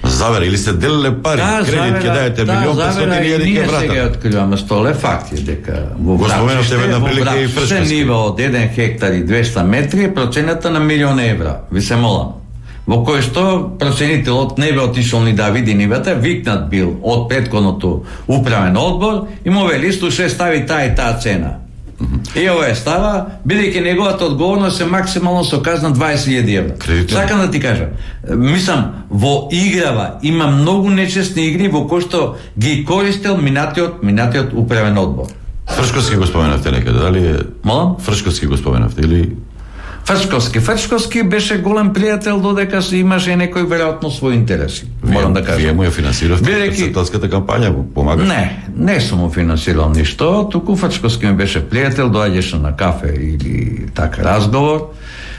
завера или се делиле пари, да, кредит ќе дајете милион петстотини илјади ќе вратат. Ние сега откриваме Столе факти дека во Врачиште, во Врачиште нива од еден хектар и двеста метри е процената на милион евра. Ви се молам. Во кој што проценителот не бе отишол ни да види нивата, викнат бил од претходното управен одбор и му вели слушај, стави таа и таа цена. Mm-hmm. И ова е става, бидејќи неговата одговорност е максимално со казна дваесет илјади евра. Кредитен. Сакам да ти кажам, мислам, во играва има многу нечестни игри во кои што ги користел минатиот, минатиот управен одбор. Фршковски го споменавте некаде, дали е? Молам? Фршковски го споменавте или... Фршковски. Фршковски беше голем пријател додека се имаше некој веројатно своји интереси. Морам да кажам. Вие му ја финансиравте председателската кампања, го помагате? Не, не сум му финансирал ништо, туку Фршковски ми беше пријател, доаѓаше на кафе или така разговор.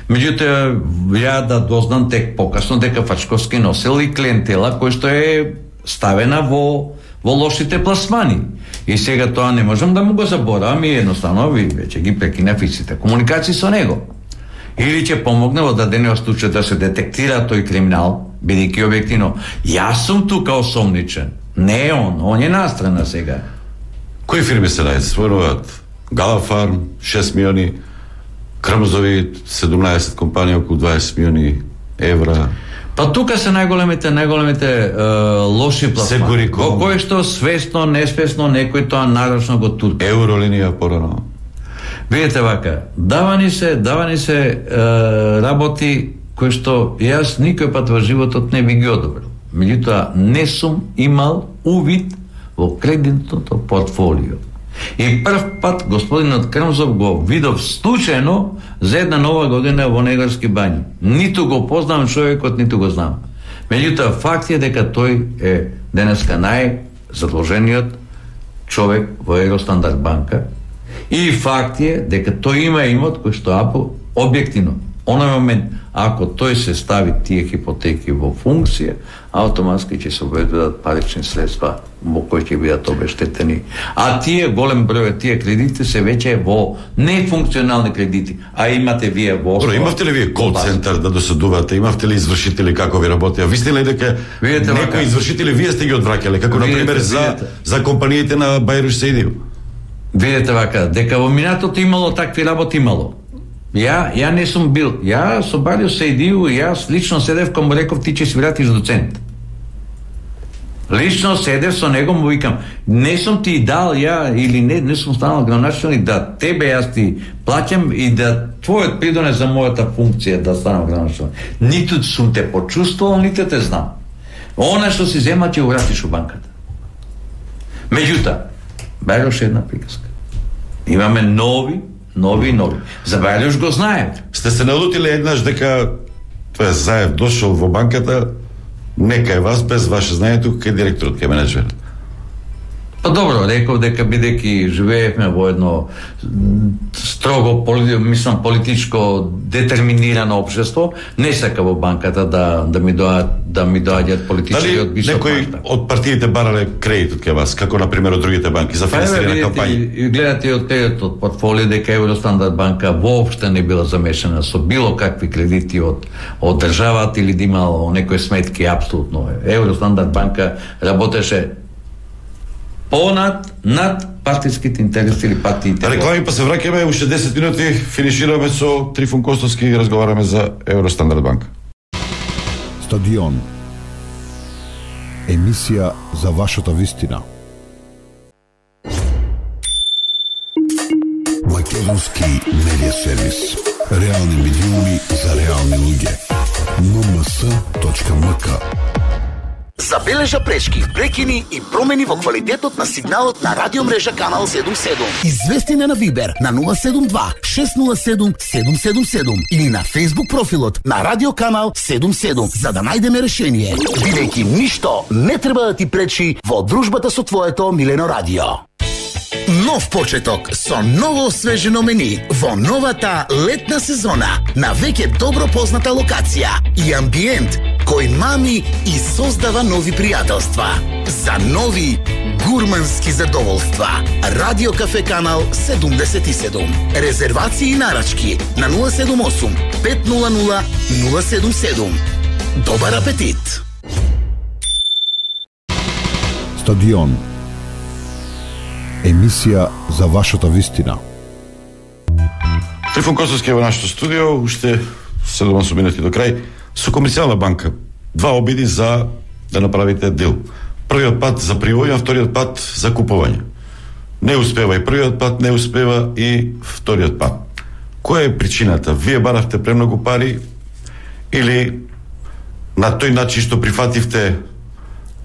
Меѓутоа, ја да дознам тек покасно дека Фршковски носел и клиентела кој што е ставена во во лошите пласмани. И сега тоа не можам да му го заборавам и едноставно ви веќе ги прекинав и сите комуникации со него. Или ќе помогне во дадениот случај да се детектира тој криминал, бидејќи објективно јас сум тука осомничен, не он, он е настрана сега. Кои фирми се најспоруваат? Галафарм, шест милиони, Крмзови, седумнаесет компании, околу дваесет милиони евра. Па тука се најголемите, најголемите е, лоши пласмани. Во кој што свесно, несвесно некој тоа нарочно го турка. Евролинија порано. Видите вака, давани се, давани се е, работи кои што јас никој пат во животот не би ги одобрил. Меѓутоа не сум имал увид во кредитното портфолио. И прв пат господинот Крмзов го видов случајно за една нова година во Негорски бањи. Ниту го познавам човекот, ниту го знам. Меѓутоа, факт е дека тој е денеска најзадолжениот човек во Евростандард банка и факт е дека тој има имот кој што апо објективно оној момент, ако тој се стави тие хипотеки во функција, автоматски ќе се обезбедат парични средства во кои ќе бидат обештетени. А тие голем број тие кредити се веќе во нефункционални кредити, а имате вие во Добро, имавте ли вие кол центар да досадувате? Имавте ли извршители како ви работеа? Висте ли дека некои извршители вие сте ги одвраќале, како на пример за за компаниите на Бајруш Саидиев? Видете вака, дека во минатото имало такви работи имало. Ја, ја не сум бил. Ја со Бајруш Саидиев, јас лично седев кога му реков ти ќе си вратиш доцент. Лично седев со него, му викам, не сум ти дал ја или не, не сум станал градоначелник да тебе јас ти плаќам и да твојот придонес за мојата функција да станам градоначелник. Ниту сум те почувствувал, ниту те знам. Она што си зема ќе го вратиш у банката. Меѓутоа, Бајруш е една приказка. Имаме нови Нови и нови. За Бајруш го знаем. Сте се налутили еднаш дека тоа Заев дошол во банката, нека е вас без ваше знаење тука кај директорот, кај менеджерот. Па добро, реков дека бидејќи живеевме во едно строго, мислам, политичко детерминирано општество, не сака во банката да да ми доаѓаат да ми доаѓаат политичари од висок некои мащаб. од партиите барале кредит од кај вас, како на пример од другите банки за финансирање на кампањи? Гледате од тејот од портфолио дека Евростандард банка воопште не била замешана со било какви кредити од од државата или да имало некои сметки, апсолутно. Евростандард банка работеше понад над партиските интереси или партиите. Реклами, па се враќаме, уште десет минути финишираме со Трифун Костовски и разговараме за Евростандард банка. Стадион. Емисија за вашата вистина. Македонски медиа сервис. Реални медиуми за реални луѓе. ен ем ес точка ем ка. Забележа пречки, прекини и промени во квалитетот на сигналот на радиомрежа Канал седумдесет и седум. Извести на Вибер на нула седум два шест нула седум седум седум седум или на Facebook профилот на Радио Канал седумдесет и седум за да најдеме решение. Бидејќи ништо не треба да ти пречи во дружбата со твоето милено радио. Нов почеток со ново освежено мени во новата летна сезона на веќе добро позната локација и амбиент кој мами и создава нови пријателства. За нови гурмански задоволства. Радио Кафе Канал седумдесет и седум. Резервации и нарачки на нула седум осум пет нула нула нула седум седум. Добар апетит! Стадион. Емисија за вашата вистина. Трифун Костовски во нашето студио, уште седум минути до крај, со Комерцијална банка. Два обиди за да направите дил. Првиот пат за привоѓање, вториот пат за купување. Не успева и првиот пат, не успева и вториот пат. Која е причината? Вие баравте премногу пари или на тој начин што прифативте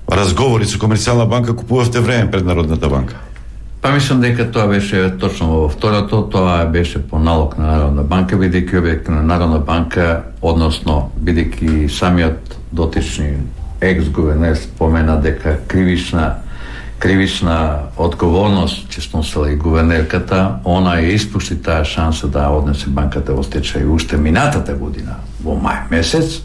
разговори со Комерцијална банка, купувавте време пред Народната банка? Па мислам дека тоа беше точно во второто, тоа беше по налог на Народна банка, бидејќи објект на Народна банка, односно бидејќи самиот дотични екс-гувернер спомена дека кривична кривична одговорност ќе сносила и гувернерката, она ја испушти таа шанса да однесе банката во стечај уште минатата година во мај месец,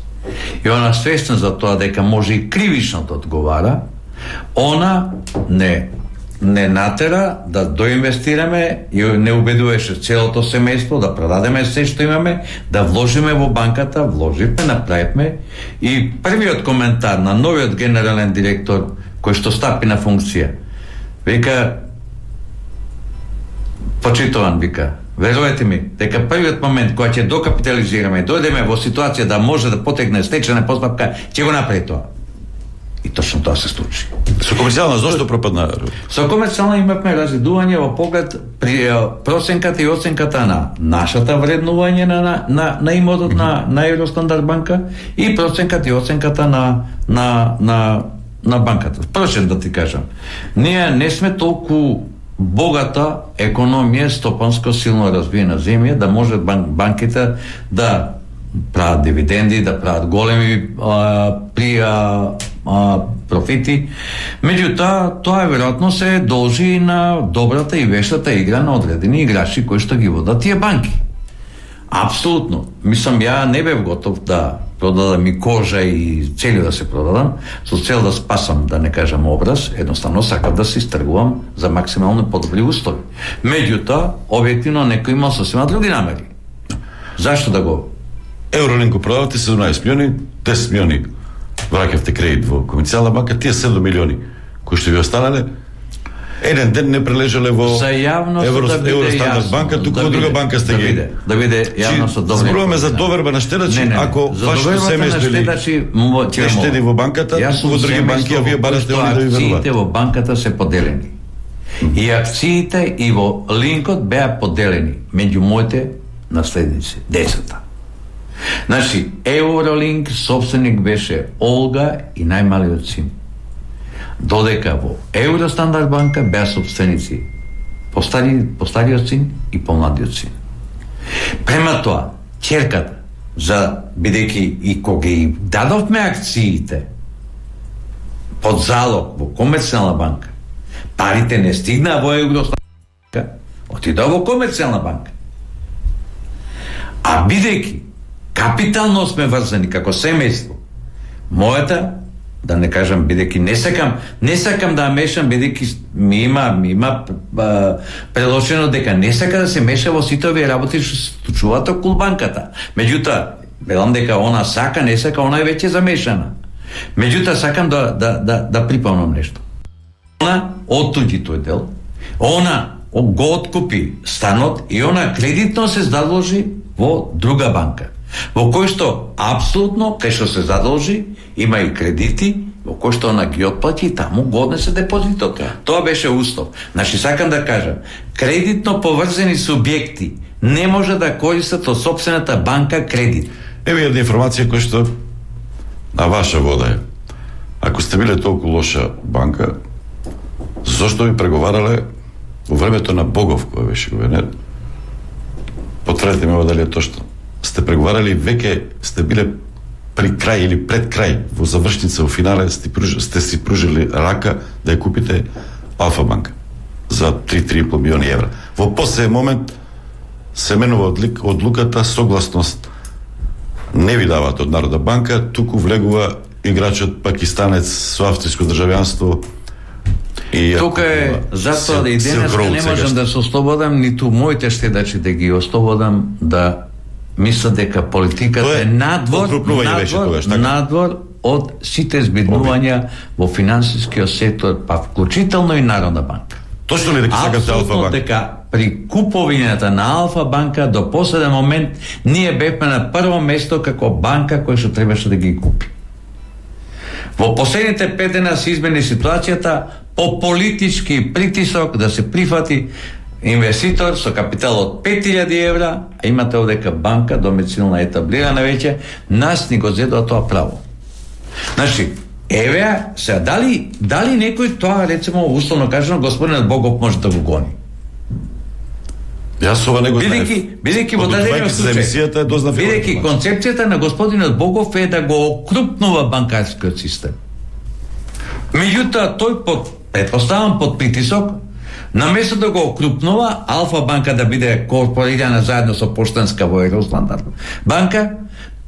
и она свесна за тоа дека може и кривично да одговара, она не не натера да доинвестираме и не убедуваше целото семејство да продадеме се што имаме, да вложиме во банката, вложивме, направивме, и првиот коментар на новиот генерален директор кој што стапи на функција, вика, почитуван, вика, верувате ми, дека првиот момент кога ќе докапитализираме и дојдеме во ситуација да може да потегне стечајна постапка, ќе го направи тоа. И точно тоа се случи. Со Комерцијална зошто пропадна? Со Комерцијална имавме разидување во поглед при проценката и оценката на нашата вреднување на на на имотот на на Евростандард банка и проценката и оценката на на на на банката. Впрочем, да ти кажам, ние не сме толку богата економија, стопанско силно развиена земја, да може бан, банките да прават дивиденди, да прават големи а, при а, а, профити. Меѓутоа, тоа веројатно се должи на добрата и вештата игра на одредени играчи кои што ги водат тие банки. Апсолутно. Мислам, ја не бев готов да продадам и кожа и цели да се продадам, со цел да спасам, да не кажам образ, едноставно сакам да се истргувам за максимално подобри услови. Меѓутоа, објективно некој има сосема други намери. Зашто да го? Евролинк го продавате седумнаесет милиони, десет милиони враќавте кредит во комерцијална банка, тие седум милиони кои што ви останале, еден ден не прележале во Евро, да Евростандард банка, туку во друга банка сте ги. Да биде јавно со добри. Зборуваме за доверба на штедачи, не, не, ако вашето семејство не штеди во банката, туку во други банки, а вие барате они да ви веруваат. Акциите во банката се поделени. И акциите и во линкот беа поделени меѓу моите наследници, децата. Значи, Евролинк собственик беше Олга и најмалиот син. Додека во Евростандард банка беа собственици постари, постариот син и помладиот син. Према тоа, ќерката, за бидејќи и кога ги дадовме акциите под залог во комерцијална банка, парите не стигнаа во Евростандард банка, отидоа во комерцијална банка. А бидејќи капитално сме врзани како семејство, мојата, да не кажам, бидејќи не сакам, не сакам да мешам, бидејќи ми има, ми има а, прелошено дека не сака да се меша во сите овие работи што се случуваат околу банката. Меѓутоа, велам дека она сака, не сака, она е веќе замешана. Меѓутоа, сакам да, да, да, да припомнам нешто. Она оттуѓи тој дел, она го откупи станот и она кредитно се задолжи во друга банка, во кој што апсолутно, кај што се задолжи, има и кредити, во кој што она ги отплати и таму го однесе депозитот. Тоа беше услов. Значи, сакам да кажам, кредитно поврзани субјекти не може да користат од собствената банка кредит. Ева една информација која што на ваша вода е. Ако сте биле толку лоша банка, зошто ви преговарале во времето на Богов, кој беше гувернер? Потврдете ме дали е точно. Сте преговарали, веќе сте биле при крај или пред крај, во завршница, во финале, сте, пруж, сте си пружили рака да ја купите Алфа банка за три до три и пол милиони евра. Во последен момент се менува одлуката, согласност не ви даваат од Народна банка, туку влегува играчот пакистанец со австриско државјанство. И тука е затоа да и денеска не можам да се ослободам, ниту моите штедачи да ги ослободам, да мисля дека политиката е, е надвор, надвор, тогаш, надвор од сите збиднувања во финансискиот сектор, па вклучително и Народна банка. Точно ли дека сакате Алфа банка? Дека при куповината на Алфа банка до последен момент ние бевме на прво место како банка која што требаше да ги купи. Во последните пет дена се измени ситуацијата по политички притисок да се прифати инвеститор со капитал од пет илјади евра, а имате овдека банка домицилна етаблирана веќе, нас ни го зедоа тоа право. Значи, еве, се дали дали некој тоа, рецимо, условно кажано, господинот Богов може да го гони? Јас ова не го знаев. Бидејќи во дадениот случај, бидејќи концепцијата на господинот Богов е да го окрупнува банкарскиот систем. Меѓутоа, тој под, предпоставам под притисок, наместо да го окрупнува, Алфа банка да биде корпорирана заедно со Поштанска во Евростандард банка,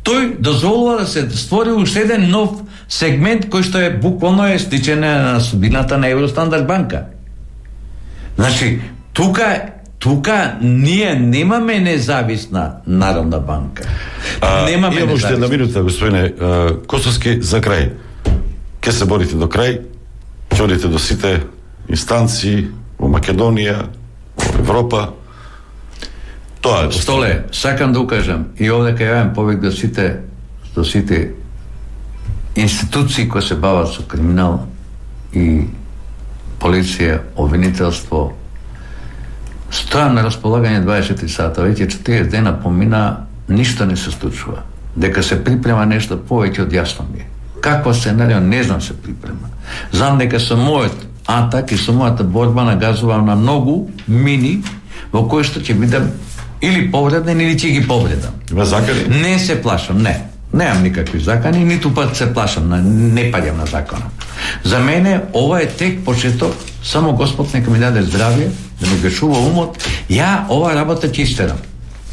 тој дозволува да се створи уште еден нов сегмент кој што е буквално е стичене на судбината на Евростандард банка. Значи, тука тука ние немаме независна Народна банка. А, немаме независна. Имам уште една минута, господине Косовски, за крај. Ке се борите до крај, ќе одите до сите инстанции во Македонија, во Европа. Тоа е. Столе, сакам да укажам и овде кај јавам повик до сите до сите институции кои се бават со криминал и полиција, обвинителство, стојам на располагање дваесет и четири сата, веќе четиридесет дена помина, ништо не се случува. Дека се припрема нешто повеќе од јасно ми е. Каква сценарио, не знам се припрема. Знам дека со мојот атак и со мојата борба нагазувам на многу мини во кои што ќе бидам или повреден или ќе ги повредам. Има закани? Не се плашам, не. Немам никакви закани, ниту пат се плашам, на, не паѓам на закона. За мене ова е тек почеток, само Господ нека ми даде здравје, да ми гашува умот, ја ова работа ќе истерам.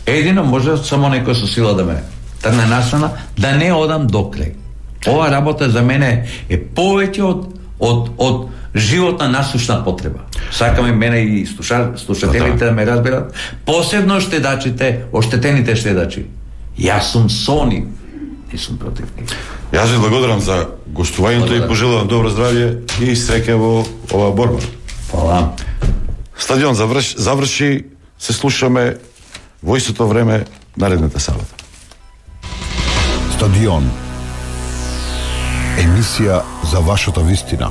Едино може само некој со сила да ме трне настрана, да не одам до крај. Ова работа за мене е повеќе од од од животна насушна потреба. Сакаме мене и слуша, слушателите да ме разберат, посебно штедачите, оштетените штедачи. Јас сум со нив, не сум против нив. Јас ви благодарам за гостувањето и пожелувам добро здравје и среќа во оваа борба. Фала. Стадион заврши, заврши, се слушаме во истото време наредната сабота. Стадион. Емисија за вашата вистина.